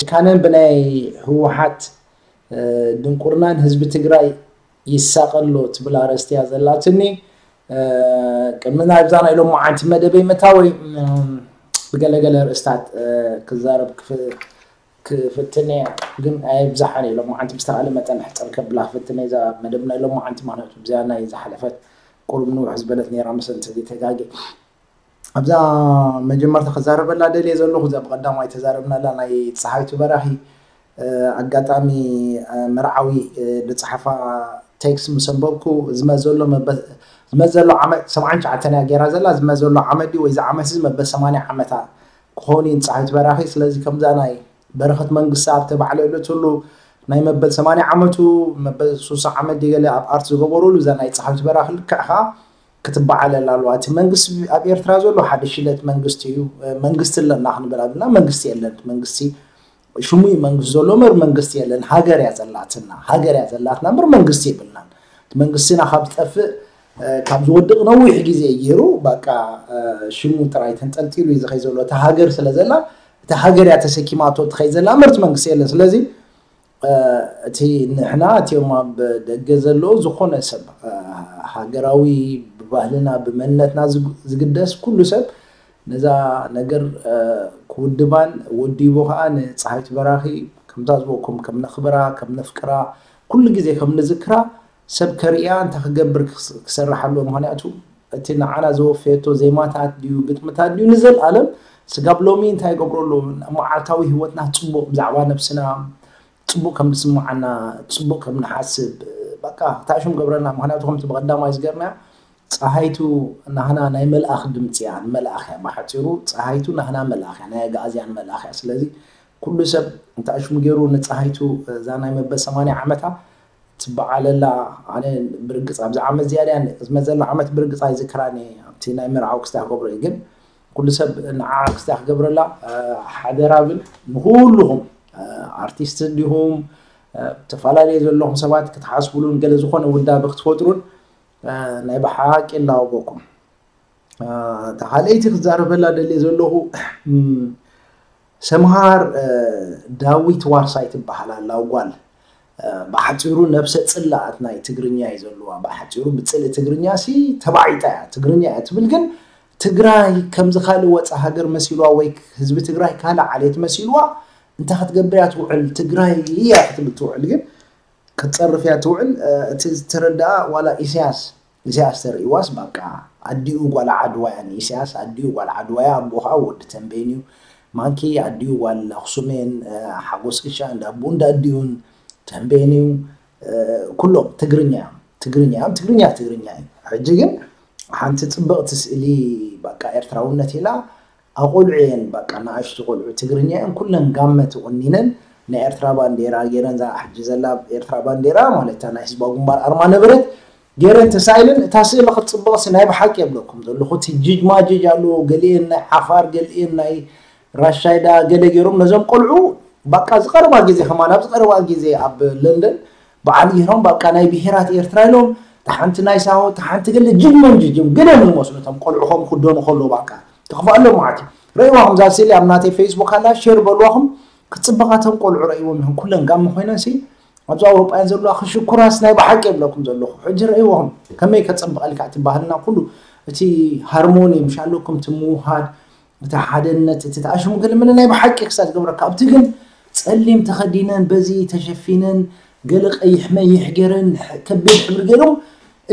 ካነን ብናይ ህወሓት ድንቁርናን ህዝቢ ትግራይ ይሳቐሎ ትብል ኣርእስቲ እያ ዘላትኒ። ቅድሚ ናይብዛ ናይ ሎማዓንቲ መደበይ ምእታወይ ብገለገለ ርእስታት ክዛረብ ክፍትን እየ፣ ግን ኣይብዛሓን እየ። ሎማዓንቲ ብዝተኻለ መጠን ሕፅር ከብላ ክፍትን እየ እዛ መደብ ናይ ሎማዓንቲ፣ ምክንያቱ ብዚኣ ናይ ዝሓለፈት ቁሩብ ንውሕ ዝበለት ነይራ መሰል እንተዘይተጋጌ። ኣብዛ መጀመርታ ክዛረበላ ደልየ ዘለኹ እዛ ብቐዳማይ ተዛረብናላ ናይ ፀሃይቱ በራኺ ኣጋጣሚ መርዓዊ ዝፀሓፋ ቴክስት ምስ ኣንበብኩ ዝመዘሎ ዝመዘሎ ዓመት ሰብዓን ትሽዓተን እያ ገይራ ዘላ። ዝመዘሎ ዓመት ድዩ ወይ ዝዓመት እዚ መበል ሰማንያ ዓመታ ክኸውን እዩ ንፀሃይቱ በራኺ። ስለዚ ከምዛ ናይ በረኸት መንግስቲ ኣብ ተባዕለ ዕለትሉ ናይ መበል ሰማንያ ዓመቱ መበል ሱሳ ዓመት ድገለ ኣብ ኣርት ዝገበሩሉ እዛ ናይ ፀሃይቱ በራኺ ልክዕ ከዓ ክትበዓለል ኣለዋ። እቲ መንግስቲ ኣብ ኤርትራ ዘሎ ሓደ ሽለት መንግስቲ እዩ። መንግስቲ ኣለና ክንብል ኣብልና መንግስቲ የለን። መንግስቲ ሽሙ እዩ መንግስቲ ዘሎ እምበር መንግስቲ የለን። ሃገር እያ ዘላትና፣ ሃገር እያ ዘላትና እምበር መንግስቲ የብልናን። እቲ መንግስትና ካብ ዝጠፍእ ካብ ዝወድቕ ነዊሕ ግዜ እዩ ገይሩ። በቃ ሽሙ ጥራይ ተንጠልጢሉ እዩ ዝኸይ ዘሎ። እቲ ሃገር ስለ ዘላ እቲ ሃገር እያ ተሰኪማቶ ትኸይ ዘላ እምበር እቲ መንግስቲ የለን። ስለዚ እቲ ንሕና እቲኦም ኣብ ደገ ዘለዉ ዝኾነ ሰብ ሃገራዊ ብባህልና ብመንነትና ዝግደስ ኩሉ ሰብ ነዛ ነገር ክውድባን ወዲቡ ከዓ ንፀሃይቱ በራኺ ከምታ ዝበኩም ከም ነኽብራ ከም ነፍቅራ ኩሉ ግዜ ከም ንዝክራ ሰብ ከርእያ እንታይ ክገብር ክሰርሕ ኣለዎ። ምክንያቱ እቲ ንዓና ዘወፈየቶ ዜማታት ድዩ ግጥምታት ድዩ ንዘለኣለም ስጋብ ሎሚ እንታይ ይገብሮ ኣለዎ። መዓልታዊ ህይወትና ፅቡቕ ብዛዕባ ነብስና ፅቡቕ ከም ዝስምዓና ፅቡቕ ከም ንሓስብ በቃ ታሽም ገብረና። ምክንያቱ ከምቲ ብቐዳማይ ዝገርና ፀሃይቱ ናህና ናይ መልኣኽ ድምፂ እያ፣ መልኣኽ እያ። ብሓፂሩ ፀሃይቱ ናህና መልኣኽ እያ፣ ናይ ኣግኣዝያን መልኣኽ እያ። ስለዚ ኩሉ ሰብ እንተኣሽሙ ገይሩ ንፀሃይቱ እዛ ናይ መበል ሰማንያ ዓመታ ትበዓለላ። ኣነ ብርግፅ ኣብዚ ዓመት ዝያዳ ዝመዘላ ዓመት ብርግፅ ኣይዝክራን እየ። ኣብቲ ናይ መርዓዊ ክስታ ክገብሮ እዩ ግን ኩሉ ሰብ ንዓ ክስታ ክገብረላ ሓደራ ብል ንኩልኹም ኣርቲስት እንዲሁም ተፈላለየ ዘለኹም ሰባት ክትሓስቡሉን ገለ ዝኾነ ውዳበ ክትፈጥሩን ናይ ብሓቂ ላወበኩም። ተኻለይቲ ክዛረበላ ደልየ ዘለኹ ሰምሃር ዳዊት ዋርሳይ ትበሃል ኣላ ጓል። ብሓፂሩ ነብሰ ፅላኣት ናይ ትግርኛ እዩ ዘለዋ። ብሓፂሩ ብፅልኢ ትግርኛ ሲ ተባዒጣ እያ። ትግርኛ እያ ትብል ግን ትግራይ ከምዚ ካልእ ወፃ ሃገር መሲልዋ ወይ ህዝቢ ትግራይ ካልእ ዓሌት መሲልዋ እንታይ ክትገብር እያ ትውዕል? ትግራይ እያ ክትብል ትውዕል ግን ክትፀርፍ እያ ትውዕል። እቲ ዝተረድኣ ዋላ ኢሳያስ ኢሳያስ ተርእይዋስ በቃ ኣዲኡ ጓል ዓድዋ እያ። ንኢሳያስ ኣዲኡ ጓል ዓድዋ እያ። ኣቦ ከዓ ወዲ ተንቤን እዩ። ማንኪ ኣዲኡ ጓል ኣክሱም እየን። ሓጎስ ክሻ እንዳ ኣቦኡ እንዳ ኣዲኡን ተንቤን እዩ። ኩሎም ትግርኛ እዮም። ትግርኛ እዮም። ትግርኛ ትግርኛ እዩ። ሕጂ ግን ሓንቲ ፅብቕቲ ስእሊ በቃ ኤርትራውነት ኢላ ኣቆልዑ እየን በቃ ንኣሽቱ ቆልዑ ትግርኛ እየን ኩለን ጋመ ተቆኒነን ናይ ኤርትራ ባንዴራ ገይረን እዛ ሕጂ ዘላ ኤርትራ ባንዴራ ማለት እታ ናይ ህዝባዊ ግንባር ኣርማ ነበረት ገይረን ተሳኢለን እታ ስእሊ ክትፅብቕሲ ናይ ብሓቂ የብለኩም ዘለኹ እቲ ጅጅማጅጅ ኣለዎ ገሊአን ናይ ዓፋር ገሊአን ናይ ራሻይዳ ገለ ገይሮም ነዞም ቆልዑ በቃ ዝቀረባ ግዜ ከማን ኣብ ዝቀረባ ግዜ ኣብ ለንደን በዓል ገይሮም በቃ ናይ ብሄራት ኤርትራ ኢሎም ተሓንቲ ናይ ሳሆ ተሓንቲ ገለ ጅግመን ጅጅም ገለ ዝመስሉ እቶም ቆልዑ ከም ክደኑ ከሎ በቃ ተኽፍኣሎም ማለት እዩ። ረእይዋ ከምዛ ስእሊ ኣብ ናተይ ፌስቡክ ኣላ ሼር በልዋኹም ክፅበቓ እቶም ቆልዑ ረእይዎም ኢኹም ኩለን ጋሚ ኮይነን ሲ ኣብዚ ኣውሮጳ እየን ዘለዋ ክሽኩራስ ናይ ብሓቂ የብለኩም ዘለኹ ሕጂ ረእይዎም ከመይ ከፀብቐልካ እቲ ባህልና ኩሉ እቲ ሃርሞኒ ምሽ ኣለኩም እቲ ምውሃድ እቲ ሓደነት እቲ ተኣሽሙ ገለ መለ ናይ ብሓቂ ክሳብ ዝገብረካ ኣብቲ ግን ፀሊም ተኸዲነን በዚ ተሸፊነን ገለ ቀይሕ መይሕ ገይረን ከቢድ ሕብሪ ገይሮም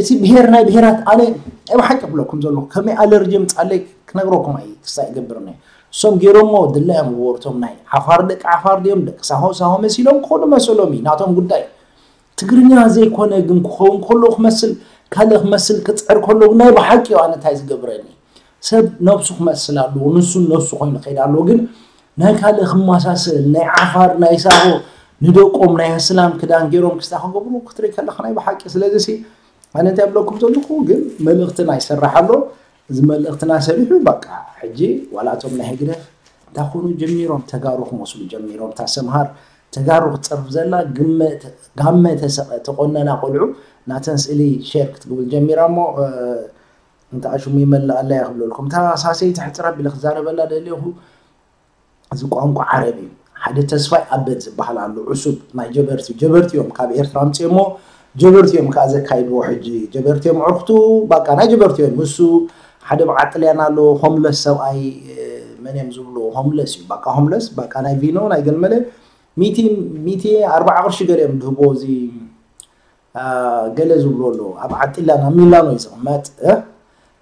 እቲ ብሄር ናይ ብሄራት ኣነ ናይ ብሓቂ ክብለኩም ዘለኹ ከመይ ኣለርጂ ምፃለይ ክነግረኩም ኣይ ክሳብ ይገብርኒ እሶም ገይሮሞ ድላዮም ዝበርቶም ናይ ዓፋር ደቂ ዓፋር ድዮም ደቂ ሳሆ ሳሆ መሲሎም ክኾኑ መሰሎም እዩ ናቶም ጉዳይ ትግርኛ ዘይኮነ ግን ክኸውን ከሎ ክመስል ካልእ ክመስል ክፅዕር ከሎ ናይ ብሓቂ እዩ ኣነ እንታይ ዝገብረኒ ሰብ ነብሱ ክመስል ኣለዎ ንሱ ነብሱ ኮይኑ ከይድ ኣለዎ ግን ናይ ካልእ ክመሳሰል ናይ ዓፋር ናይ ሳሆ ንደቆም ናይ ኣስላም ክዳን ገይሮም ክስታ ክገብሩ ክትርኢ ከለካ ናይ ብሓቂ ስለዚ ሲ ኣነ እንታይ ብለኩም ዘለኹ ግን መልእኽትና ይሰራሕ ኣሎ እዚ መልእኽትና ሰሪሑ በቃ ሕጂ ዋላቶም ናይ ህግደፍ እንታይ ኮኑ ጀሚሮም ተጋሩ ክመስሉ ጀሚሮም እታ ሰምሃር ተጋሩ ክትፀርፍ ዘላ ጋመ ተቆነና ቆልዑ ናተን ስእሊ ሼር ክትግብል ጀሚራ እሞ እንተ ኣሽሙ ይመልእ ኣላ እያ ክብለልኩም እታ ሳሰይቲ ሕፅር ኣቢለ ክዛረበላ ደልየኹ እዚ ቋንቋ ዓረብ እዩ ሓደ ተስፋይ ኣበድ ዝበሃል ኣሎ፣ ዕሱብ ናይ ጀበርቲ፣ ጀበርቲ እዮም ካብ ኤርትራ ኣምፅኦሞ፣ ጀበርቲ እዮም ከዓ ዘካይድዎ። ሕጂ ጀበርቲ እዮም ዕርክቱ፣ ባቃ ናይ ጀበርቲ እዮም። እሱ ሓደ በዓል ጥልያን ኣሎ፣ ሆምለስ ሰብኣይ፣ መን እዮም ዝብልዎ፣ ሆምለስ እዩ፣ ባቃ ሆምለስ፣ ባቃ ናይ ቪኖ ናይ ገልመለ ሚቲ፣ ሚቲ ኣርባዓ ቅርሺ ገለ እዮም ድህቦ። እዚ ገለ ዝብሎ ኣሎ ኣብ ዓጢላን ኣብ ሚላኖ እዩ ዝቕመጥ።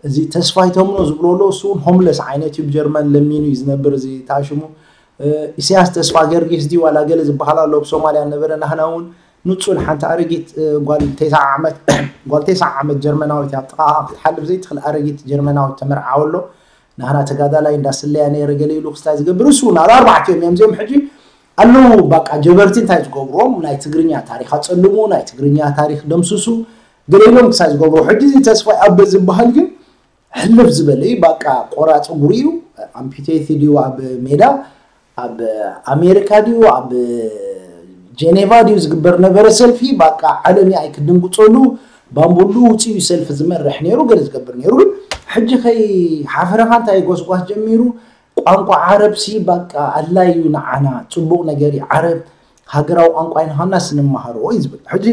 እዚ ተስፋይ ተምኖ ዝብሎ ኣሎ፣ እሱ እውን ሆምለስ ዓይነት እዩ፣ ብጀርመን ለሚኑ እዩ ዝነብር። እዚ ታሽሙ ኢሳያስ ተስፋ ገርጊስ ድዩ ዋላ ገለ ዝበሃል ኣሎ፣ ኣብ ሶማልያ ነበረ። ናህና እውን ንጹል ሓንቲ ኣረጊት ጓል ተስዓ ዓመት ጓል ተስዓ ዓመት ጀርመናዊት ኣብ ጥቓ ክትሓልፍ ዘይትኽእል ኣረጊት ጀርመናዊት ተመርዓወ ኣሎ። ናህና ተጋዳላይ እንዳስለያ ነይረ ገለ ኢሉ ክስታይ ዝገብር እሱ እውን ኣብ ኣርባዕቲኦም እዮም እዚኦም ሕጂ ኣለዉ። ባቃ ጀበርቲ እንታይ ዝገብርዎም ናይ ትግርኛ ታሪኽ ኣጸልሙ፣ ናይ ትግርኛ ታሪኽ ደምስሱ ገለ ኢሎም ክሳይ ዝገብሩ። ሕጂ እዚ ተስፋይ ኣበ ዝበሃል ግን ሕልፍ ዝበለ እዩ። ባቃ ቆራፂ እግሩ እዩ። ኣምፒቴት ድዩ ኣብ ሜዳ ኣብ ኣሜሪካ ድዩ ኣብ ጀኔቫ ድዩ ዝግበር ነበረ ሰልፊ። ባቃ ዓለም ኣይ ክድንግፀሉ ባምቡሉ ውፅኡ ሰልፊ ዝመርሕ ነይሩ፣ ገለ ዝገብር ነይሩ። ግን ሕጂ ከይ ሓፈረኻ እንታይ ጎስጓስ ጀሚሩ። ቋንቋ ዓረብ ሲ ባቃ ኣድላይ እዩ ንዓና፣ ፅቡቕ ነገር እዩ። ዓረብ ሃገራዊ ቋንቋ እዩ ንኻና ስንመሃሮ እዩ ዝብል። ሕጂ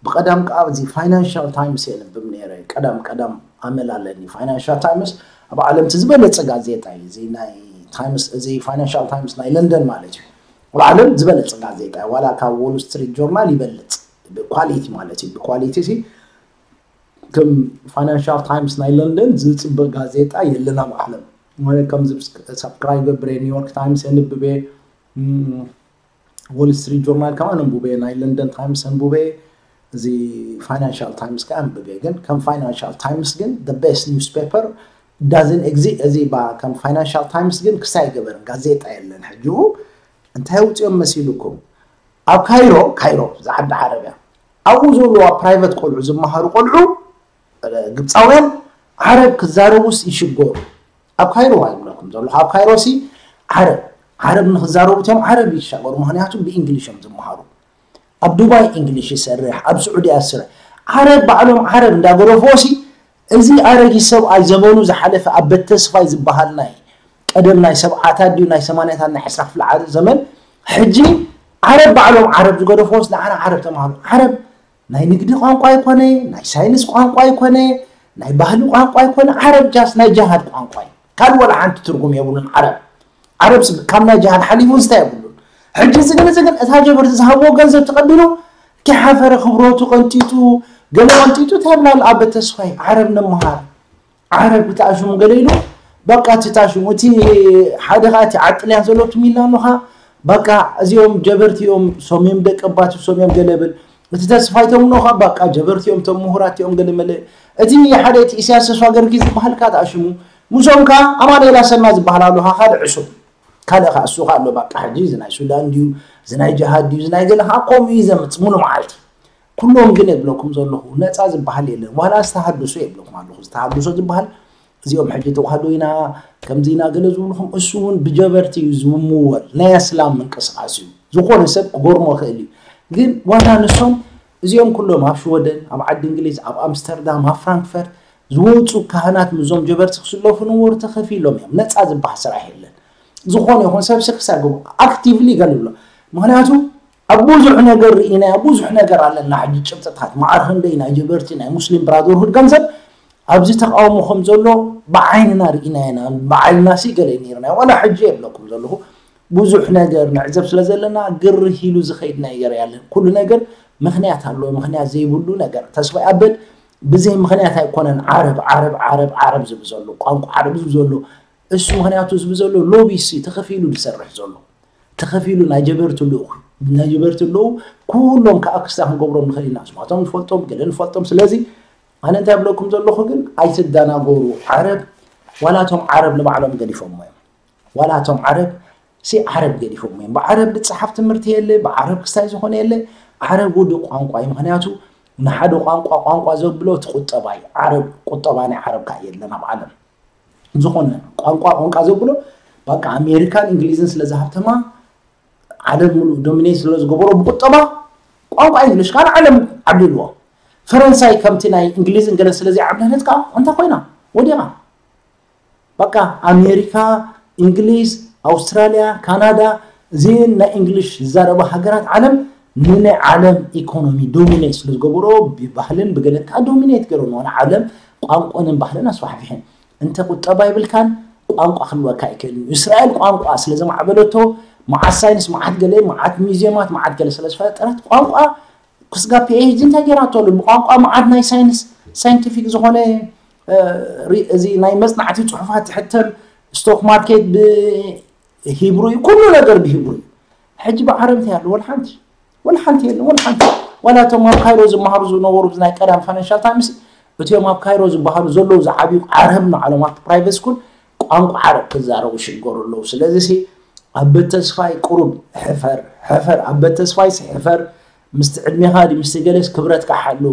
ብቐዳም ከዓ እዚ ፋይናንሻል ታይምስ የንብብ ነይረ። ቀዳም ቀዳም ኣመል ኣለኒ። ፋይናንሻል ታይምስ ኣብ ዓለም እቲ ዝበለፀ ጋዜጣ እዩ። እዚ ናይ ታይምስ፣ እዚ ፋይናንሻል ታይምስ ናይ ለንደን ማለት እዩ። ኣብ ዓለም ዝበለፀ ጋዜጣ እዩ። ዋላ ካብ ዎል ስትሪት ጆርናል ይበልፅ ብኳሊቲ ማለት እዩ። ብኳሊቲ ሲ ከም ፋይናንሻል ታይምስ ናይ ለንደን ዝፅበ ጋዜጣ የለን ኣብ ዓለም። ማለት ከምዚ ሳብስክራይብ ገብረ፣ ኒውዮርክ ታይምስ የንብብ እየ፣ ዎል ስትሪት ጆርናል ከማን ኣንብበ፣ ናይ ለንደን ታይምስ ኣንብበ፣ እዚ ፋይናንሻል ታይምስ ከ ኣንብበ። ግን ከም ፋይናንሻል ታይምስ ግን the best newspaper doesn't exist። እዚ ባ ከም ፋይናንሻል ታይምስ ግን ክሳይ ገበርን ጋዜጣ የለን። ሕጂ እንታይ ውፅኦም መሲልኩም? ኣብ ካይሮ፣ ካይሮ ዝዓዲ ዓረብ እያ። ኣብኡ ዘለዋ ፕራይቨት ቆልዑ ዝመሃሩ ቆልዑ ግብፃውያን ዓረብ ክዛረቡስ ይሽገሩ። ኣብ ካይሮ ኣይብለኩም ዘለኹ፣ ኣብ ካይሮ ሲ ዓረብ ዓረብ ንክዛረቡ እቲኦም ዓረብ ይሻገሩ፣ ምክንያቱ ብእንግሊሽ እዮም ዝመሃሩ። ኣብ ዱባይ እንግሊሽ ይሰርሕ፣ ኣብ ስዑድያ ይሰርሕ። ዓረብ ባዕሎም ዓረብ እንዳገረፍዎ ሲ እዚ ኣረጊት ሰብኣይ ዘመኑ ዝሓለፈ ኣበት ተስፋይ ዝበሃል ናይ ቀደም ናይ ሰብዓታት ድዩ ናይ ሰማንያታት ናይ ዕስራ ክፍለ ዓለም ዘመን ሕጂ ዓረብ ባዕሎም ዓረብ ዝገደፍዎስ ንዓና ዓረብ ተማሃሩ። ዓረብ ናይ ንግዲ ቋንቋ ኣይኮነ፣ ናይ ሳይንስ ቋንቋ ኣይኮነ፣ ናይ ባህሊ ቋንቋ ኣይኮነ። ዓረብ ጃስ ናይ ጃሃድ ቋንቋ እዩ። ካልእ ወላ ሓንቲ ትርጉም የብሉን ዓረብ። ዓረብ ስ- ካብ ናይ ጃሃድ ሓሊፉ ዝታይ የብሉን። ሕጂ እዚ ግን እዚ ግን እታ ጀበርቲ ዝሃብዎ ገንዘብ ተቐቢሉ ከይሓፈረ ክብረቱ ቀንጢጡ ገለ ቀንጢጡ ተብላል ኣበ ተስፋይ ዓረብ ንምሃር ዓረብ ብትኣሽሙ ገለ ኢሉ በቃ እቲ ታሽሙ እቲ ሓደ ኸዓ እቲ ዓጥልያን ዘሎ እቲ ሚላኖ ኸዓ በቃ እዚኦም ጀበርቲ እዮም ሶምዮም ደቂ ኣባት ሶምዮም ገለ ብል እቲ ተስፋይ ተምኖ ኸዓ በቃ ጀበርቲ እዮም እቶም ምሁራት እዮም ገለ መለ እቲ ሓደ እቲ ኢሳያስ ተስፋ ገርጊ ዝበሃል ከዓ ትኣሽሙ ምስኦም ከዓ ኣማኑኤል ኣሰና ዝበሃል ኣሎ ኸዓ ካልእ ዕሱብ ካልእ ኸዓ እሱ ኸዓ ኣሎ በቃ ሕጂ እዚ ናይ ሱዳን ድዩ እዚ ናይ ጀሃድ ድዩ እዚ ናይ ገለ ኸዓ ከምኡ እዩ ዘምፅ ሙሉ መዓልቲ ኩሎም ግን የብለኩም ዘለኹ ነፃ ዝበሃል የለን ዋላ ዝተሃድሶ የብለኩም ኣለኹ ዝተሃድሶ ዝበሃል እዚኦም ሕጂ ተዋህዶ ኢና ከምዚ ኢና ገለ ዝብልኹም እሱ እውን ብጀበርቲ እዩ ዝምወል ናይ ኣስላም ምንቅስቃስ እዩ ዝኾነ ሰብ ክጎርሞ ይኽእል እዩ ግን ዋላ ንሶም እዚኦም ኩሎም ኣብ ሽወደን ኣብ ዓዲ እንግሊዝ ኣብ ኣምስተርዳም ኣብ ፍራንክፈርት ዝወፁ ካህናት ምዞም ጀበርቲ ክስለፉ ንወሩ ተኸፊሎም እዮም ነፃ ዝበሃል ስራሕ የለን ዝኾነ ይኹን ሰብ ስክሳ ግቡ ኣክቲቭሊ ገለ ይብሎ ምክንያቱ ኣብ ብዙሕ ነገር ርኢና ኣብ ብዙሕ ነገር ኣለና ሕጂ ጭብጥታት መዓር ክንደይ ናይ ጀበርቲ ናይ ሙስሊም ብራደርሁድ ገንዘብ ኣብዚ ተቃውሞ ከም ዘሎ ብዓይንና ርኢና ኢና ብዓይንና ሲ ገለ ነርና ዋላ ሕጂ የብለኩም ዘለኹ ብዙሕ ነገር ንዕዘብ ስለ ዘለና ግርህ ኢሉ ዝኸይድ ነገር ያለን ኩሉ ነገር ምክንያት ኣለዎ ምክንያት ዘይብሉ ነገር ተስፋ ኣበድ ብዘይ ምክንያት ኣይኮነን ዓረብ ዓረብ ዓረብ ዓረብ ዝብል ዘሎ ቋንቋ ዓረብ ዝብል ዘሎ እሱ ምክንያቱ ዝብል ዘሎ ሎቢ ሲ ተኸፊሉ ዝሰርሕ ዘሎ ተኸፊሉ ናይ ጀበርቲ ልኡኽ ናይ ጀበርቲ ኣለዉ ኩሎም ከዓ ክስታ ክንገብሮም ንኽእል ኢና ስማቶም ንፈልጦም ገለ ንፈልጦም ስለዚ ኣነ እንታይ ብለኩም ዘለኹ ግን ኣይትደናገሩ ዓረብ ዋላቶም ዓረብ ንባዕሎም ገዲፎሞ እዮም ዋላቶም ዓረብ ሲ ዓረብ ገዲፎሞ እዮም ብዓረብ ዝፀሓፍ ትምህርቲ የለ ብዓረብ ክስታይ ዝኾነ የለ ዓረብ ውዱእ ቋንቋ እዩ ምክንያቱ ንሓደ ቋንቋ ቋንቋ ዘብሎ እቲ ቁጠባ እዩ ዓረብ ቁጠባ ናይ ዓረብ ከዓ የለን ኣብ ዓለም ዝኾነ ቋንቋ ቋንቋ ዘብሎ በቃ ኣሜሪካን እንግሊዝን ስለ ዝሃብተማ ዓለም ሙሉእ ዶሚኔት ስለ ዝገበሮ ብቁጠባ ቋንቋ እንግሊሽ ካን ዓለም ዓብልልዎ ፈረንሳይ ከምቲ ናይ እንግሊዝን ገለ ስለ ዘይዓብለለት ከዓ እንታይ ኮይና ወዲቓ በቃ ኣሜሪካ እንግሊዝ ኣውስትራሊያ ካናዳ እዚን ናይ እንግሊሽ ዝዛረባ ሃገራት ዓለም ንናይ ዓለም ኢኮኖሚ ዶሚኔት ስለ ዝገበሮ ብባህልን ብገለን ከዓ ዶሚኔት ገይሮ ንሆነ ዓለም ቋንቋንን ባህልን ኣስፋሕፊሐን። እንተ ቁጠባ ይብልካን ቋንቋ ክህልወካ ኣይክእልን እዩ። እስራኤል ቋንቋ ስለ ዘማዕበለቶ መዓት ሳይንስ መዓት ገለ መዓት ሚዚየማት መዓት ገለ ስለ ዝፈጠረት ቋንቋ ክስጋ ፒኤችዲ እንታይ ገይራቶ ኣሎ? ብቋንቋ መዓት ናይ ሳይንስ ሳይንቲፊክ ዝኾነ እዚ ናይ መፅናዕቲ ፅሑፋት ትሕተም፣ ስቶክ ማርኬት ብሂብሩ እዩ፣ ኩሉ ነገር ብሂብሩ እዩ። ሕጂ ብዓረብ እንታይ ኣሎ? ወላ ሓንቲ ወላ ሓንቲ የለን። ወላ ሓንቲ ዋላ እቶም ኣብ ካይሮ ዝመሃሩ ዝነበሩ ናይ ቀዳም ፋይናንሻል ታይምስ እቲኦም ኣብ ካይሮ ዝበሃሉ ዘለዉ ዝዓብዩ ዓረብ ንዓሎም ኣብቲ ፕራይቬት ስኩል ቋንቋ ዓረብ ክዛረቡ ይሽገሩ ኣለዉ። ስለዚ ሲ ኣበት ተስፋይ ቁሩብ ሕፈር ሕፈር ኣበት ተስፋይ ሲ ሕፈር ምስቲ ዕድሜኻ ድዩ ምስቲ ገለስ ክብረትካ ሓሉ።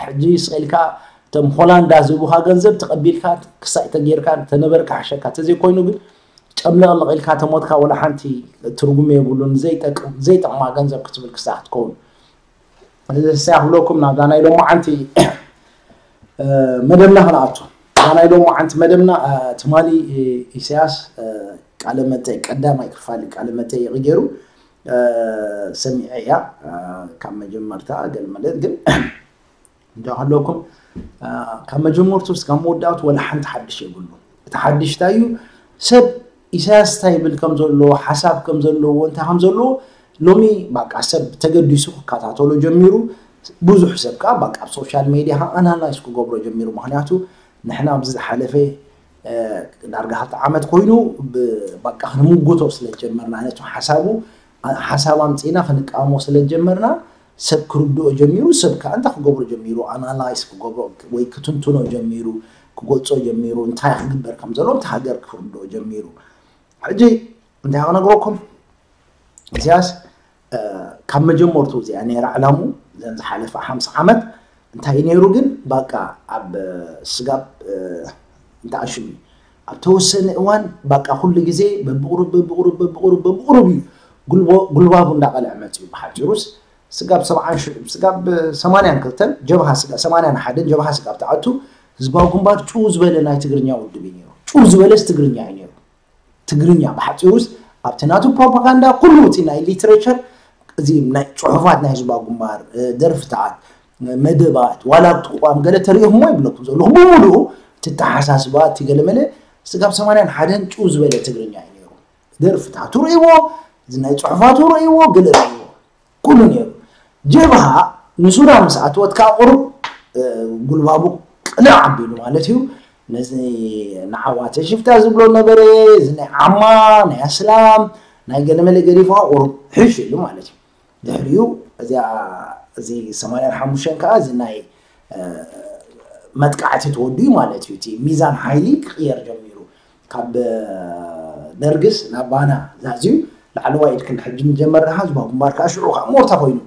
ሕጂ ስቕ ኢልካ እቶም ሆላንዳ ዝህቡኻ ገንዘብ ተቐቢልካ ክሳይ ተጌርካ ተነበርካ ሕሸካ ተዘይኮይኑ ግን ጨምለቕለቕ ኢልካ ተሞትካ ወላ ሓንቲ ትርጉም የብሉን። ዘይጠቅም ዘይጠቕማ ገንዘብ ክትብል ክሳዕ ክትከውን እዚሳ ክብለኩም ናብዛ ናይ ሎማዓንቲ መደብና ክንኣቱ። እዛ ናይ ሎማዓንቲ መደብና ትማሊ ኢሳያስ ቃለ መጠይቅ ቀዳማይ ክፋል ቃለ መጠይቅ ገይሩ ሰሚዐ እያ ካብ መጀመርታ ገለ ማለት ግን እንጃ ከለኩም ካብ መጀመርቱ እስካብ መወዳእቱ ወላ ሓንቲ ሓድሽ የብሉ። እቲ ሓድሽ እንታይ እዩ? ሰብ ኢሳያስ እንታይ ይብል ከም ዘሎ ሓሳብ ከም ዘለዎ እንታይ ከም ዘለዎ ሎሚ ባቃ ሰብ ተገዲሱ ክከታተሎ ጀሚሩ። ብዙሕ ሰብ ከዓ ባቃ ኣብ ሶሻል ሜድያ ከዓ ኣናላይዝ ክገብሮ ጀሚሩ። ምክንያቱ ንሕና ኣብዚ ዝሓለፈ ዳርጋ ክልተ ዓመት ኮይኑ ባቃ ክንምጉቶ ስለ ጀመርና ነቲ ሓሳቡ ሓሳብ ኣምፂና ክንቃወሞ ስለ ጀመርና ሰብ ክርድኦ ጀሚሩ። ሰብ ከዓ እንታይ ክገብሮ ጀሚሩ? ኣናላይዝ ክገብሮ ወይ ክትንትኖ ጀሚሩ፣ ክገልፆ ጀሚሩ። እንታይ ክግበር ከም ዘሎ እቲ ሃገር ክርድኦ ጀሚሩ። ሕጂ እንታይ ክነግረኩም ኢሳያስ ካብ መጀመርቱ እዚኣ ነይራ ዕላሙ ዘን ዝሓለፈ ሓምሳ ዓመት እንታይ ነይሩ ግን ባቃ ኣብ ስጋብ እንታይ ኣሽሙ ኣብ ተወሰነ እዋን ባቃ ኩሉ ግዜ በብቁሩብ በብቁሩብ በብቁሩብ በብቁሩብ እዩ ጉልባቡ እንዳቀልዐ መፅኡ። ብሓፂሩስ ስጋብ ሰብዓን ሽዑ ስጋብ ሰማንያን ክልተን ጀብሃ ስጋ ሰማንያን ሓደን ጀብሃ ስጋብ ተኣቱ ህዝባዊ ግንባር ጭው ዝበለ ናይ ትግርኛ ውድብ እዩ ነይሩ። ጭው ዝበለስ ትግርኛ እዩ ነይሩ። ትግርኛ ብሓፂሩስ ኣብቲ ናቱ ፕሮፓጋንዳ ኩሉ እቲ ናይ ሊትሬቸር እዚ ናይ ፅሑፋት ናይ ህዝባዊ ግንባር ደርፍታት መደባት ዋላ እቲ ቋም ገለ ተሪኢኹሞ ይብለኩም ዘለኹ ብምሉኡ እቲ ተሓሳስባ እቲ ገለመለ ስጋብ ሰማንያን ሓደን ጭው ዝበለ ትግርኛ እዩ ነይሩ። ደርፍታቱ ርእይዎ፣ እዚ ናይ ፅሑፋቱ ርእይዎ፣ ገለ ርእይዎ ኩሉ ነይሩ። ጀብሃ ንሱዳን ምስ ኣተወት ከዓ ቁሩብ ጉልባቡ ቅልዕ ኣቢሉ ማለት እዩ። ነዚ ንዓዋተ ሽፍታ ዝብሎ ነበረ፣ እዚ ናይ ዓማ ናይ ኣስላም ናይ ገለመለ ገዲፉ ቁሩብ ሕሽ ኢሉ ማለት እዩ። ድሕሪኡ እዚኣ እዚ ሰማንያን ሓሙሽተን ከዓ እዚ ናይ መጥቃዕቲ ተወዲኡ ማለት እዩ። እቲ ሚዛን ሓይሊ ክቕየር ጀሚሩ። ካብ ደርግስ ናብ ባና ዛዝዩ ላዕለዋይ ኢድ ክንዲ ሕጂ ንጀመር ደሓ ህዝባዊ ግንባር ከዓ ሽዑ ከዓ ሞርታ ኮይኑ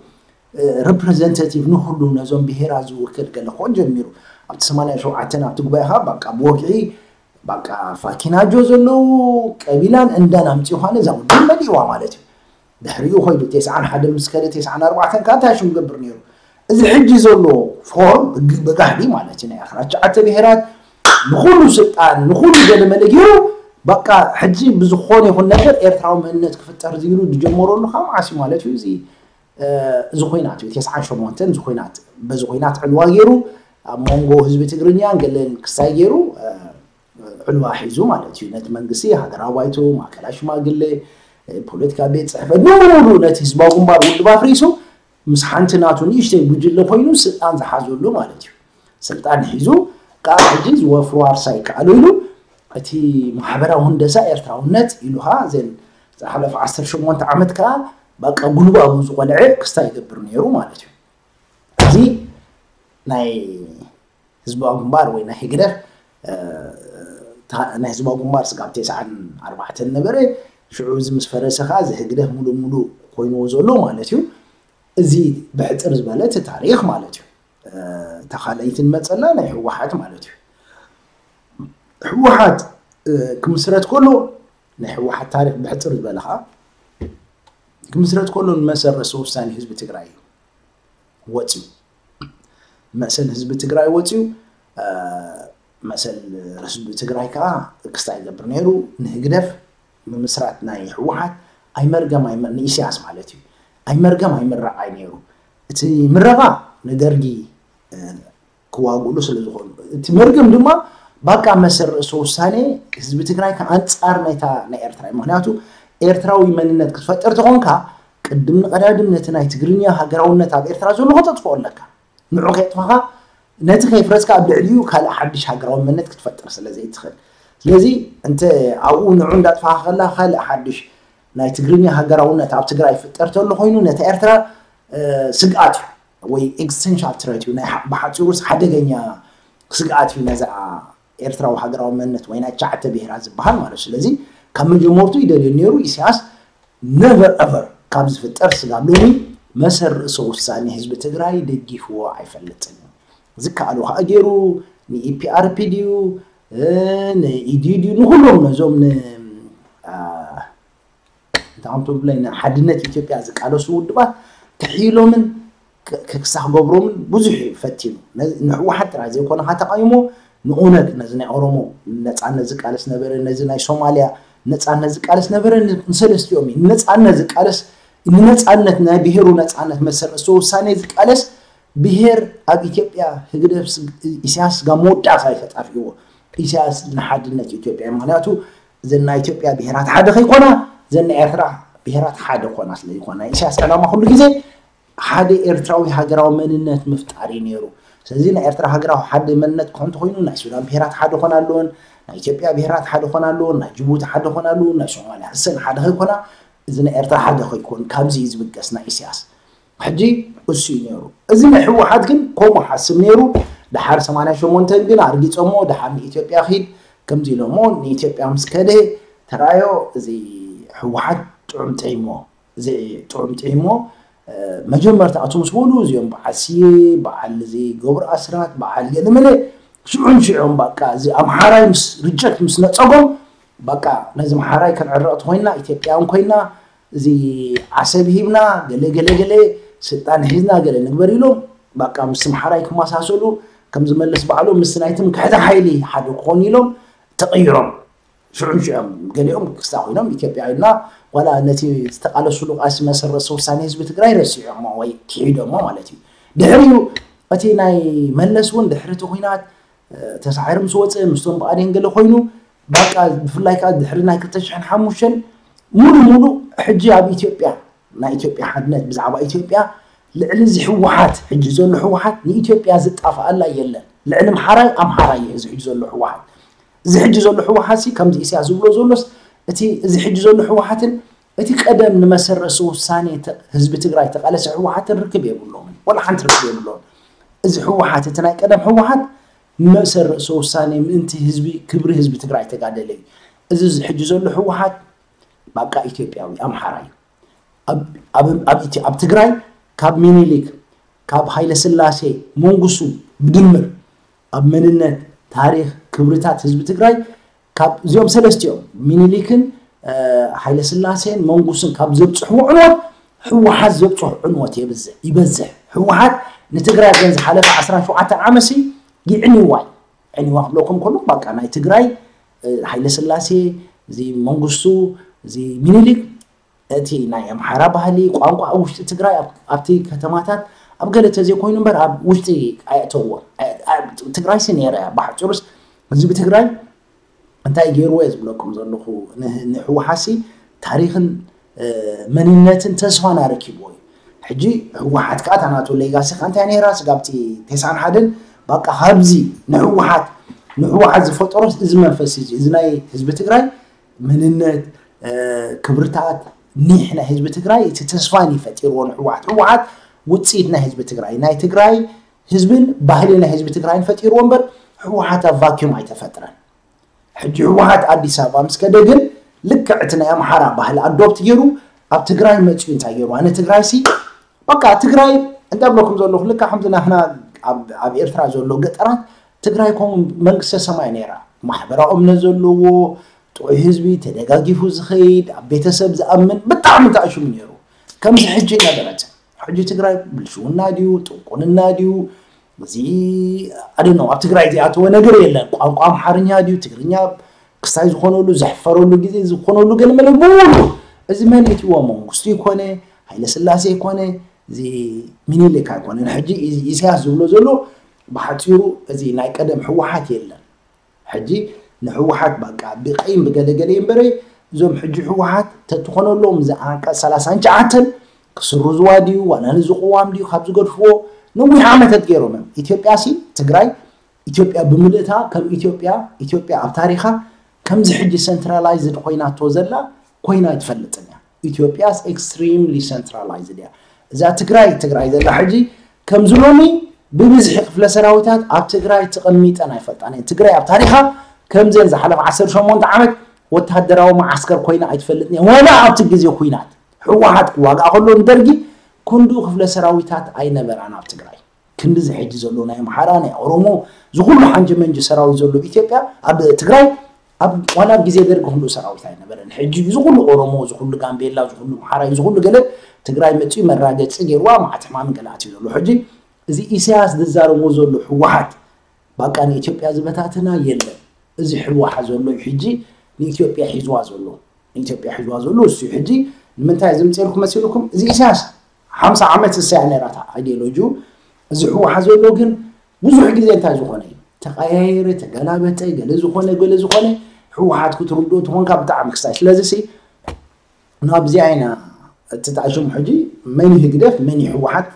ሪፕሬዘንታቲቭ ንኩሉ ነዞም ብሄራት ዝውክል ገለ ክኾን ጀሚሩ። ኣብቲ ሰማንያን ሸውዓተን ኣብቲ ጉባኤ ከዓ በቃ ብወግዒ በቃ ፋኪናጆ ዘለዉ ቀቢላን እንዳን ኣምፂኡ ከዓ ነዛ ውድብ መሊእዋ ማለት እዩ። ድሕሪኡ ኮይዱ ቴስዓን ሓደን ምስ ከደ ቴስዓን ኣርባዕተን ከዓ እንታይ ሽም ገብር ነይሩ? እዚ ሕጂ ዘሎ ፎርም ብጋህዲ ማለት እዩ ናይ ኣስራ ትሽዓተ ብሄራት ንኩሉ ስልጣን ንኩሉ ገለመለ ገይሩ በቃ ሕጂ ብዝኾነ ይኹን ነገር ኤርትራዊ መንነት ክፍጠር ዝኢሉ ዝጀመረሉ ካብ መዓስ እዩ ማለት እዩ። እዚ እዚ ኮይናት እዩ ቴስዓን ሸሞንተን እዚ ኮይናት በዚ ኮይናት ዕልዋ ገይሩ ኣብ መንጎ ህዝቢ ትግርኛን ገለን ክስታይ ገይሩ ዕልዋ ሒዙ ማለት እዩ። ነቲ መንግስቲ ሃገራዊ ባይቶ፣ ማእከላይ ሽማግሌ፣ ፖለቲካ ቤት ፅሕፈት ብምሉኡ ነቲ ህዝባዊ ግንባር ውድብ ኣፍሪሱ ምስ ሓንቲ ናቱ ንእሽተይ ጉጅለ ኮይኑ ስልጣን ዝሓዘሉ ማለት እዩ። ስልጣን ሒዙ ካብ ሕጂ ዝወፍሩ ዋርሳ ይከኣሉ ኢሉ እቲ ማሕበራዊ ህንደሳ ኤርትራውነት ኢሉ ከዓ ዘን ዝሓለፈ ዓሰርተ ሸሞንተ ዓመት ከዓ በቃ ጉልባቡ ዝቆልዐ ክስታይ ይገብር ነይሩ ማለት እዩ። እዚ ናይ ህዝባዊ ግንባር ወይ ናይ ህግደፍ ናይ ህዝባዊ ግንባር ስጋብ ተስዓን ኣርባዕተን ነበረ። ሽዑ እዚ ምስ ፈረሰ ከዓ እዚ ህግደፍ ሙሉእ ሙሉእ ኮይንዎ ዘሎ ማለት እዩ። እዚ ብሕፅር ዝበለ እቲ ታሪክ ማለት እዩ። እታ ካልኣይቲ ንመፀላ ናይ ህወሓት ማለት እዩ። ህወሓት ክምስረት ከሎ ናይ ህወሓት ታሪክ ብሕፅር ዝበለ ከዓ ክምስረት ከሎ ንመሰል ርእሰ ውሳኔ ህዝቢ ትግራይ እዩ ወፅዩ። መሰል ህዝቢ ትግራይ ወፅዩ። መሰል ህዝቢ ትግራይ ከዓ ክስታይ ይገብር ነይሩ። ንህግደፍ ምምስራት ናይ ህወሓት ኣይመርገም ኣይመ- ንኢሳያስ ማለት እዩ ኣይመርገም ኣይምረቓይ ነይሩ። እቲ ምረቓ ንደርጊ ክዋግእሉ ስለ ዝኾኑ፣ እቲ መርገም ድማ ባቃ መሰል ርእሰ ውሳኔ ህዝቢ ትግራይ ከኣንጻር ናይታ ናይ ኤርትራ እዩ። ምክንያቱ ኤርትራዊ መንነት ክትፈጥር ተኾንካ ቅድም ንቐዳድም ነቲ ናይ ትግርኛ ሃገራውነት ኣብ ኤርትራ ዘሎ ከተጥፍኦ ኣለካ። ንዑ ከየጥፋኻ ነቲ ከይፍረስካ ኣብ ልዕሊኡ ካልእ ሓድሽ ሃገራዊ መንነት ክትፈጥር ስለ ዘይትኽእል። ስለዚ እንተ ኣብኡ ንዑ እንዳጥፋኻ ከላ ካልእ ሓድሽ ናይ ትግርኛ ሃገራውነት ኣብ ትግራይ ይፍጠር ተሎ ኮይኑ ነቲ ኤርትራ ስግኣት እዩ ወይ ኤግዚስተንሻል ትረት እዩ። ናይ ብሓፂሩስ ሓደገኛ ስግኣት እዩ ነዛ ኤርትራዊ ሃገራዊ መንነት ወይ ናይ ትሽዓተ ብሄራት ዝበሃል ማለት እዩ። ስለዚ ካብ መጀመርቱ ይደልዮ ነይሩ ኢሳያስ ነቨር ኤቨር ካብ ዝፍጠር ስጋብ ሎሚ መሰል ርእሰ ውሳኔ ህዝቢ ትግራይ ደጊፍዎ ኣይፈልጥን እዩ። ዝከኣሉ ከዓ ገይሩ ንኢፒኣርፒ ድዩ ንኢዲዩ ድዩ ንኩሎም ነዞም ን እንታይ ትብለይ ንሓድነት ኢትዮጵያ ዝቃለሱ ውድባት ክሕይሎምን ክሳዕ ክገብሮምን ብዙሕ እዩ ፈቲኑ። ንህወሓት ጥራይ ዘይኮነ ተቃይሞ ንኦነግ ነዚ ናይ ኦሮሞ ነፃነት ዝቃለስ ነበረ፣ ነዚ ናይ ሶማሊያ ነፃነት ዝቃለስ ነበረ፣ ንሰለስቲኦም እዩ ነፃነት ዝቃለስ ንነፃነት ናይ ብሄሩ ነፃነት መሰል ርእሰ ውሳኔ ዝቃለስ ብሄር ኣብ ኢትዮጵያ ህግደፍ ኢሳያስ ጋር መወዳእታ እዩ ተጣፊእዎ። ኢሳያስ ንሓድነት ኢትዮጵያ እዩ። ምክንያቱ እዘን ናይ ኢትዮጵያ ብሄራት ሓደ ከይኮና እዘን ናይ ኤርትራ ብሄራት ሓደ ኮና ስለ ዝኾና ኢሳያስ ዕላማ ኩሉ ግዜ ሓደ ኤርትራዊ ሃገራዊ መንነት ምፍጣር እዩ ነይሩ። ስለዚ ናይ ኤርትራ ሃገራዊ ሓደ መንነት ክኾን ተኮይኑ ናይ ሱዳን ብሄራት ሓደ ኮና ኣለዎን፣ ናይ ኢትዮጵያ ብሄራት ሓደ ኮና ኣለዎን፣ ናይ ጅቡቲ ሓደ ኮና ኣለዎን፣ ናይ ሶማሊያ እሰን ሓደ ከይኮና እዚ ናይ ኤርትራ ሓደ ከይኮን ካብዚ እዩ ዝብገስ ናይ ኢሳያስ። ሕጂ እሱ እዩ ነይሩ። እዚ ናይ ህወሓት ግን ከምኡ ሓስብ ነይሩ። ድሓር ሰማንያ ሸሞንተ ግን ኣርጊፀሞ ድሓር ንኢትዮጵያ ኺድ ከምዚ ኢሎሞ ንኢትዮጵያ ምስ ከደ ተራዮ እዚ ህወሓት ጥዑም ጥዒሞ እዚ ጥዑም ጥዒሞ መጀመርታ ኣቱ ምስ በሉ እዚኦም በዓል ስየ በዓል እዚ ገብሩ ኣስራት በዓል ገለመለ ሽዑን ሽዑን በቃ እዚ ኣምሓራይ ምስ ሪጀክት ምስ ነፀጎም በቃ ነዚ ኣምሓራይ ከነዕረቕ ተኮይና ኢትዮጵያውን ኮይና እዚ ዓሰብ ሂብና ገለ ገለ ገለ ስልጣን ሒዝና ገለ ንግበር ኢሎም በቃ ምስ ኣምሓራይ ክመሳሰሉ ከም ዝመልስ ባዕሎም ምስ ናይ ትምክሕቲ ሓይሊ ሓደ ክኾኑ ኢሎም ተቐይሮም ሽዑን ሽዑም ገሊኦም ክስታ ኮይኖም ኢትዮጵያ ኢልና ዋላ ነቲ ዝተቃለሱሉ ቃልሲ መሰል ርእሰ ውሳኔ ህዝቢ ትግራይ ረሲዖሞ ወይ ክሒዶሞ ማለት እዩ። ድሕሪኡ እቲ ናይ መለስ እውን ድሕሪ እቲ ኩናት ተሳዒሩ ምስ ወፀ ምስቶም ብኣዴን ገለ ኮይኑ በቃ ብፍላይ ከዓ ድሕሪ ናይ ክልተ ሽሕን ሓሙሽተን ሙሉ ሙሉ ሕጂ ኣብ ኢትዮጵያ ናይ ኢትዮጵያ ሓድነት ብዛዕባ ኢትዮጵያ ልዕሊ እዚ ህወሓት ሕጂ ዘሎ ህወሓት ንኢትዮጵያ ዝጣፍኣላ የለን። ልዕሊ ኣምሓራይ ኣምሓራይ እዩ እዚ ሕጂ ዘሎ ህወሓት። እዚ ሕጂ ዘሎ ህወሓት ሲ ከምዚ ኢሳያስ ዝብሎ ዘሎስ እቲ እዚ ሕጂ ዘሎ ህወሓትን እቲ ቀደም ንመሰል ርእሰ ውሳኔ ህዝቢ ትግራይ ተቃለሰ ህወሓትን ርክብ የብሎምን። ዋላ ሓንቲ ርክብ የብሎምን። እዚ ህወሓት እቲ ናይ ቀደም ህወሓት መሰል ርእሰ ውሳኔ ምእንቲ ህዝቢ ክብሪ ህዝቢ ትግራይ ተጋደለ እዩ። እዚ ሕጂ ዘሎ ህወሓት ባቃ ኢትዮጵያዊ ኣምሓራ እዩ። ኣብ ትግራይ ካብ ሚኒሊክ ካብ ሃይለ ስላሴ መንጉሱ ብድምር ኣብ መንነት ታሪክ ክብርታት ህዝቢ ትግራይ ካብ እዚኦም ሰለስቲኦም ሚኒሊክን ሃይለ ስላሴን መንጉስን ካብ ዘብፅሕዎ ዕንወት ህወሓት ዘብፅሑ ዕንወት ይበዝሕ። ህወሓት ንትግራይ ዘን ዝሓለፈ ዓሰርተ ሸውዓተ ዓመት ሲ ይዕንዋ እዩ። ዕንዋ ክብለኩም ከሎ በቃ ናይ ትግራይ ሃይለ ስላሴ እዚ መንግስቱ እዚ ሚኒሊክ እቲ ናይ ኣምሓራ ባህሊ ቋንቋ ኣብ ውሽጢ ትግራይ ኣብቲ ከተማታት ኣብ ገለ ተዘይኮይኑ እምበር ኣብ ውሽጢ ኣየእተዎ። ትግራይ ሲ ነይረ እያ ብሓፂሩስ ህዝቢ ትግራይ እንታይ ገይርዎ እየ ዝብለኩም ዘለኹ ንህወሓሲ ታሪክን መንነትን ተስፋን ኣረኪብዎ እዩ። ሕጂ ህወሓት ከዓ እታ ናቱ ሌጋሲ ከዓ እንታይ ነይራ ስጋብቲ ቴስዓን ሓደን በቃ ካብዚ ንህወሓት ንህወሓት ዝፈጠሮስ እዚ መንፈስ እዚ እዚ ናይ ህዝቢ ትግራይ መንነት ክብርታት ኒሕ ናይ ህዝቢ ትግራይ እቲ ተስፋን እዩ ፈጢርዎ ንህወሓት። ህወሓት ውፅኢት ናይ ህዝቢ ትግራይ ናይ ትግራይ ህዝብን ባህሊ ናይ ህዝቢ ትግራይን ፈጢርዎ እምበር ህወሓት ኣብ ቫኪዩም ኣይተፈጥረን። ሕጂ ህወሓት ኣዲስ ኣበባ ምስ ከደ ግን ልክዕ እቲ ናይ ኣምሓራ ባህሊ ኣዶፕት ገይሩ ኣብ ትግራይ መፅኡ እንታይ ገይሩ ኣነ ትግራይ ሲ በቃ ትግራይ እንታይ ብለኩም ዘለኹ ልክዕ ከምዚ ናህና ኣብ ኤርትራ ዘሎ ገጠራት ትግራይ ከምኡ መንግስተ ሰማይ ነይራ ማሕበራዊ እምነት ዘለዎ ጥዑይ ህዝቢ ተደጋጊፉ ዝኸይድ ኣብ ቤተሰብ ዝኣምን ብጣዕሚ ተኣሽሙ ነይሩ። ከምዚ ሕጂ ነበረት ሕጂ ትግራይ ብልሽውና ድዩ ጥንቁልና ድዩ እዚ ኣደነው ኣብ ትግራይ ዝኣተወ ነገር የለን። ቋንቋ ኣምሓርኛ ድዩ ትግርኛ ክሳይ ዝኾነሉ ዘሕፈረሉ ግዜ ዝኾነሉ ገለመለ ብሙሉ እዚ መን እትዎ መንግስቱ ይኮነ ሃይለ ስላሴ ይኮነ እዚ ሚኒሊክ ኣይኮነን። ሕጂ ኢሳያስ ዝብሎ ዘሎ ብሓፂሩ እዚ ናይ ቀደም ህወሓት የለን። ሕጂ ንህወሓት በቃ ብቀይም ብገለገለ እምበረ እዞም ሕጂ ህወሓት ተትኾነሎም እዚ ዓንቀፅ ሰላሳን ትሽዓተን ክስርዝዋ ድዩ ዋላ ንዚ ቅዋም ድዩ ካብ ዝገድፍዎ ነዊሕ ዓመታት ገይሮም እዮም። ኢትዮጵያ ሲ ትግራይ ኢትዮጵያ ብምልእታ ከም ኢትዮጵያ ኢትዮጵያ ኣብ ታሪኻ ከምዚ ሕጂ ሰንትራላይዝድ ኮይናቶ ዘላ ኮይና ኣይትፈልጥን እያ። ኢትዮጵያ ኤክስትሪምሊ ሰንትራላይዝድ እያ። እዛ ትግራይ ትግራይ ዘላ ሕጂ ከምዚ ሎሚ ብብዝሒ ክፍለ ሰራዊታት ኣብ ትግራይ ተቐሚጠን ኣይፈልጣን እየን። ትግራይ ኣብ ታሪኻ ከምዘን ዝሓለፈ ዓሰርተ ሸሞንተ ዓመት ወታደራዊ መዓስከር ኮይና ኣይትፈልጥን እያ። ወላ ኣብቲ ግዜ ኩናት ህወሓት ክዋጋእ ከሎ ንደርጊ ክንድኡ ክፍለ ሰራዊታት ኣይነበራን ኣብ ትግራይ። ክንድዚ ሕጂ ዘሎ ናይ ኣምሓራ ናይ ኦሮሞ ዝኩሉ ሓንጂ መንጂ ሰራዊት ዘሎ ኢትዮጵያ ኣብ ትግራይ ኣብ ዋላ ኣብ ግዜ ደርጊ ክንድኡ ሰራዊት ኣይነበረን። ሕጂ እዚ ኩሉ ኦሮሞ እዚ ኩሉ ጋምቤላ እዚ ኩሉ ኣምሓራ እዚ ኩሉ ገለ ትግራይ መፅኡ መራገፂ ገይርዋ ማዕት ሕማምን ገለ ኣትዩ ዘሎ። ሕጂ እዚ ኢሳያስ ዝዛረቦ ዘሎ ህወሓት በቃ ንኢትዮጵያ ዝበታትና የለን። እዚ ህወሓት ዘሎ እዩ ሕጂ ንኢትዮጵያ ሒዝዋ ዘሎ። ንኢትዮጵያ ሒዝዋ ዘሎ እሱ እዩ። ሕጂ ንምንታይ ዝምፅልኩም መሲልኩም? እዚ ኢሳያስ ሓምሳ ዓመት እሳያ ነራታ ኣይዲዮሎጂኡ። እዚ ህወሓት ዘሎ ግን ብዙሕ ግዜ እንታይ ዝኾነ እዩ ተቀያየረ፣ ተገላበጠ፣ ገለ ዝኾነ ገለ ዝኾነ ህወሓት ክትርድኦ ትኾንካ ብጣዕሚ ክስታይ። ስለዚ ሲ ናብዚኣ ኢና እቲ ጣዕሽሙ ሕጂ መን ህግደፍ መን ህወሓት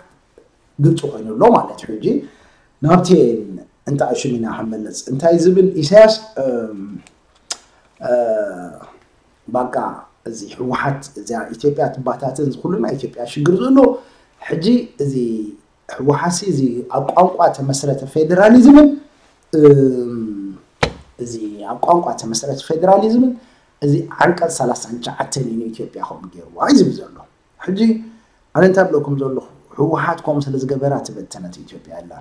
ግልፂ ኮይኑ ኣሎ ማለት እዩ። ሕጂ ናብቲ እንተኣሽም ኢና ክንመለስ እንታይ ዝብል ኢሳያስ እም፣ እ፣ ባቃ እዚ ህወሓት እዚኣ ኢትዮጵያ ትባታትን ዝኩሉ ናይ ኢትዮጵያ ሽግር ዘሎ ሕጂ እዚ ህወሓሲ እዚ ኣብ ቋንቋ ተመስረተ ፌዴራሊዝምን እም፣ እዚ ኣብ ቋንቋ ተመስረተ ፌዴራሊዝምን እዚ ዓንቀፅ ሰላሳን ትሽዓተን እዩ ንኢትዮጵያ ከምኡ ገይርዋ እዩ ዝብል ዘሎ። ሕጂ ኣነ እንታይ ብለኩም ዘለኹ ህወሓት ከምኡ ስለ ዝገበራ ትበተነት ኢትዮጵያ ኣላ።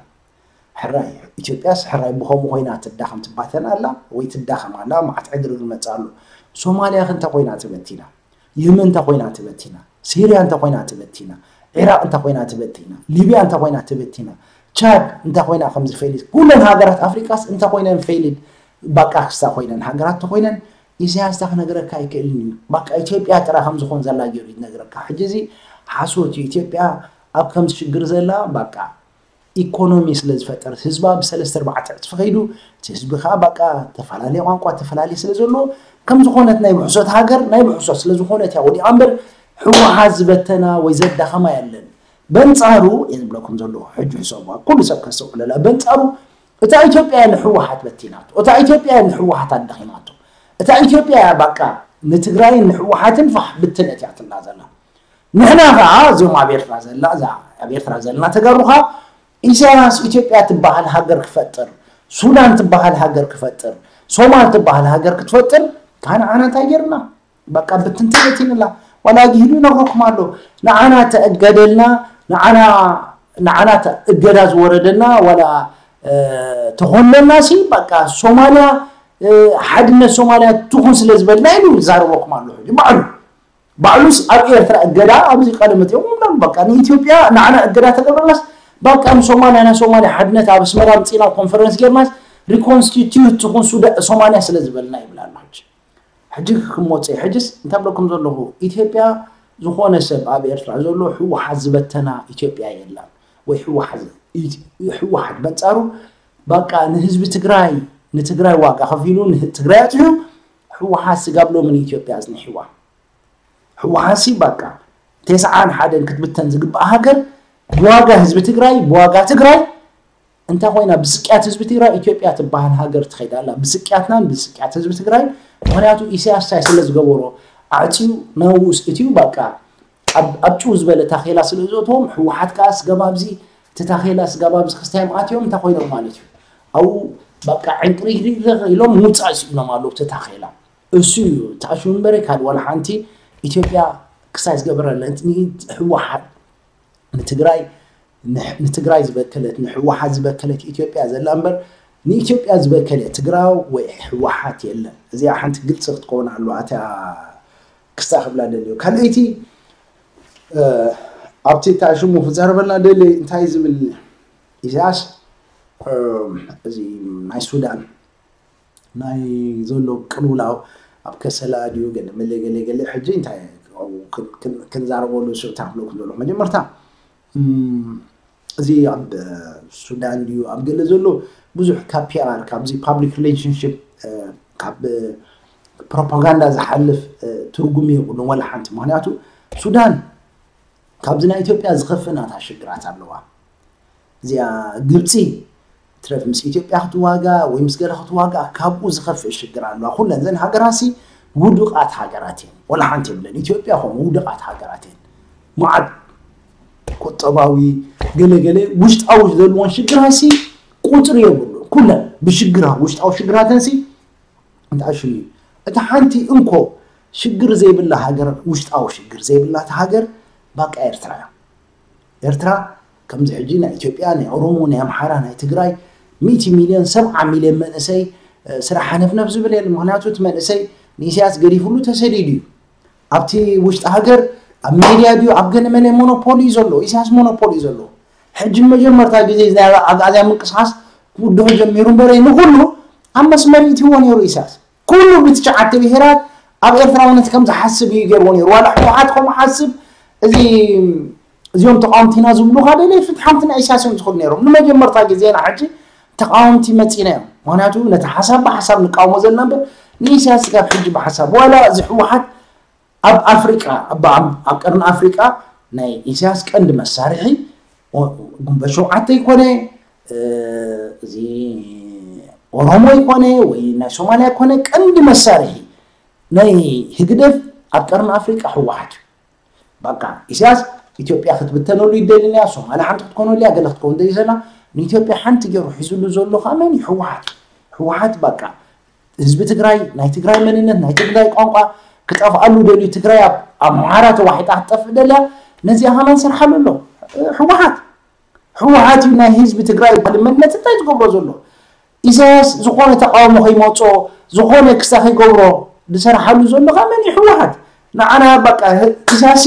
ሕራይ ኢትዮጵያስ ሕራይ ብኸምኡ ኮይና ትዳኸም ትባተን ኣላ ወይ ትዳኸም ኣላ። መዓት ዕግርግር መፅእ ኣሎ። ሶማልያ ከ እንታይ ኮይና ተበቲና? የመን እንታይ ኮይና ተበቲና? ሲርያ እንታይ ኮይና ተበቲና? ዒራቅ እንታይ ኮይና ተበቲና? ሊብያ እንታይ ኮይና ተበቲና? ቻድ እንታይ ኮይና ከምዚ ፌሊድ? ኩለን ሃገራት ኣፍሪቃስ እንታይ ኮይነን ፌሊድ? ባቃ ክስታ ኮይነን ሃገራት ተኮይነን ኢሳያስ እንታይ ክነግረካ ኣይክእልን እዩ። ባቃ ኢትዮጵያ ጥራ ከም ዝኾን ዘላ ገይሩ እዩ ዝነግረካ። ሕጂ እዚ ሓሶት እዩ። ኢትዮጵያ ኣብ ከምዚ ሽግር ዘላ ባቃ ኢኮኖሚ ስለ ዝፈጠረት ህዝባ ብሰለስተ ኣርባዕተ ዕፅፊ ከይዱ እቲ ህዝቢ ከዓ ባቃ ተፈላለየ ቋንቋ ተፈላለየ ስለ ዘሎ ከም ዝኾነት ናይ ብሕሶት ሃገር ናይ ብሕሶት ስለ ዝኾነት እያ ወዲቓ እምበር ህወሓት ዝበተና ወይ ዘዳኸማ የለን። በንፃሩ እየ ዝብለኩም ዘለኹ ሕጂ ሕሰቡ ኩሉ ሰብ ከስተውዕለላ በንፃሩ እታ ኢትዮጵያ እያ ንህወሓት በቲናቶ። እታ ኢትዮጵያ እያ ንህወሓት ኣዳኺማቶ። እታ ኢትዮጵያ እያ ባቃ ንትግራይን ንህወሓትን ፋሕ ብትነት እያ ትብላ ዘላ። ንሕና ከዓ እዚኦም ኣብ ኤርትራ ዘላ እዛ ኣብ ኤርትራ ዘለና ተጋሩ ከዓ ኢሳያስ ኢትዮጵያ ትበሃል ሃገር ክፈጥር፣ ሱዳን ትበሃል ሃገር ክፈጥር፣ ሶማል ትበሃል ሃገር ክትፈጥር ከዓ ንዓና እንታይ ገይርና? በቃ ብትንትነት ይንላ ዋላ ጊሂዱ ይነግረኩም ኣሎ። ንዓና ተእገደልና ንዓና ንዓና እገዳ ዝወረደና ዋላ ተኾንለና ሲ በቃ ሶማልያ ሓድነት ሶማልያ ትኹን ስለ ዝበልና ኢሉ ይዛረበኩም ኣሎ። ሕጂ ባዕሉ ባዕሉስ ኣብ ኤርትራ እገዳ ኣብዚ ቀደመት እዮም ሎም በቃ ንኢትዮጵያ ንዓና እገዳ ተገብረናስ በቃ ንሶማልያ ናይ ሶማልያ ሓድነት ኣብ ኣስመራ ምፅና ኮንፈረንስ ጌርናስ ሪኮንስቲትዩት ትኹን ሱዳ ሶማልያ ስለ ዝበልና ይብል ኣሎ። ሕጂ ሕጂ ክሞፀ ሕጅስ እንታይ ብለኩም ዘለኹ ኢትዮጵያ ዝኾነ ሰብ ኣብ ኤርትራ ዘሎ ህወሓት ዝበተና ኢትዮጵያ የላን ወይ ህወሓት ህወሓት በንፃሩ በቃ ንህዝቢ ትግራይ ንትግራይ ዋጋ ከፊሉ ትግራይ ኣፅሑ ህወሓት ስጋብ ሎሚ ንኢትዮጵያ ኣፅኒሕዋ። ህወሓት ሲ በቃ ተስዓን ሓደን ክትብተን ዝግባእ ሃገር ብዋጋ ህዝቢ ትግራይ ብዋጋ ትግራይ እንታይ ኮይና ብስቅያት ህዝቢ ትግራይ ኢትዮጵያ ትበሃል ሃገር ትኸይድ ኣላ። ብስቅያትናን ብስቅያት ህዝቢ ትግራይ ምክንያቱ ኢሳያስ እንታይ ስለ ዝገበሮ ኣዕፅዩ ናብኡ እትዩ በቃ ኣብ ጭው ዝበለ ታኼላ ስለ ዘእትዎም ህወሓት ከዓ ስገብ ኣብዚ እቲ ታኼላ ስገብ ኣብዚ ክስታዮም ኣትዮም እንታይ ኮይኖም ማለት እዩ ኣብኡ በቃ ዕንቅሪግሪግ ኢሎም ምውፃእ ስኢኖም ኣለዉ እቲ ታኼላ እሱ እዩ ተኣሽሙ እምበረ ካልእ ዋላ ሓንቲ ኢትዮጵያ ክሳይ ዝገበረለን ህወሓት ንትግራይ ንትግራይ ዝበከለት ንህወሓት ዝበከለት ኢትዮጵያ ዘላ እምበር ንኢትዮጵያ ዝበከለ ትግራው ወይ ህወሓት የለን። እዚኣ ሓንቲ ግልፂ ክትከውን ኣለዋ። እታ ክስታ ክብላ ደልዮ ካልኣይቲ ኣብቲ እታ ሽሙ ክዛረበልና ደሊ እንታይ ዝብል ኢሳያስ እዚ ናይ ሱዳን ናይ ዘሎ ቅልውላው ኣብ ከሰላ ድዩ ገለ መለ ገለ ገለ ሕጂ እንታይ ክንዛረበሉ ስብታ ክብለኩም ዘለኹ መጀመርታ እዚ ኣብ ሱዳን ድዩ ኣብ ገለ ዘሎ ብዙሕ ካብ ፒኣር ካብዚ ፓብሊክ ሪሌሽንሽፕ ካብ ፕሮፓጋንዳ ዝሓልፍ ትርጉም የብሉን ወላ ሓንቲ። ምክንያቱ ሱዳን ካብዚ ናይ ኢትዮጵያ ዝኸፍእ ናታ ሽግራት ኣለዋ። እዚኣ ግብፂ ትረፍ ምስ ኢትዮጵያ ክትዋጋ ወይ ምስ ገለ ክትዋጋ ካብኡ ዝኸፍእ ሽግር ኣለዋ። ኩለን ዘን ሃገራሲ ውዱቃት ሃገራት እየን። ወላ ሓንቲ የብለን። ኢትዮጵያ ከምኡ ውዱቃት ሃገራት እየን። መዓት ቁጠባዊ ገለገለ ውሽጣዊ ዘለዎን ሽግራሲ ቁፅሪ የብሉ። ኩለን ብሽግራ ውሽጣዊ ሽግራተንሲ እንታይ ሽሙ እዩ? እታ ሓንቲ እንኮ ሽግር ዘይብላ ሃገር ውሽጣዊ ሽግር ዘይብላ እታ ሃገር ባቃ ኤርትራ እያ። ኤርትራ ከምዚ ሕጂ ናይ ኢትዮጵያ ናይ ኦሮሞ ናይ ኣምሓራ ናይ ትግራይ ሚእቲ ሚልዮን ሰብዓ ሚልዮን መንእሰይ ስራሕ ሃነፍነፍ ዝብል የለ። ምክንያቱ እቲ መንእሰይ ንኢሳያስ ገዲፍሉ ተሰዲዱ እዩ። ኣብቲ ውሽጢ ሃገር ኣብ ሜድያ ድዩ ኣብ ገለ መለ ሞኖፖሊ እዩ ዘሎ። ኢሳያስ ሞኖፖሊ እዩ ዘሎ። ሕጂ ንመጀመርታ ግዜ ናይ ኣግኣዝያ ምንቅስቃስ ክውድሑ ጀሚሩ እምበረ ንኩሉ ኣብ መስመር ይእትዎ ነይሩ ኢሳያስ። ኩሉ ብትሽዓተ ብሄራት ኣብ ኤርትራውነት ከም ዝሓስብ እዩ ገይርዎ ነይሩ። ዋላ ህወሓት ከምኡ ሓስብ እዚ እዚኦም ተቃወምቲና ዝብሉካ ደለ ፍትሓምቲ ናይ ኢሳያስ እዮም ዝኽዱ ነይሮም። ንመጀመርታ ግዜና ሕጂ ተቃወምቲ መፂና እዮም። ምክንያቱ ነቲ ሓሳብ ብሓሳብ ንቃወሞ ዘለና እምበር ንኢሳያስ ስጋብ ሕጂ ብሓሳብ ዋላ እዚ ህወሓት ኣብ ኣፍሪቃ ኣብ ቀርኒ ኣፍሪቃ ናይ ኢሳያስ ቀንዲ መሳርሒ ጉንበት ሸውዓተ ይኮነ እዚ ኦሮሞ ይኮነ ወይ ናይ ሶማሊያ ይኮነ ቀንዲ መሳርሒ ናይ ህግደፍ ኣብ ቀርኒ ኣፍሪቃ ህወሓት እዩ። በቃ ኢሳያስ ኢትዮጵያ ክትብተነሉ ይደልንያ ሶማሊያ ሓንቲ ክትኮነሉ እያ ገለ ክትከውን ደሊ ዘላ ንኢትዮጵያ ሓንቲ ገይሩ ሒዙሉ ዘሎ ከዓ መን እዩ? ህወሓት። ህወሓት በቃ ህዝቢ ትግራይ ናይ ትግራይ መንነት ናይ ትግራይ ቋንቋ ክጠፍኣሉ ደልዩ ትግራይ ኣብ ኣምሓራ ተዋሒጣ ክትጠፍእ ደልያ ነዚኣ ከማን ሰርሓሉ ኣሎ ህወሓት። ህወሓት እዩ ናይ ህዝቢ ትግራይ ባል መንነት እንታይ ዝገብሮ ዘሎ ኢሳያስ ዝኾነ ተቃውሞ ከይመፆ ዝኾነ ክሳ ከይገብሮ ዝሰርሓሉ ዘሎ ከመን እዩ ህወሓት ንዓና በቃ ኢሳያስ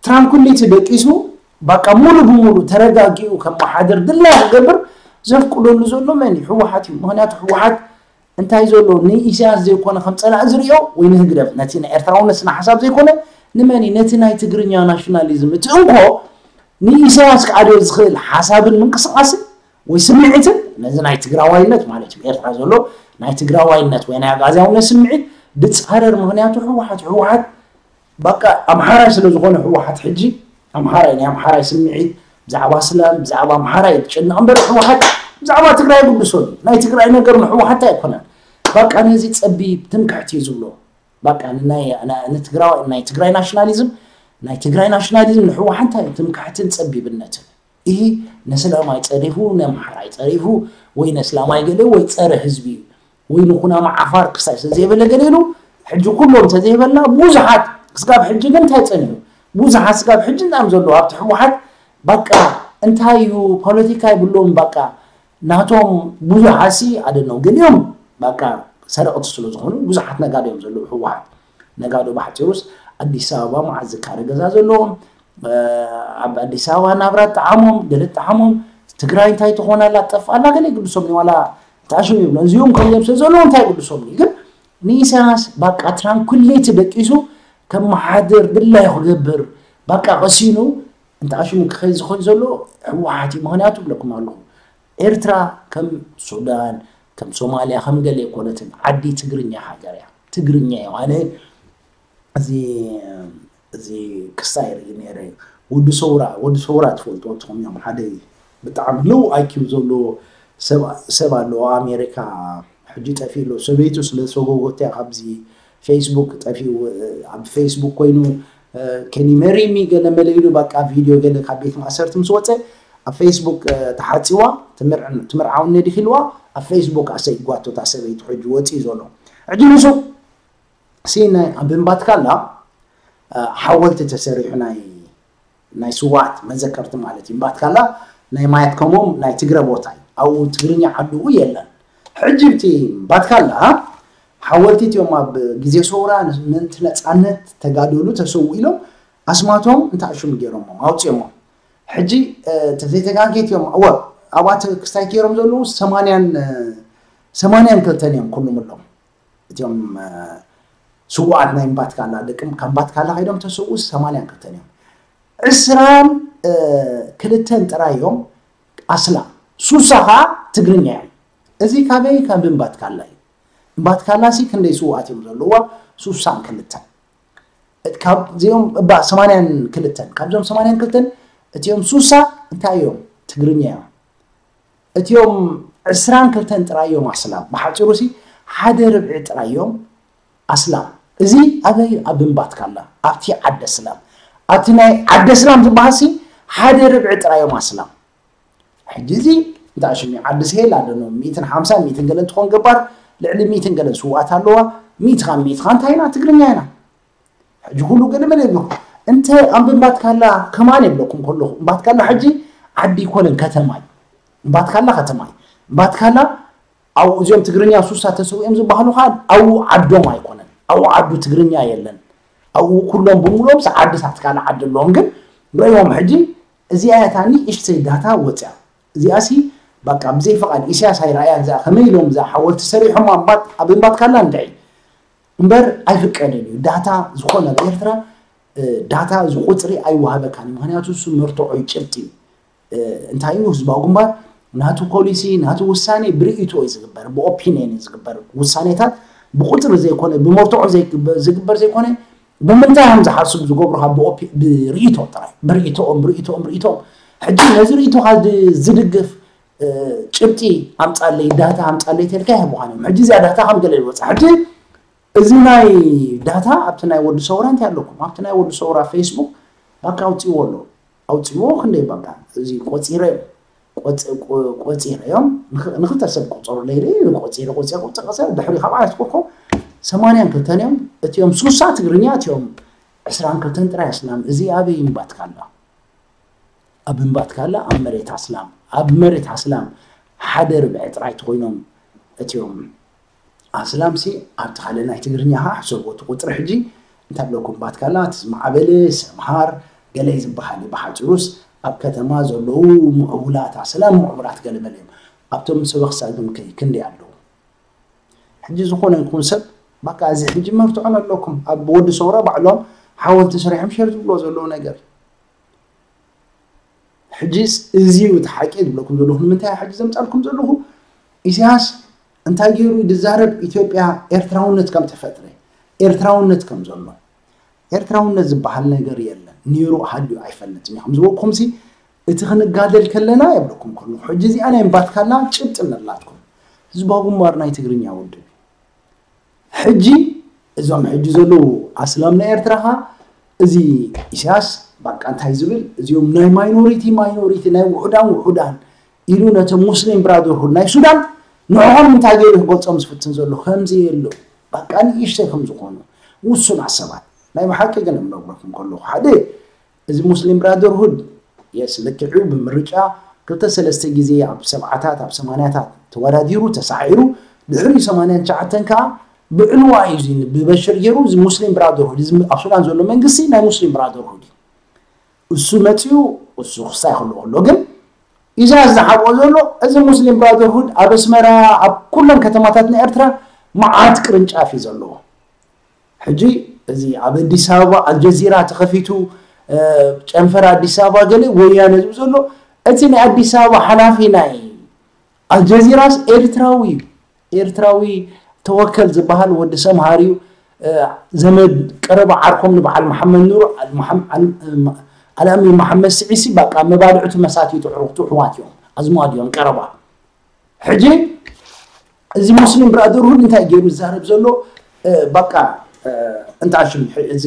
ትራንኩሊቲ ደቂሱ በቃ ሙሉ ብሙሉ ተረጋጊኡ ከመሓድር ድላይ ክገብር ዘፍቅደሉ ዘሎ መን እዩ ህወሓት እዩ ምክንያቱ ህወሓት እንታይ ዘሎ ንኢሳያስ ዘይኮነ ከም ፀላእ ዝሪኦ ወይ ንህግደፍ ነቲ ናይ ኤርትራውነት ስነ ሓሳብ ዘይኮነ ንመን እዩ ነቲ ናይ ትግርኛ ናሽናሊዝም እቲ እንኮ ንኢሳያስ ክኣድዮ ዝኽእል ሓሳብን ምንቅስቃስን ወይ ስምዒትን ነዚ ናይ ትግራዋይነት ማለት እዩ ኤርትራ ዘሎ ናይ ትግራዋይነት ወይ ናይ ኣጋዝያውነት ስምዒት ድፃረር ምክንያቱ ህወሓት ህወሓት በቃ ኣምሓራይ ስለ ዝኾነ ህወሓት ሕጂ ኣምሓራይ ናይ ኣምሓራይ ስምዒት ብዛዕባ ስላም ብዛዕባ ኣምሓራይ ዝጨነቕ እምበር ህወሓት ብዛዕባ ትግራይ ግድሶ ናይ ትግራይ ነገር ንህወሓት ኣይኮነን በቃ ነዚ ፀቢብ ትምክሕቲ እዩ ዝብሎ በቃ ናይ ትግራይ ናሽናሊዝም ናይ ትግራይ ናሽናሊዝም ንህወሓት እንታይ ትምክሕትን ፀቢብነትን ይህ ነስላማይ ፀሪፉ ነምሓራይ ፀሪፉ ወይ ነስላማይ ገለ ወይ ፀረ ህዝቢ እዩ ወይ ንኩናማ ዓፋር ክሳይ ስለዘይበለ ገለ ኢሉ ሕጂ ኩሎም ተዘይበልና ብዙሓት ስጋብ ሕጂ ግን እንታይ ፀኒሑ ብዙሓት ስጋብ ሕጂ እናም ዘለዉ ኣብቲ ህወሓት በቃ እንታይ እዩ ፖለቲካ ይብሎም በቃ ናቶም ብዙሓሲ ኣደነው ገሊኦም በቃ ሰረቕቲ ስለ ዝኾኑ ብዙሓት ነጋዶ እዮም ዘለዉ ህወሓት ነጋዶ ባሕፂሩስ ኣዲስ ኣበባ መዓዝ ዝካረ ገዛ ዘለዎም ኣብ ኣዲስ ኣበባ ናብራ ጠዓሞም ገለ ጠዓሞም ትግራይ እንታይ ትኾን ኣላ ጠፍ ኣላ ገለ ይግድሶም ዋላ ተኣሽም ይብሎ እዚኦም ከምዚኦም ስለ ዘለዉ እንታይ ይግድሶም ግን ንኢሳያስ ባቃ ትራንኩሌት ደቂሱ ከመሓድር ድላዩ ክገብር ባቃ ቀሲኑ እንተኣሽሙ ክኸይ ዝኸይ ዘሎ ህወሓት እዩ ምክንያቱ ብለኩም ኣለኹ ኤርትራ ከም ሱዳን ከም ሶማልያ ከም ገለ ኣይኮነትን ዓዲ ትግርኛ ሃገር እያ ትግርኛ እዩ ኣነ እዚ እዚ ክስታይ ርኢ ነይረ እዩ ወዲ ሰውራ ወዲ ሰውራ ትፈልጥዎ ትኾኑ እዮም ሓደ ብጣዕሚ ሎው ኣይኪው ዘለዎ ሰብ ኣለዎ ኣሜሪካ ሕጂ ጠፊኡ ኣሎ ሰበይቱ ስለ ሰጎጎት እያ ካብዚ ፌስቡክ ጠፊኡ ኣብ ፌስቡክ ኮይኑ ከኒ መሪሚ ገለ መለ ኢሉ በቃ ቪድዮ ገለ ካብ ቤት ማእሰርቲ ምስ ወፀ ኣብ ፌስቡክ ተሓፂዋ ትምርዓውኒ ዲኺ ኢልዋ ኣብ ፌስቡክ ኣሰይጓቶ እታ ሰበይቱ ሕጂ ወፂኡ ዘሎ ሕጂ ንሱ ሲ ኣብ እምባትካላ ሓወልቲ ተሰሪሑ ናይ ናይ ስዋት መዘከርቲ ማለት እዩ እምባትካላ ናይ ማየት ከሞም ናይ ትግረ ቦታ እዩ ኣብኡ ትግርኛ ዓድኡ የለን ሕጂ ብቲ እምባትካላ ሓወልቲ እቲኦም ኣብ ግዜ ሰውራ ምእንቲ ነፃነት ተጋደሉ ተሰው ኢሎም ኣስማቶም እንታይ ሽሙ ገይሮሞም ኣውፅኦሞም ሕጂ ተዘይተጋጌት እዮም እወ ኣብኣ ክስታይ ገይሮም ዘለዉ ሰማንያን ሰማንያን ክልተን እዮም ኩሉም ኣለዉ እቲኦም ስውኣት ናይ እምባትካላ ደቂ ካብ እምባትካላ ከይዶም ተሰውኡ ሰማንያን ክልተን እዮም። ዕስራን ክልተን ጥራይ እዮም ኣስላም፣ ሱሳ ከዓ ትግርኛ እዮም። እዚ ካበይ? ካብ እምባትካላ እዩ። እምባትካላ ሲ ክንደይ ስውኣት እዮም ዘለዋ? ሱሳን ክልተን። ካብዚኦም እባ ሰማንያን ክልተን፣ ካብዞም ሰማንያን ክልተን እቲኦም ሱሳ እንታይ እዮም? ትግርኛ እዮም። እቲኦም ዕስራን ክልተን ጥራይ እዮም ኣስላም። ብሓፂሩ ሲ ሓደ ርብዒ ጥራይ እዮም ኣስላም። እዚ ኣበይ? ኣብ እምባትካላ፣ ኣብቲ ዓደ ስላም። ኣብቲ ናይ ዓደ ስላም ዝበሃል ሲ ሓደ ርብዒ ጥራይ እዮም ኣስላም። ሕጂ እዚ እንታይ ሽሚ ዓዲ ስሄል ኣለኖ፣ ሚእትን ሓምሳን ሚእትን ገለን ትኾን ገባር፣ ልዕሊ ሚእትን ገለን ስውኣት ኣለዋ። ሚእትኻ ሚእትኻ እንታይ ኢና? ትግርኛ ኢና። ሕጂ ኩሉ ገለ መለ ይብለኩም። እንተ ኣብ እምባትካላ ከማን የብለኩም ከለኹ፣ እምባትካላ ሕጂ ዓዲ ይኮነን ከተማ እዩ። እምባትካላ ከተማ እዩ። እምባትካላ ኣብኡ እዚኦም ትግርኛ ሱሳ ተሰዊኦም ዝበሃሉ ከዓ ኣብኡ ዓዶም ኣይኮነን። ኣብኡ ዓዱ ትግርኛ የለን። ኣብኡ ኩሎም ብምሉኦም ስ ዓድታት ካልእ ዓዲ ኣለዎም። ግን ረእዮም ሕጂ እዚኣ እታ ንእሽተይ ዳታ ወፅያ። እዚኣ ሲ በቃ ብዘይ ፍቓድ ኢሳያስ ኣይረኣያን። እዚኣ ከመይ ኢሎም እዛ ሓወልቲ ሰሪሖም ኣብ እምባት-፣ ኣብ እምባትካላ እንድዒ እምበር ኣይፍቀድን እዩ። ዳታ ዝኾነ ኣብ ኤርትራ፣ እ፣ ዳታ እዚ ቁፅሪ ኣይወሃበካን እዩ። ምኽንያቱ እሱ መርትዖ እዩ፣ ጭብጢ እዩ። እ፣ እንታይ እዩ ህዝባዊ ግንባር ናቱ ፖሊሲ፣ ናቱ ውሳኔ ብርእይቶ እዩ ዝግበር፣ ብኦፒንየን እዩ ዝግበር። ውሳኔታት ብቁፅሪ ዘይኮነ፣ ብመርትዖ ዘይግበ-፣ ዝግበር ዘይኮነ፣ ብምንታይ እዮም ዝሓስቡ ዝገብሩ ካብ ብኦፒ-፣ ብርእይቶ ጥራይ፣ ብርእይቶኦም፣ ብርእይቶኦም፣ ብርእይቶኦም። ሕጂ ነዚ ርእይቶኻ ዝ-፣ ዝድግፍ፣ እ፣ ጭብጢ ኣምጻለይ፣ ዳታ ኣምጻለይ ተልካ ይህቡኻን እዮም። ሕጂ እዚኣ ዳታ ከም ገለ ይወጻ። ሕጂ እዚ ናይ ዳታ ኣብቲ ናይ ወዲ ሰውራ እንታይ ኣለኩም? ኣብቲ ናይ ወዲ ሰውራ ፌስቡክ ባካ ኣውጺዎ ኣሎ። ኣውጺዎ ክንደይ ባካ? እዚ ቆጺረ፣ ቆጽ-፣ ቆ-፣ ቆጺረ እዮም። ንኽ-፣ ንኽልተ ሰብ ቆጸሩ ለይለ ቆጺረ፣ ቆጺረ፣ ቆጺረ፣ ቆጺረ። ድሕሪ ካብ ዓለት ኮኮ ሰማንያን ክልተን እዮም። እቲኦም ሱሳ ትግርኛ፣ እቲኦም ዕስራን ክልተን ጥራይ ኣስላም። እዚ ኣበይ እምባትካላ? ኣብ እምባትካላ ኣብ መሬት ኣስላም፣ ኣብ መሬት ኣስላም ሓደ ርብዒ ጥራይ ተኾይኖም እቲኦም ኣስላም ሲ ኣብቲ ካልእ ናይ ትግርኛ ኸዓ ሕሰብዎ እቲ ቁፅሪ ሕጂ እንታይ ብለኩም እምባትካላ እቲ ዝማዕበለ ሰምሃር ገለ ዝበሃል እዩ። ብሓፂሩስ ኣብ ከተማ ዘለዉ ምዕቡላት ኣስላም ምዕቡላት ገለመለ እዮም። ኣብቶም ሰበኽሳ ግን ከይ ክንደይ ኣለዉ? ሕጂ ዝኾነ ይኹን ሰብ በቃ እዚ ሕጂ መርትዖ ኣለኩም ኣብ ወዲ ሰውራ ባዕሎም ሓወልቲ ሰሪሖም ሸር ዝብሎ ዘለዉ ነገር እዩ። ሕጂስ እዚ እዩ እቲ ሓቂ ዝብለኩም ዘለኹ። ንምንታይ ሕጂ ዘምጻልኩም ዘለኹ? ኢሳያስ እንታይ ገይሩ ዝዛረብ? ኢትዮጵያ ኤርትራውነት ከም ተፈጥረ፣ ኤርትራውነት ከም ዘሎ። ኤርትራውነት ዝበሃል ነገር የለን። ነይሩ ሃልዩ ኣይፈልጥን እዩ። ከም ዝበልኩኹም ሲ እቲ ክንጋደል ከለና የብለኩም ከለኹ። ሕጂ እዚኣ ናይ እምባትካላ ጭብጢ ኣለላትኩም። ህዝባዊ ግንባር ናይ ትግርኛ ውድብ እዩ። ሕጂ እዞም ሕጂ ዘለዉ ኣስላም ናይ ኤርትራ ኸ እዚ ኢሳያስ በቃ እንታይ ዝብል እዚኦም ናይ ማይኖሪቲ ማይኖሪቲ ናይ ውሑዳን ውሑዳን ኢሉ ነቶም ሙስሊም ብራደርሁድ ናይ ሱዳን ንዕኦም እንታይ ገይሩ ክገልጾም ዝፍትን ዘሎ ከምዚ የሎ በቃ ንእሽተይ ከም ዝኾኑ ውሱናት ሰባት ናይ ብሓቂ ግን እነግረኩም ከለኹ ሓደ እዚ ሙስሊም ብራደርሁድ የስ ልክዕ እዩ ብምርጫ ክልተ ሰለስተ ግዜ ኣብ ሰብዓታት ኣብ ሰማንያታት ተወዳዲሩ ተሳዒሩ ድሕሪ ሰማንያን ትሽዓተን ከዓ ብዕልዋ እዩ እዚ ብበሽር ገይሩ እዚ ሙስሊም ብራደርሁድ እዚ ኣብ ሱዳን ዘሎ መንግስቲ ናይ ሙስሊም ብራደርሁድ እዩ እሱ መፅኡ እሱ ክስታይ ከሎ ከሎ ግን ኢሳያስ ዝሓብኦ ዘሎ እዚ ሙስሊም ብራደርሁድ ኣብ ኣስመራ ኣብ ኩለን ከተማታት ናይ ኤርትራ መዓት ቅርንጫፍ እዩ ዘለዎ ሕጂ እዚ ኣብ ኣዲስ ኣበባ ኣልጀዚራ ተኸፊቱ ጨንፈር ኣዲስ ኣበባ ገለ ወያነ ዝብ ዘሎ እቲ ናይ ኣዲስ ኣበባ ሓላፊ ናይ ኣልጀዚራስ ኤርትራዊ እዩ ኤርትራዊ ተወከል ዝበሃል ወዲ ሰምሃር እዩ ዘመድ ቀረባ ዓርኮም ንበዓል መሓመድ ኑሩ ኣልኣሚን መሓመድ ስዒሲ በቃ መባልዕቱ መሳትይቱ ዕሩኽቱ ሕዋት እዮም ኣዝማድ እዮም ቀረባ ሕጂ እዚ ሙስሊም ብራደርሁድ እንታይ ገይሩ ዝዛረብ ዘሎ በቃ እንታ ሽም እዚ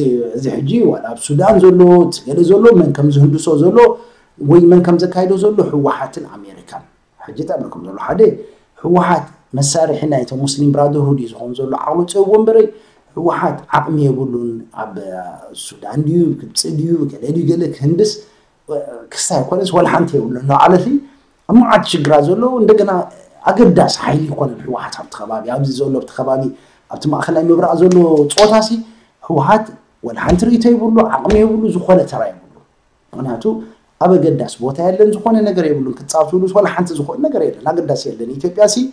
ሕጂ ዋላ ኣብ ሱዳን ዘሎ ገለ ዘሎ መን ከም ዝህንድሶ ዘሎ ወይ መን ከም ዘካይዶ ዘሎ ህወሓትን ኣሜሪካን ሕጂ ጠብልኩም ዘሎ ሓደ ህወሓት መሳርሒ ናይቶም ሙስሊም ብራደርሁድ እዩ ዝኾን ዘሎ ዓቕሉ ፀብዎ እምበረይ ህወሓት ዓቕሚ የብሉን ኣብ ሱዳን ድዩ ግብፂ ድዩ ገለ ድዩ ገለ ክህንድስ ክስታይ ኣይኮነስ ወላ ሓንቲ የብሉን እናበዓለት ኣብ መዓት ሽግራ ዘለዉ እንደገና ኣገዳሲ ሓይሊ ይኮነን ህወሓት ኣብቲ ከባቢ ኣብዚ ዘሎ ኣብቲ ከባቢ ኣብቲ ማእከላይ ምብራቕ ዘሎ ፆታ ሲ ህወሓት ወላ ሓንቲ ርእይቶ የብሉ ዓቕሚ የብሉ ዝኾነ ተራ የብሉ ምክንያቱ ኣብ ኣገዳሲ ቦታ የለን ዝኾነ ነገር የብሉን ክትፃወትሉስ ወላ ሓንቲ ዝኾነ ነገር የለን ኣገዳሲ የለን ኢትዮጵያ ሲ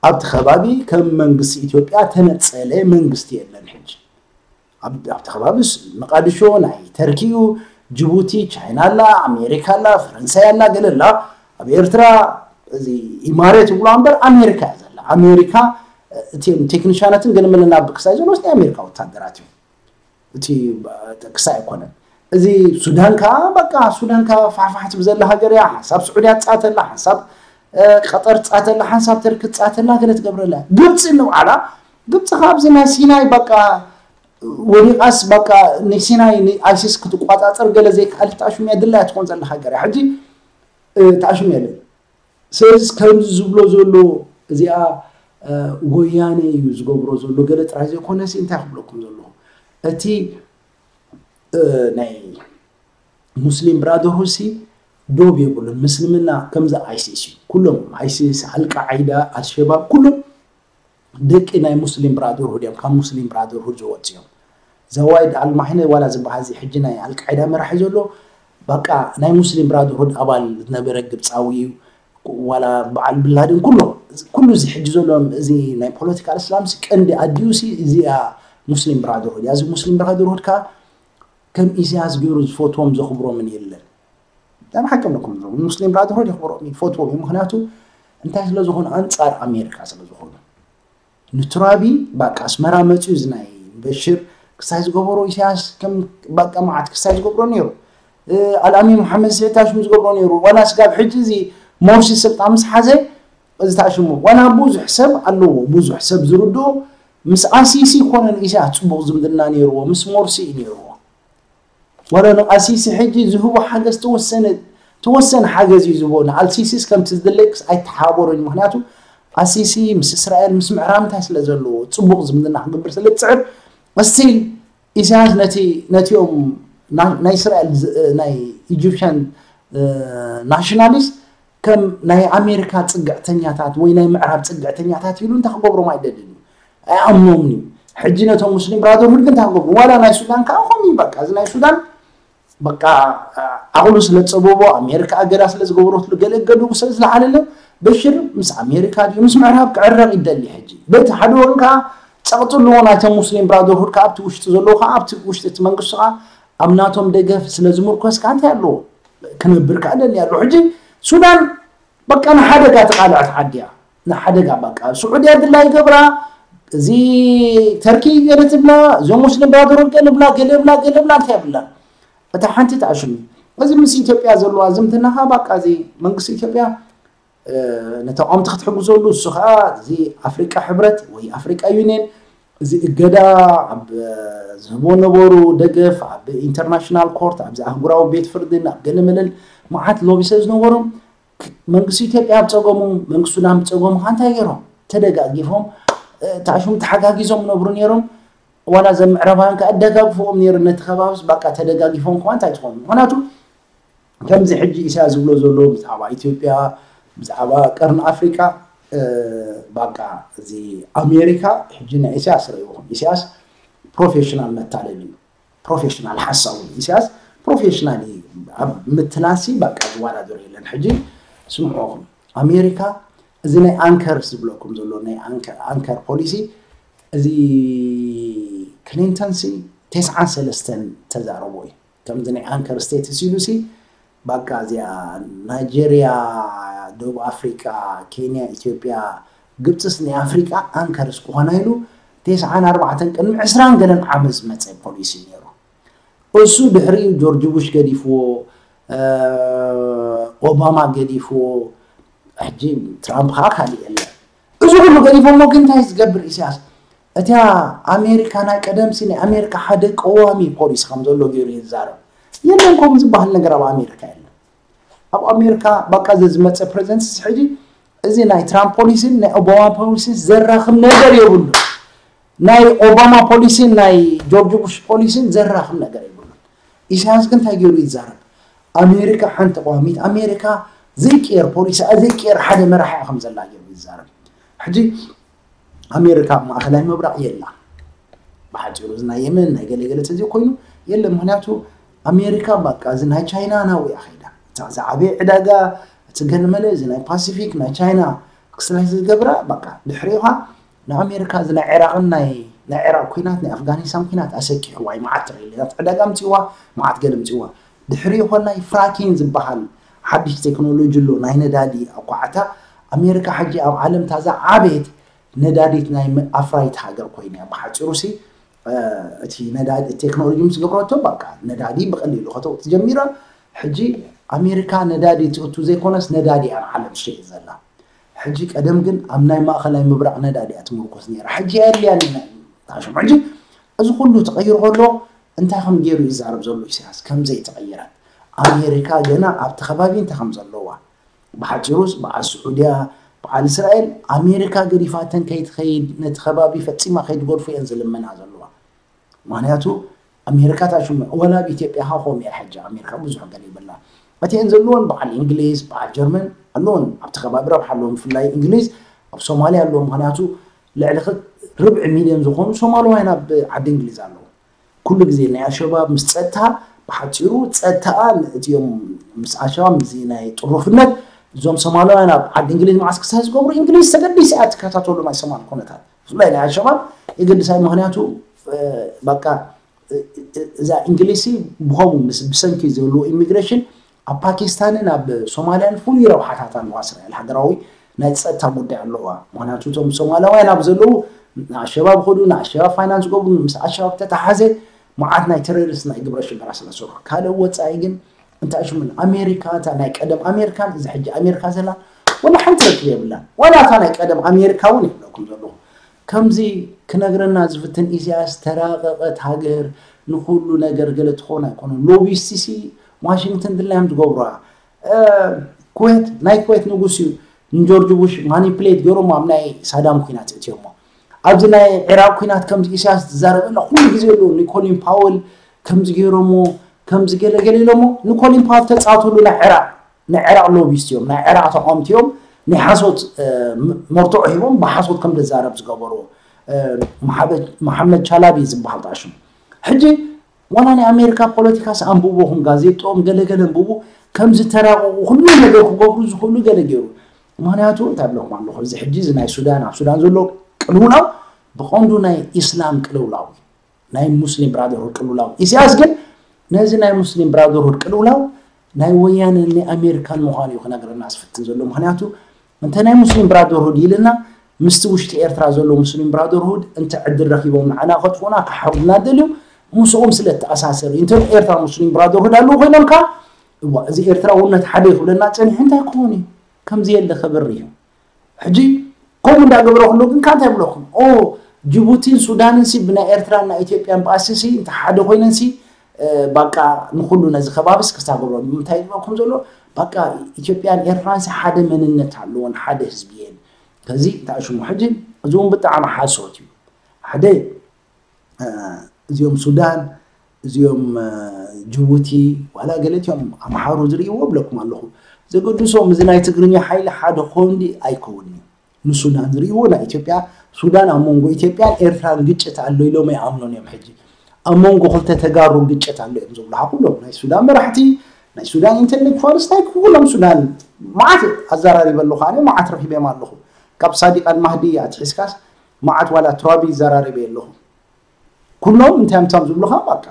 ኣብቲ ከባቢ ከም መንግስቲ ኢትዮጵያ ተነፀለ መንግስቲ የለን ሕጂ ኣብቲ ከባቢ መቃድሾ ናይ ተርኪ እዩ። ጅቡቲ፣ ቻይና ኣላ፣ ኣሜሪካ ኣላ፣ ፈረንሳይ ኣላ፣ ገለ ኣላ። ኣብ ኤርትራ እዚ ኢማሬት ይብሉ እምበር ኣሜሪካ እያ ዘላ። ኣሜሪካ እቲም ቴክኒሻናትን ገለ መለ ናብ ክሳይ ዘሎ ናይ ኣሜሪካ ወታደራት እዩ። እቲ ክሳይ ኣይኮነን። እዚ ሱዳን ከዓ በቃ ሱዳን ከዓ ፋሕፋሕ ትብል ዘላ ሃገር እያ። ሓንሳብ ስዑድያ ትፃተላ፣ ሓንሳብ ቀጠር ትፃተላ፣ ሓንሳብ ተርኪ ትፃተላ፣ ገለ ትገብረላ። ግብፂ ንባዕላ ግብፂ ካብ እዚ ናይ ሲናይ በቃ ወዲቓስ በቃ ንሲናይ ንኣይሲስ ክትቋፃፀር ገለ ዘይከኣለት ተኣሽሙ እያ ድላያ ትኾን ዘላ ሃገር እያ። ሕጂ ተኣሽሙ የለን። ስለዚ ከምዚ ዝብሎ ዘሎ እዚኣ ወያነ እዩ ዝገብሮ ዘሎ ገለ ጥራይ ዘይኮነሲ እንታይ ክብለኩም ዘለኹ እቲ ናይ ሙስሊም ብራደርሁድ ሲ ዶብ የብሉን። ምስልምና ከምዚ ኣይሲስ እዩ። ኩሎም ኣይሲስ፣ ኣልቃዒዳ፣ ኣልሸባብ ኩሎም ደቂ ናይ ሙስሊም ብራደርሁድ እዮም። ካብ ሙስሊም ብራደርሁድ ዝወፁ እዮም። ዘዋይድ ኣልማሕነ ዋላ ዝበሃል እዚ ሕጂ ናይ ኣልቃዒዳ መራሒ ዘሎ በቃ ናይ ሙስሊም ብራደርሁድ ኣባል ዝነበረ ግብፃዊ እዩ። ዋላ በዓል ብላድን ኩሎም ኩሉ እዚ ሕጂ ዘሎ እዚ ናይ ፖለቲካል እስላም ሲ ቀንዲ ኣዲኡ ሲ እዚኣ ሙስሊም ብራደርሁድ እያ። እዚ ሙስሊም ብራደርሁድ ከዓ ከም ኢሳያስ ገይሩ ዝፈትዎም ዘኽብሮምን የለን። ዳም ሓቂ ኣለኩም። ሙስሊም ብራደርሁድ የኽብሮም እዩ፣ ይፈትዎም እዩ። ምክንያቱ እንታይ ስለ ዝኾኑ? ኣንፃር ኣሜሪካ ስለ ዝኾኑ። ንቱራቢ በቃ ኣስመራ መፅዩ እዚ ናይ በሽር ክሳይ ዝገበሮ ኢሳያስ ከም በቃ መዓት ክሳይ ዝገብሮ ነይሩ። ኣልኣሚን መሓመድ ስዒድ ታሽሙ ዝገብሮ ነይሩ። ዋላ ስጋብ ሕጂ እዚ ሞርሲ ስልጣን ምስ ሓዘ እዚ ታሽሙ ዋላ ብዙሕ ሰብ ኣለዎ፣ ብዙሕ ሰብ ዝርድኦ ምስ ኣሲሲ ኮነ ንኢሳያስ ፅቡቕ ዝምድና ነይርዎ፣ ምስ ሞርሲ እዩ ነይርዎ። ዋላ ንኣሲሲ ሕጂ ዝህቦ ሓገዝ ተወሰነ ተወሰነ ሓገዝ እዩ ዝህቦ። ንኣልሲሲስ ከምቲ ዝድለይክስ ኣይተሓባበሮን። ምክንያቱ ኣሲሲ ምስ እስራኤል ምስ ምዕራብ እንታይ ስለ ዘለዎ ፅቡቕ ዝምድና ክገብር ስለ ዝፅዕር እስቲል ኢሳያስ ነቲ ነቲኦም ናይ እስራኤል ናይ ኢጂፕሽያን ናሽናሊስት ከም ናይ ኣሜሪካ ፅግዕተኛታት ወይ ናይ ምዕራብ ፅግዕተኛታት ኢሉ እንታይ ክገብሮም ኣይደልን እዩ። ኣይኣምኖምን እዩ። ሕጂ ነቶም ሙስሊም ብራደርሁድ ግን እንታይ ክገብሩ? ዋላ ናይ ሱዳን ከዓ ከምኡ እዩ። በቃ እዚ ናይ ሱዳን በቃ ዓቕሉ ስለ ዝፀበቦ ኣሜሪካ ኣገዳ ስለ ዝገበረትሉ ገለ እገድኡ ስለ ዝለዓለለ በሽር ምስ ኣሜሪካ ድዩ ምስ ምዕራብ ክዕረቕ ይደሊ። ሕጂ በቲ ሓደ ወገን ከዓ ፀቕጢ ኣለዎ ናይቶም ሙስሊም ብራደርሁድ ከዓ ኣብቲ ውሽጢ ዘለዉ ከዓ ኣብቲ ውሽጢ እቲ መንግስቲ ከዓ ኣብ ናቶም ደገፍ ስለ ዝምርኮስ ከዓ እንታይ ኣለዎ ክነብር ከዓ ደሊ ኣለዎ። ሕጂ ሱዳን በቃ ንሓደጋ ተቓልዐት ዓዲ እያ። ንሓደጋ በቃ ስዑድያ ድላ ይገብራ፣ እዚ ተርኪ ገለ ትብላ፣ እዞም ሙስሊም ብራደርሁድ ገለ ብላ፣ ገለ ብላ፣ ገለ ብላ እንታይ ብላ። እታ ሓንቲ ተኣሽሙ። እዚ ምስ ኢትዮጵያ ዘለዋ ዝምድናኻ በቃ እዚ መንግስቲ ኢትዮጵያ ነተቃወምቲ ክትሕግዘሉ እሱ ከዓ እዚ ኣፍሪቃ ሕብረት ወይ ኣፍሪቃ ዩኒየን እዚ እገዳ ኣብ ዝህቦ ነበሩ ደገፍ ኣብ ኢንተርናሽናል ኮርት ኣብዚ ኣህጉራዊ ቤት ፍርድን ኣብ ገለመለን መዓት ሎቢ ስለ ዝነበሮም መንግስቲ ኢትዮጵያ ኣብ ፀገሙ መንግስቲ ሱዳን ብፀገሙ ከዓ እንታይ ገይሮም ተደጋጊፎም ተኣሽሙ ተሓጋጊዞም ነብሩ ነይሮም። ዋላ ዘም ምዕራባውያን ከዓ ኣደጋግፎም ነይሩ ነቲ ከባብስ በቃ ተደጋጊፎም ከዓ እንታይ ትኾኑ ምክንያቱ ከምዚ ሕጂ ኢሳያስ ዝብሎ ዘሎ ብዛዕባ ኢትዮጵያ ብዛዕባ ቀርኒ ኣፍሪቃ በቃ እዚ ኣሜሪካ ሕጂ ናይ ኢሳያስ ረእይኹም ኢሳያስ ፕሮፌሽናል መታለል እዩ። ፕሮፌሽናል ሓሳዊ ኢሳያስ ፕሮፌሽናል እዩ። ኣብ ምትላሲ በቃ ዝወዳደሩ የለን። ሕጂ ስምዑኹም ኣሜሪካ እዚ ናይ ኣንከር ዝብለኩም ዘሎ ናይ ኣንከር ፖሊሲ እዚ ክሊንተን ሲ ተስዓን ሰለስተን ተዛረቦ እዩ። ከምዚ ናይ ኣንከር ስቴትስ ኢሉ ሲ በቃ እዚኣ ናይጀርያ፣ ደቡብ ኣፍሪቃ፣ ኬንያ፣ ኢትዮጵያ፣ ግብፅስ ናይ ኣፍሪቃ ኣንከርስ ክኾና ኢሉ ተስዓን ኣርባዕተን ቅድሚ ዕስራን ገለን ዓመት ዝመፀ ፖሊሲ ነይሩ። እሱ ድሕሪኡ ጆርጅ ቡሽ ገዲፍዎ፣ ኦባማ ገዲፍዎ፣ ሕጂ ትራምፕ ከዓ ካሊእ የለን። እዚ ኩሉ ገዲፎሞ ግን እንታይ ዝገብር ኢሳያስ? እቲያ ኣሜሪካ ናይ ቀደምሲ ናይ ኣሜሪካ ሓደ ቀዋሚ ፖሊሲ ከም ዘሎ ገይሩ ይዛረብ። የለን ከምኡ ዝበሃል ነገር ኣብ ኣሜሪካ የለን። ኣብ ኣሜሪካ በቃ እዚ ዝመፀ ፕሬዚደንት ሕጂ እዚ ናይ ትራምፕ ፖሊሲን ናይ ኦባማ ፖሊሲን ዘራኽብ ነገር የብሉ። ናይ ኦባማ ፖሊሲን ናይ ጆርጅ ቡሽ ፖሊሲን ዘራኽብ ነገር የብሉ። ኢሳያስ ግን እንታይ ገይሩ ይዛረብ? ኣሜሪካ ሓንቲ ቀዋሚት ኣሜሪካ ዘይቅየር ፖሊሲ ዘይቅየር ሓደ መራሒ ከም ዘላ ገይሩ ይዛረብ። ሕጂ ኣሜሪካ ኣብ ማእኸላይ ምብራቕ የላ። ብሓፂሩ እዚ ናይ የመን ናይ ገለገለ ተዘይ ኮይኑ የለ። ምክንያቱ ኣሜሪካ በቃ እዚ ናይ ቻይና ናብኡ እያ ከይዳ። እታ ዝዓበየ ዕዳጋ እቲ ገለመለ እዚ ናይ ፓሲፊክ ናይ ቻይና ክስላይ ዝገብራ በቃ ድሕሪኻ ንኣሜሪካ እዚ ናይ ዒራቕን ናይ ናይ ዕራቕ ኩናት፣ ናይ ኣፍጋኒስታን ኩናት ኣሰኪሕዋ እዩ። መዓት ትሪሊዮናት ዕዳጋ ኣምፂእዋ፣ መዓት ገለ ኣምፂእዋ። ድሕሪኡ ኮላይ ፍራኪን ዝበሃል ሓድሽ ቴክኖሎጂ ኣሎ፣ ናይ ነዳዲ ኣኳዓታ። ኣሜሪካ ሕጂ ኣብ ዓለም ታዛ ዓበየት ነዳዲት ናይ ኣፍራይት ሃገር ኮይና እያ። ብሓፂሩ ሲ እቲ ነዳዲ ቴክኖሎጂ ምስ ገብረቶ በቃ ነዳዲ ብቐሊሉ ከተውፅእ ጀሚራ። ሕጂ ኣሜሪካ ነዳዲ ትእቱ ዘይኮነስ ነዳዲ እያ ንዓለም ትሸይጥ ዘላ። ሕጂ ቀደም ግን ኣብ ናይ ማእኸላይ ምብራቕ ነዳዲ እያ ትምርኮስ ነይራ። ሕጂ የድልያን እዩ። ታሽም ሕጂ እዚ ኩሉ ተቐይሩ ከሎ እንታይ ከም ገይሩ ይዛረብ ዘሎ ኢሳያስ ከም ዘይተቐየረት። ኣሜሪካ ገና ኣብቲ ከባቢ እንታይ ከም ዘለዋ። ብሓፂሩስ በዓል ስዑድያ፣ በዓል እስራኤል ኣሜሪካ ገዲፋተን ከይትኸይድ ነቲ ከባቢ ፈፂማ ከይትገድፎ እየን ዝልምና ዘለዋ። ምክንያቱ ኣሜሪካ ታሽሙ ወላ ኣብ ኢትዮጵያ ካ ከምኡ እያ። ሕጂ ኣሜሪካ ብዙሕ ገለ ይብላ እቲአን ዘለዎን በዓል እንግሊዝ በዓል ጀርመን ኣለዎን ኣብቲ ከባቢ ረብሓ ኣለዎም። ብፍላይ እንግሊዝ ኣብ ሶማሊያ ኣለዎም። ምክንያቱ ልዕሊ ርብዒ ሚልዮን ዝኾኑ ሶማላውያን ኣብ ዓዲ እንግሊዝ ኣለዉ። ኩሉ ግዜ ናይ ኣልሸባብ ምስ ጸጥታ ብሓፂሩ ጸጥታኣ እቲኦም ምስ ኣልሸባብ ምስዚ ናይ ጥሩፍነት እዞም ሶማላውያን ኣብ ዓዲ እንግሊዝ መዓስ ክሳይ ዝገብሩ እንግሊዝ ተገዲስ እያ ትከታተሉ ናይ ሶማል ኩነታት ብፍላይ ናይ ኣልሸባብ የገድሳ እዩ። ምክንያቱ በቃ እዛ እንግሊዝ ብኸምኡ ምስ ብሰንኪ ዘለዎ ኢሚግሬሽን ኣብ ፓኪስታንን ኣብ ሶማልያን ፍሉይ ረብሓታት ኣለዋ እስራኤል። ሃገራዊ ናይ ጸጥታ ጉዳይ ኣለዋ። ምክንያቱ እቶም ሶማላውያን ኣብ ዘለዉ ንኣሸባብ ኸዱ ንኣሸባብ ፋይናንስ ገብሩ ምስ ኣሸባብ ተተሓዘ መዓት ናይ ቴሮሪስት ናይ ግብረ ሽበራ ስለ ዝሰርሑ ካልእ ወፃኢ ግን እንታይ ሽምን ኣሜሪካ እታ ናይ ቀደም ኣሜሪካን እዚ ሕጂ ኣሜሪካ ዘላ ወላ ሓንቲ ርክብ የብላን። ዋላ እታ ናይ ቀደም ኣሜሪካ እውን የብለኩም ዘለኹ ከምዚ ክነግረና ዝፍትን ኢሳያስ ተራቐቐት ሃገር ንኩሉ ነገር ገለ ትኾን ኣይኮነን። ሎቢስቲ ሲ ዋሽንግተን ድላዮም ዝገብሩዋ ኩዌት ናይ ኩዌት ንጉስ እዩ ንጆርጅ ቡሽ ማኒፕሌት ገይሮም ኣብ ናይ ሳዳም ኩናት እትዮሞ ኣብዚ ናይ ዕራቅ ኩናት ከምዚ ኢሳያስ ዝዛረበላ ኩሉ ግዜ ኣሎ። ኒኮሊን ፓወል ከምዚ ገይሮሞ ከምዚ ገለገለ ኢሎሞ ኒኮሊን ፓወል ተፃወትሉ ናይ ዕራቅ ናይ ዕራቅ ሎቢስት እዮም ናይ ዕራቅ ተቃወምቲ እዮም። ናይ ሓሶት መርትዖ ሂቦም ብሓሶት ከም ደዛረብ ዝገበሩ መሓመድ ቻላቢ ዝበሃል ጣሽሙ ሕጂ ዋላ ናይ ኣሜሪካ ፖለቲካስ ኣንብቦኹም ጋዜጦም ገለገለ ኣንብቡ ከምዚ ተራቀቁ ኩሉ ነገር ክገብሩ ዝኽእሉ ገለ ገይሩ። ምክንያቱ እንታይ ብለኩም ኣለኹ እዚ ሕጂ እዚ ናይ ሱዳን ኣብ ሱዳን ዘሎ ቅልውላው ብቀንዱ ናይ ኢስላም ቅልውላው ናይ ሙስሊም ብራደርሁድ ቅልውላው ኢሳያስ ግን ነዚ ናይ ሙስሊም ብራደርሁድ ቅልውላው ናይ ወያነ ናይ ኣሜሪካን ምዃኑ እዩ ክነግረና ዝፍትን ዘሎ። ምክንያቱ እንተ ናይ ሙስሊም ብራደርሁድ ኢልና ምስቲ ውሽጢ ኤርትራ ዘሎ ሙስሊም ብራደርሁድ እንተ ዕድል ረኪቦም ንዓና ከጥፉና ክሓርዱና ደልዮም ምስኦም ስለ ተኣሳሰር እዩ። እንተ ኤርትራ ሙስሊም ብራደርሁድ ኣለዉ ኮይኖም ከ እዋ እዚ ኤርትራውነት ሓደ ይኽብለና ጸኒሑ እንታይ ክኾን እዩ? ከምዚ የለ ክብር እዩ። ሕጂ ከምኡ እንዳገበረ ከሎ ግን ካንታይ ይብለኩም ኦ ጅቡቲን ሱዳንን ሲ ብናይ ኤርትራን ናይ ኢትዮጵያን ባእሲ ሲ እንተ ሓደ ኮይነን ሲ ባቃ ንኩሉ ነዚ ከባቢ ሲ ክስታገብሮ ንምንታይ ይብለኩም ዘሎ ባቃ ኢትዮጵያን ኤርትራን ሲ ሓደ መንነት ኣለዎን ሓደ ህዝቢ እየን። ከዚ እንታይ ሽሙ ሕጂ እዚ እውን ብጣዕሚ ሓሶት እዩ። ሓደ እዚኦም ሱዳን እዚኦም ጅቡቲ ዋላ ገለቲኦም ኣምሓሩ ዝርእይዎ ብለኩም ኣለኹ። ዘገድሶም እዚ ናይ ትግርኛ ሓይሊ ሓደ ክኸውን ድዩ ኣይከውን እዩ። ንሱዳን ዝርእይዎ ናይ ኢትዮጵያ ሱዳን ኣብ መንጎ ኢትዮጵያን ኤርትራን ግጭት ኣሎ ኢሎም ኣይኣምኑን እዮም። ሕጂ ኣብ መንጎ ክልተ ተጋሩ ግጭት ኣሎ እዮም ዝብሉ ኩሎም ናይ ሱዳን መራሕቲ ናይ ሱዳን ኢንተሌክቹዋልስ ናይ ኩሎም ሱዳን መዓት ኣዘራሪበ ኣለኹ ኣነ መዓት ረኺበዮም ኣለኹ። ካብ ሳዲቅ ኣልማህዲ ኣትሒዝካስ መዓት ዋላ ትራቢ ይዘራረበ ኣለኹ። ኩሎም እንታይ ምሳም ዝብሉኻ በቃ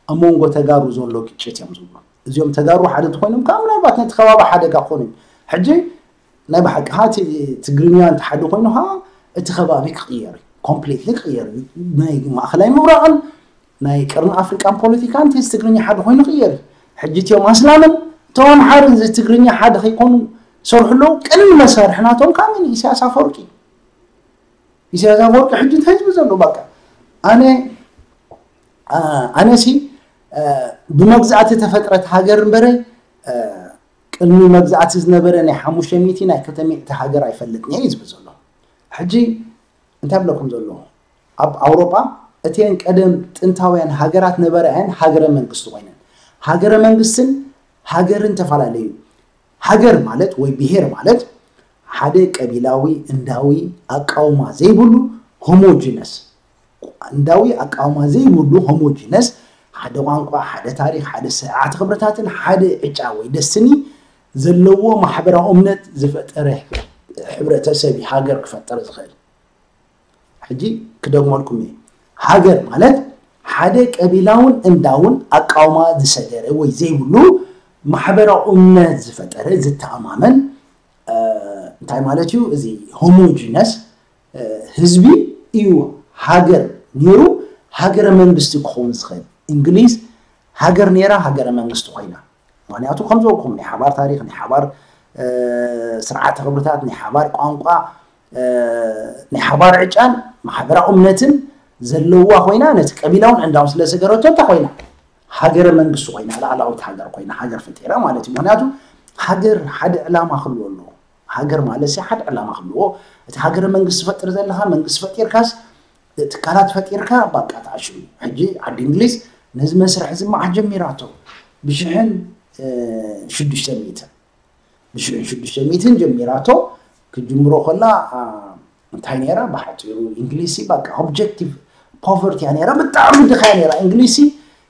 ኣብ መንጎ ተጋሩ ዘሎ ግጭት እዮም ዝብሉ። እዚኦም ተጋሩ ሓደ እንተኮይኖም ከዓ ምናልባት ነቲ ከባቢ ሓደጋ ክኾኑ እዩ። ሕጂ ናይ ብሓቂ ከዓ እቲ ትግርኛ እንተ ሓደ ኮይኑ ከዓ እቲ ከባቢ ክቕየር እዩ። ኮምፕሊትሊ ክቕየር እዩ። ናይ ማእኸላይ ምብራቕን ናይ ቀርኒ ኣፍሪቃን ፖለቲካ እንተ ትግርኛ ሓደ ኮይኑ ክቕየር እዩ። ሕጂ እቲኦም ኣስላምን እቶም ኣምሓርን እዚ ትግርኛ ሓደ ከይኮኑ ሰርሑ ኣለዉ። ቅድሚ መሳርሒ ናቶም ከዓ መን እዩ? ኢሳያስ ኣፈወርቂ እዩ። ኢሳያስ ኣፈወርቂ ሕጂ እንታይ ዝብል ዘሎ በቃ ኣነ ኣነሲ ብመግዛእቲ ተፈጥረት ሃገር እምበረ ቅድሚ መግዛእቲ ዝነበረ ናይ ሓሙሽተ ሚእቲ ናይ ክልተ ሚእቲ ሃገር ኣይፈልጥን እየ ዝብል ዘሎ። ሕጂ እንታይ ብለኩም ዘሎ ኣብ ኣውሮጳ እተን ቀደም ጥንታውያን ሃገራት ነበረ እየን ሃገረ መንግስቲ ኮይነን። ሃገረ መንግስትን ሃገርን ተፈላለዩ። ሃገር ማለት ወይ ብሄር ማለት ሓደ ቀቢላዊ እንዳዊ ኣቃውማ ዘይብሉ ሆሞጂነስ እንዳዊ ኣቃውማ ዘይብሉ ሆሞጂነስ ሓደ ቋንቋ ሓደ ታሪክ ሓደ ስርዓት ክብርታትን ሓደ ዕጫ ወይ ደስትኒ ዘለዎ ማሕበራዊ እምነት ዝፈጠረ ሕብረተሰብ ሃገር ክፈጠር ዝኽእል። ሕጂ ክደግመልኩም እየ። ሃገር ማለት ሓደ ቀቢላውን እንዳውን ኣቃውማ ዝሰገረ ወይ ዘይብሉ ማሕበራዊ እምነት ዝፈጠረ ዝተኣማመን እንታይ ማለት እዩ? እዚ ሆሞጂነስ ህዝቢ እዩ ሃገር ነይሩ ሃገረ መንግስቲ ክኸውን ዝኽእል። እንግሊዝ ሃገር ነይራ ሃገረ መንግስቲ ኮይና። ምክንያቱ ከም ዝበልኩም ናይ ሓባር ታሪክ፣ ናይ ሓባር ስርዓተ ክብርታት፣ ናይ ሓባር ቋንቋ፣ ናይ ሓባር ዕጫን ማሕበራዊ እምነትን ዘለዋ ኮይና ነቲ ቀቢላውን ዕንዳውን ስለ ሰገረቶ እንታይ ኮይና? ሃገረ መንግስቲ ኮይና፣ ላዕላዊት ሃገር ኮይና፣ ሃገር ፈጢራ ማለት እዩ። ምክንያቱ ሃገር ሓደ ዕላማ ክህልዎ ኣለዎ። ሃገር ማለት ሲ ሓደ ዕላማ ክህልዎ። እቲ ሃገረ መንግስቲ ፈጥር ዘለካ መንግስቲ ፈጢርካስ ትካላት ፈጢርካ ባቃ ተኣሽሙ። ሕጂ ዓዲ እንግሊዝ ነዚ መስርሕ እዚ መዓት ጀሚራቶ ብሽሕን ሽዱሽተ ሚእትን ብሽሕን ሽዱሽተ ሚእትን ጀሚራቶ ክትጅምሮ ከላ እንታይ ነይራ ብሓፂሩ እንግሊዝ ሲ ባቃ ኦብጀክቲቭ ፖቨርቲ እያ ነይራ ብጣዕሚ ድኻ እያ ነይራ እንግሊዝ ሲ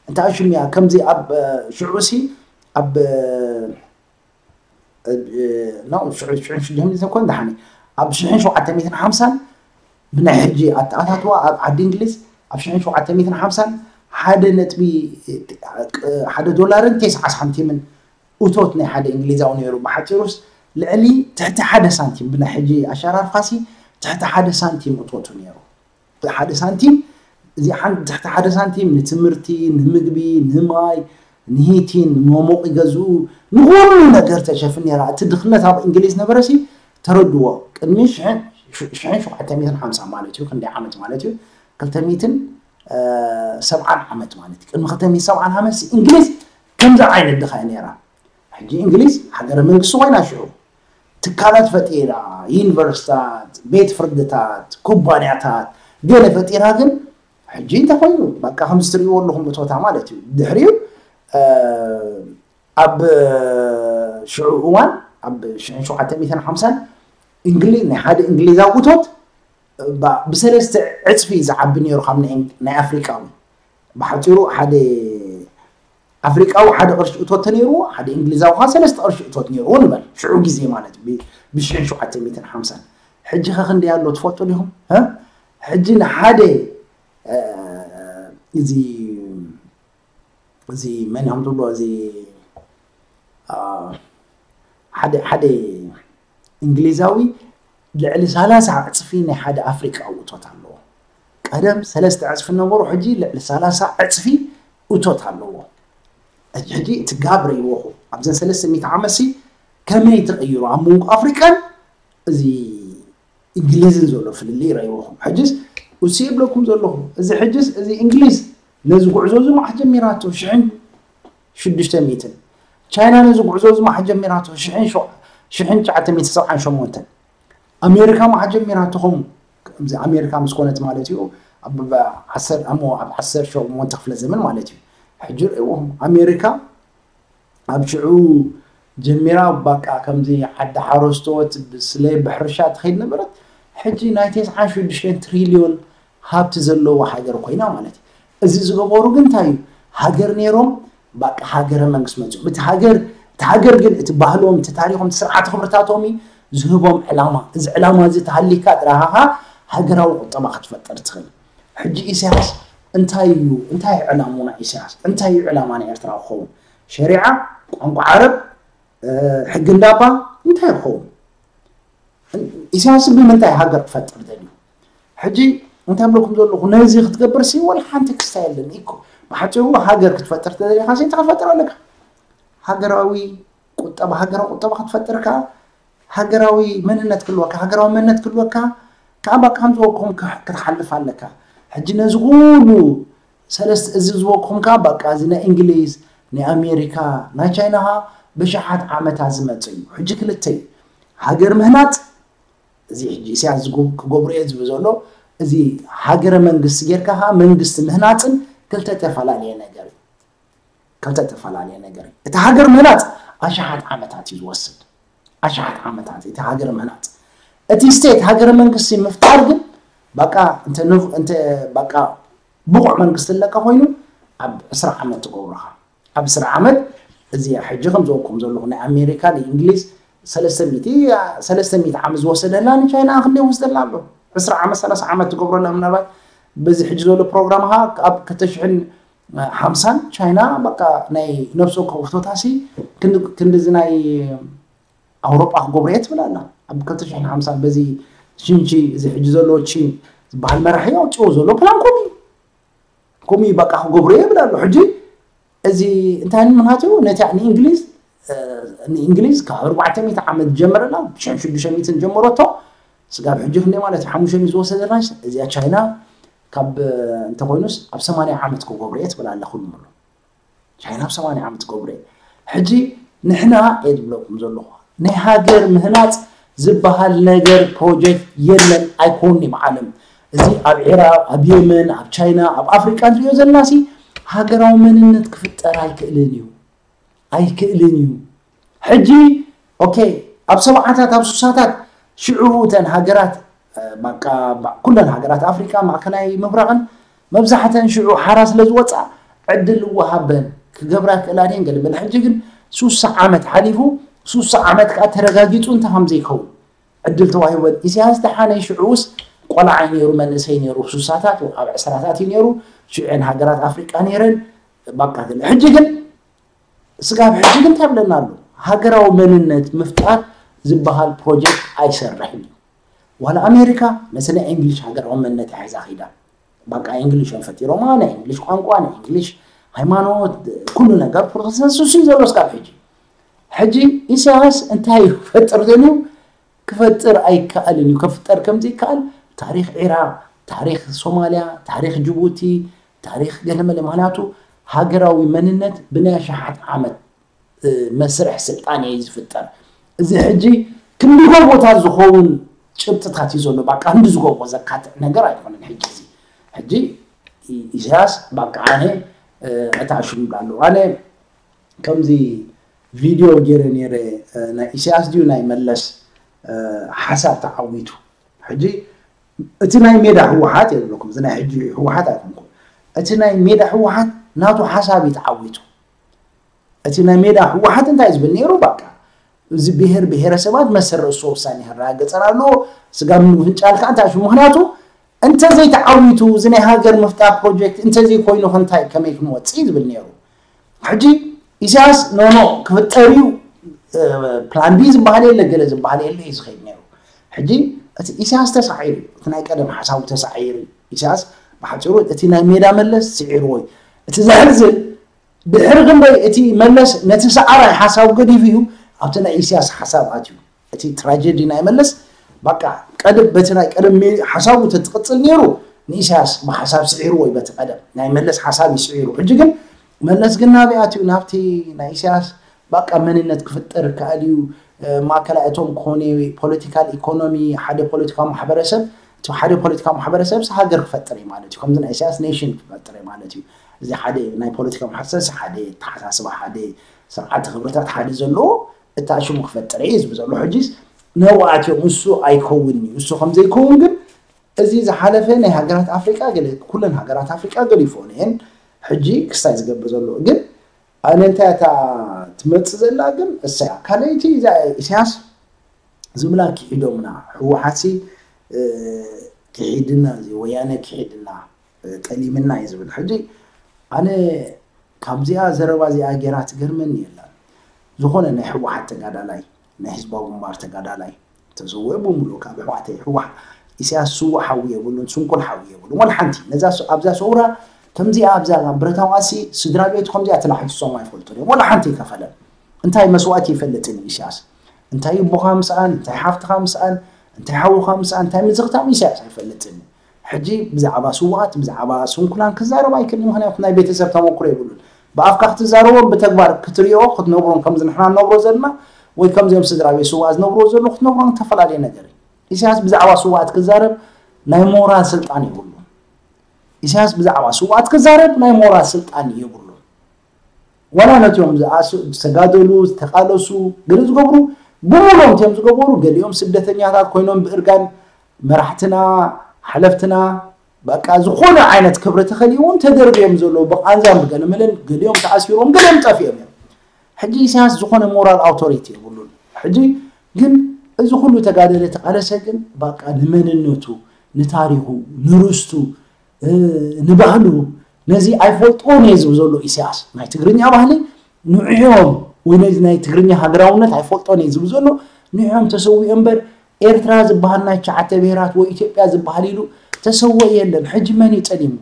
እንታይ ሽም እያ ከምዚ ኣብ ሽዑ ሲ ኣብ ሽዑ ደሓኒ ኣብ ሽሕን ሸውዓተ ሚእትን ሓምሳን ብናይ ሕጂ ኣተኣታትዋ ኣብ ዓዲ እንግሊዝ ኣብ ሽሕን ሸውዓተ ሚእትን ሓምሳን ሓደ ነጥቢ ሓደ ዶላርን ተስዓ ሳንቲምን እቶት ናይ ሓደ እንግሊዛዊ ነይሩ። ብሓፂሩስ ልዕሊ ትሕቲ ሓደ ሳንቲም ብናይ ሕጂ ኣሸራርፋሲ ትሕቲ ሓደ ሳንቲም እቶቱ ነይሩ። ሓደ ሳንቲም እዚ ሓን- ትሕቲ ሓደ ሳንቲም ንትምህርቲ፣ ንምግቢ፣ ንማይ፣ ንሂቲን፣ ንመሞቂ ገዝኡ፣ ንኹሉ ነገር ተሸፍን ነይራ። እቲ ድኽነት ኣብ እንግሊዝ ነበረሲ ተረድዎ። ቅድሚ ሽሕን ሸውዓተ ሚእትን ሓምሳ ማለት እዩ፣ ክንደይ ዓመት ማለት እዩ? ክልተ ሚእትን ሰብዓን ዓመት ማለት እዩ። ቅድሚ ክልተ ሚእትን ሰብዓን ዓመት እንግሊዝ ከምዚ ዓይነት ድኻ ነይራ። ሕጂ እንግሊዝ ሃገረ መንግስቲ ኮይና ሽዑ ትካላት ፈጢራ፣ ዩኒቨርሲታት፣ ቤት ፍርድታት፣ ኩባንያታት ገለ ፈጢራ ግን ሕጂ እንታይ ኮይኑ በቃ ከምዚ ትርእይዎ ኣለኹም እቶታ ማለት እዩ። ድሕሪኡ ኣብ ሽዑ እዋን ኣብ ሽሕን ሸውዓተ ሚእትን ሓምሳን እንግሊ ናይ ሓደ እንግሊዛዊ እቶት ብሰለስተ ዕፅፊ ዝዓቢ ነይሩ ካብ ናይ ኣፍሪቃዊ ብሓፂሩ ሓደ ኣፍሪቃዊ ሓደ ቅርሺ እቶት ተነይርዎ ሓደ እንግሊዛዊ ከዓ ሰለስተ ቅርሺ እቶት ነይርዎ ንበል ሽዑ ግዜ ማለት ብሽሕን ሸውዓተ ሚእትን ሓምሳን ሕጂ ከ ክንደይ ኣሎ ትፈልጡ ዲኹም ሕጂ ንሓደ እዚ እዚ መን እዮም ትብሎ እዚ ሓደ ሓደ እንግሊዛዊ ልዕሊ ሰላሳ ዕፅፊ ናይ ሓደ ኣፍሪቃዊ እቶት ኣለዎ። ቀደም ሰለስተ ዕፅፊ ነበሩ፣ ሕጂ ልዕሊ ሰላሳ ዕፅፊ እቶት ኣለዎ። ሕጂ እቲ ጋብ ረይወኹ ኣብዘን ሰለስተ ሚእቲ ዓመት ሲ ከመይ ተቐይሩ ኣብ መንጎ ኣፍሪቃን እዚ እንግሊዝን ዘሎ ፍልልይ ረይወኹም። ሕጅስ እሱ ይብለኩም ዘለኹ እዚ ሕጅስ እዚ እንግሊዝ ነዚ ጉዕዞ እዚ ማሕ ጀሚራቶ ሽሕን ሽዱሽተ ሚእትን ቻይና ነዚ ጉዕዞ እዚ ማሕ ጀሚራቶ ሽሕን ሸው- ሽሕን ትሽዓተ ሚእትን ሰብዓን ሸሞንተን ኣሜሪካ ማሕ ጀሚራቶ ኸም ከምዚ ኣሜሪካ ምስ ኮነት ማለት እዩ ኣብ ዓሰር ኣሞ ኣብ ዓሰር ሸሞንተ ክፍለ ዘመን ማለት እዩ። ሕጂ ርእይዎም ኣሜሪካ ኣብ ሽዑ ጀሚራ ባቃ ከምዚ ዓዲ ሓረስቶት ብስለ ብሕርሻ ትኸይድ ነበረት። ሕጂ ናይ ተስዓን ሽዱሽተን ትሪልዮን ሃብቲ ዘለዋ ሃገር ኮይና ማለት እዩ። እዚ ዝገበሩ ግን እንታይ እዩ? ሃገር ነይሮም ባቃ ሃገረ መንግስት መፅኦም። እቲ ሃገር እቲ ሃገር ግን እቲ ባህሎም፣ እቲ ታሪኾም፣ እቲ ስርዓተ ክብርታቶም እዩ ዝህቦም ዕላማ። እዚ ዕላማ እዚ ተሃሊካ ጥራሃኻ ሃገራዊ ቁጠባ ክትፈጥር ትኽእል። ሕጂ ኢሳያስ እንታይ እዩ እንታይ ዕላሙና ኢሳያስ እንታይ እዩ ዕላማ ናይ ኤርትራ ክኸውን ሸሪዓ ቋንቋ ዓረብ ሕጊ እንዳባ እንታይ ክኸውን ኢሳያስ ብምንታይ ሃገር ክፈጥር ደልዩ ሕጂ እንታይ ብለኩም ዘለኹ ነዚ ክትገብር ሲ ወላ ሓንቲ ክስታ የለን እኮ ብሓፂሩ ሃገር ክትፈጥር ተደሊኻ ሲ እንታይ ክትፈጥር ኣለካ ሃገራዊ ቁጠባ ሃገራዊ ቁጠባ ክትፈጥር ከዓ ሃገራዊ መንነት ክህልወካ፣ ሃገራዊ መንነት ክህልወካ ከዓ በቃ ከም ዝበልኩም ክትሓልፍ ኣለካ። ሕጂ ነዚ ኩሉ ሰለስተ እዚ ዝበልኩም ከዓ በቃ እዚ ናይ እንግሊዝ፣ ናይ ኣሜሪካ፣ ናይ ቻይና ከዓ ብሽሓት ዓመታት ዝመፅእ እዩ። ሕጂ ክልተ እዩ። ሃገር ምህናፅ እዚ ሕጂ ኢሳያስ ክገብሮ እየ ዝብል ዘሎ እዚ ሃገረ መንግስቲ ጌርካ ከዓ መንግስቲ ምህናፅን ክልተ ተፈላለየ ነገር እዩ። ክልተ ተፈላለየ ነገር እዩ። እቲ ሃገር ምህናፅ ኣሽሓት ዓመታት እዩ ዝወስድ። ኣሽሓት ዓመታት እቲ ሃገር ምህናፅ። እቲ ስቴት ሃገረ መንግስቲ ምፍጣር ግን በቃ እንተ በቃ ብቑዕ መንግስቲ ኣለካ ኮይኑ ኣብ ዕስራ ዓመት ትገብሮኻ። ኣብ ዕስራ ዓመት እዚ ሕጂ ከም ዝበልኩም ዘለኹ ናይ ኣሜሪካ ናይ እንግሊዝ ሰለስተ ሚእቲ ዓመት ዝወሰደላ ንቻይና ክንደይ ወስደላ ኣሎ ዕስራ ዓመት ሰላሳ ዓመት ትገብረላ ምናልባት በዚ ሕጂ ዘሎ ፕሮግራምካ ኣብ ክልተ ሽሕን ሓምሳን ቻይና በቃ ናይ ነፍሲ ወከፍ ህቶታሲ ክንዲ- ክንድዚ ናይ ኣውሮጳ ክገብሮ እየ ትብል ኣላ። ኣብ ክልተ ሽሕን ሓምሳን በዚ ሽንቺ እዚ ሕጂ ዘሎ ቺን ዝበሃል መራሒ ኣውፅኦ ዘሎ ፕላን ከምኡ እዩ። ከምኡ እዩ በቃ ክገብሮ እየ ይብል ኣሎ። ሕጂ እዚ እንታይ ምኽንያት እዩ? ነቲ ንእንግሊዝ ንእንግሊዝ ካብ ኣርባዕተ ሚእቲ ዓመት ጀመረላ ሽሕን ሽዱሽተ ሚእትን ጀመረቶ ስጋብ ሕጂ ክንደይ ማለት እዩ ሓሙሽተ ሚእቲ ዝወሰደላሽ እዚኣ ቻይና ካብ እንተኮይኑስ ኣብ ሰማንያ ዓመት ክገብሮ እየ ትብል ኣላ ኩሉ ምሉ ቻይና ኣብ ሰማንያ ዓመት ክገብሮ እየ ሕጂ ንሕና እየ ዝብለኩም ዘለኹ ናይ ሃገር ምህናፅ ዝበሃል ነገር ፕሮጀክት የለን ኣይኮን ይበዓለም እዚ ኣብ ዒራቅ ኣብ የመን ኣብ ቻይና ኣብ ኣፍሪቃ ንሪኦ ዘለና ሲ ሃገራዊ መንነት ክፍጠር ኣይክእልን እዩ ኣይክእልን እዩ ሕጂ ኦኬ ኣብ ሰብዓታት ኣብ ሱሳታት ሽዑ እተን ሃገራት ኩለን ሃገራት ኣፍሪቃ ማእከላይ ምብራቕን መብዛሕተን ሽዑ ሓራ ስለ ዝወፃ ዕድል እወሃበን ክገብራ ክእላ ድየን ገለ በለ ሕጂ ግን ሱሳ ዓመት ሓሊፉ ሱሳ ዓመት ከዓ ተረጋጊፁ እንተ ከም ዘይከውን ዕድል ተዋሂበን ኢሳያስ ደሓነይ ሽዑውስ ቆልዓ እዩ ነይሩ መንእሰይ ነይሩ ሱሳታት ኣብ ዕስራታት እዩ ነይሩ ሽዑን ሃገራት ኣፍሪቃ ነይረን ባቃ ገለ ሕጂ ግን ስጋብ ሕጂ ግን እንታይ ይብለና ኣሎ ሃገራዊ መንነት ምፍጣር ዝበሃል ፕሮጀክት ኣይሰርሕን እዩ ዋላ ኣሜሪካ ነቲ ናይ እንግሊሽ ሃገራዊ መንነት ሒዛ ኺዳ በቃ እንግሊሽ እዮም ፈጢሮማ ናይ እንግሊሽ ቋንቋ ናይ እንግሊሽ ሃይማኖት ኩሉ ነገር ፕሮቴስታንት ሱሱ እዩ ዘሎ ስጋብ ሕጂ ሕጂ ኢሳያስ እንታይ ክፈጥር ደልዩ ክፈጥር ኣይከኣልን እዩ ከፍጠር ከም ዘይከኣል ታሪክ ዒራቅ ታሪክ ሶማልያ ታሪክ ጅቡቲ ታሪክ ገለመለ ምክንያቱ ሃገራዊ መንነት ብናይ ኣሽሓት ዓመት መስርሕ ስልጣን እዩ ዝፍጠር እዚ ሕጂ ክንዲ ጎቦታት ዝኸውን ጭብጥታት እዩ ዘሎ በቃ ክንዲ ዝጎቦ ዘካትዕ ነገር ኣይኮነን ሕጂ እዚ ሕጂ ኢሳያስ በቃ ኣነ ዕታሽም ኣሎ ኣነ ከምዚ ቪድዮ ገይረ ነይረ ናይ ኢሳያስ ድዩ ናይ መለስ ሓሳብ ተዓዊቱ ሕጂ እቲ ናይ ሜዳ ህወሓት የብለኩም እዚ ናይ ሕጂ ህወሓት ኣይኮንኩም እቲ ናይ ሜዳ ህወሓት ናቱ ሓሳብ እዩ ተዓዊቱ እቲ ናይ ሜዳ ህወሓት እንታይ ዝብል ነይሩ በቃ እዚ ብሄር ብሄረሰባት መሰል ርእሱ ውሳኔ ክረጋገፀን ኣለዎ ስጋብ ምፍንጫል ከዓ እንታይ ሽሙ ምክንያቱ እንተዘይተዓዊቱ እዚ ናይ ሃገር ምፍጣር ፕሮጀክት እንተዘይኮይኑ ክንታይ ከመይ ክንወፅእ ዝብል ነይሩ ሕጂ ኢሳያስ ኖኖ ክፍጠር እዩ ፕላን ቢ ዝበሃል የለ ገለ ዝበሃል የለ እዩ ዝኸይድ ነይሩ ሕጂ እቲ ኢሳያስ ተሳዒሩ እቲ ናይ ቀደም ሓሳቡ ተሳዒሩ ኢሳያስ ብሓፂሩ እቲ ናይ ሜዳ መለስ ስዒርዎ እዩ እቲ ዘሕዝን ድሕሪ ክንደይ እቲ መለስ ነቲ ሰዓራይ ሓሳቡ ገዲፉ እዩ ኣብቲ ናይ ኢሳያስ ሓሳብ ኣትዩ እቲ ትራጀዲ ናይ መለስ በቃ ቀደም በቲ ናይ ቀደም ሓሳቡ ተትቅፅል ነይሩ ንኢሳያስ ብሓሳብ ስዒርዎ እዩ በቲ ቀደም ናይ መለስ ሓሳብ እዩ ስዒሩ ሕጂ ግን መለስ ግን ናበይ ኣትዩ ናብቲ ናይ ኢሳያስ በቃ መንነት ክፍጠር ይከኣል እዩ ማእከላይ እቶም ኮነ ፖለቲካል ኢኮኖሚ ሓደ ፖለቲካዊ ማሕበረሰብ እቲ ሓደ ፖለቲካዊ ማሕበረሰብ ሃገር ክፈጥር እዩ ማለት እዩ ከምዚ ናይ ኢሳያስ ኔሽን ክፈጥር እዩ ማለት እዩ እዚ ሓደ ናይ ፖለቲካ ማሕሰስ ሓደ ተሓሳስባ ሓደ ስርዓተ ክብርታት ሓደ ዘለዎ እታ ሽሙ ክፈጥር እየ ዝብል ዘሎ ሕጂስ ነብኣትዮም እሱ ኣይከውን እዩ እሱ ከም ዘይከውን ግን እዚ ዝሓለፈ ናይ ሃገራት ኣፍሪቃ ገለ ኩለን ሃገራት ኣፍሪቃ ገሊፎን እየን ሕጂ ክስታይ ዝገብር ዘሎ ግን ኣነ እንታይ እታ ትመፅእ ዘላ ግን እሰያ ካልኣይቲ እዛ ኢሳያስ ዝብላ ክሒዶምና ህወሓትሲ ክሒድና እዚ ወያነ ክሒድና ጠሊምና እዩ ዝብል ሕጂ ኣነ ካብዚኣ ዘረባ እዚኣ ገይራ ትገርመኒ የላን ዝኾነ ናይ ህወሓት ተጋዳላይ ናይ ህዝባዊ ግንባር ተጋዳላይ ተዘወ ብምሉእ ካብ ኣሕዋተይ ህወሓት ኢሳያስ ስዉእ ሓዊ የብሉን ስንኩል ሓዊ የብሉን ወላ ሓንቲ ነዛ ኣብዛ ሰውራ ከምዚኣ ኣብዛ ብረታዊ ቃልሲ ስድራ ቤቱ ከምዚኣ ተላሒሶም ኣይፈልጡን እዮም ወላ ሓንቲ ይከፈለን እንታይ መስዋእቲ ይፈልጥን እዩ ኢሳያስ እንታይ ኣቦኻ ምስኣን እንታይ ሓፍትኻ ምስኣን እንታይ ሓውኻ ምስኣን እንታይ ምዝኽታም ኢሳያስ ኣይፈልጥን እዩ ሕጂ ብዛዕባ ስውኣት ብዛዕባ ስንኩላን ክዛረብ ኣይክእልን ምክንያቱ ናይ ቤተሰብ ተመክሮ የብሉን ብኣፍካ ክትዛረቦም ብተግባር ክትሪኦ ክትነብሮም ከምዚ ንሕና ንነብሮ ዘለና ወይ ከምዚኦም ስድራ ቤት ስውኣት ዝነብርዎ ዘለዉ ክትነብሮም ዝተፈላለየ ነገር እዩ ኢሳያስ ብዛዕባ ስውኣት ክዛረብ ናይ ሞራል ስልጣን የብሉን ኢሳያስ ብዛዕባ ስውኣት ክዛረብ ናይ ሞራል ስልጣን የብሉን ዋላ ነቲኦም ዝተጋደሉ ዝተቃለሱ ገለ ዝገብሩ ብምሎም እቲኦም ዝገበሩ ገሊኦም ስደተኛታት ኮይኖም ብእርጋን መራሕትና ሓለፍትና በቃ ዝኾነ ዓይነት ክብሪ ተኸሊዎም ተደርብዮም ዘለዉ ብቃንዛን ብገለመለን ገሊኦም ተኣሲሮም ገሊኦም ጠፊኦም እዮም ሕጂ ኢሳያስ ዝኾነ ሞራል ኣውቶሪቲ የብሉን ሕጂ ግን እዚ ኩሉ ተጋደለ ተቃለሰ ግን በቃ ንመንነቱ ንታሪኹ ንርስቱ ንባህሉ ነዚ ኣይፈልጥዎን እየ ዝብል ዘሎ ኢሳያስ። ናይ ትግርኛ ባህሊ ንዕኦም ወይ ነዚ ናይ ትግርኛ ሃገራውነት ኣይፈልጦን እየ ዝብል ዘሎ ንዕኦም ተሰዊኦ እምበር ኤርትራ ዝበሃል ናይ ትሽዓተ ብሄራት ወይ ኢትዮጵያ ዝበሃል ኢሉ ተሰወ የለን። ሕጂ መን እዩ ጠሊሙ?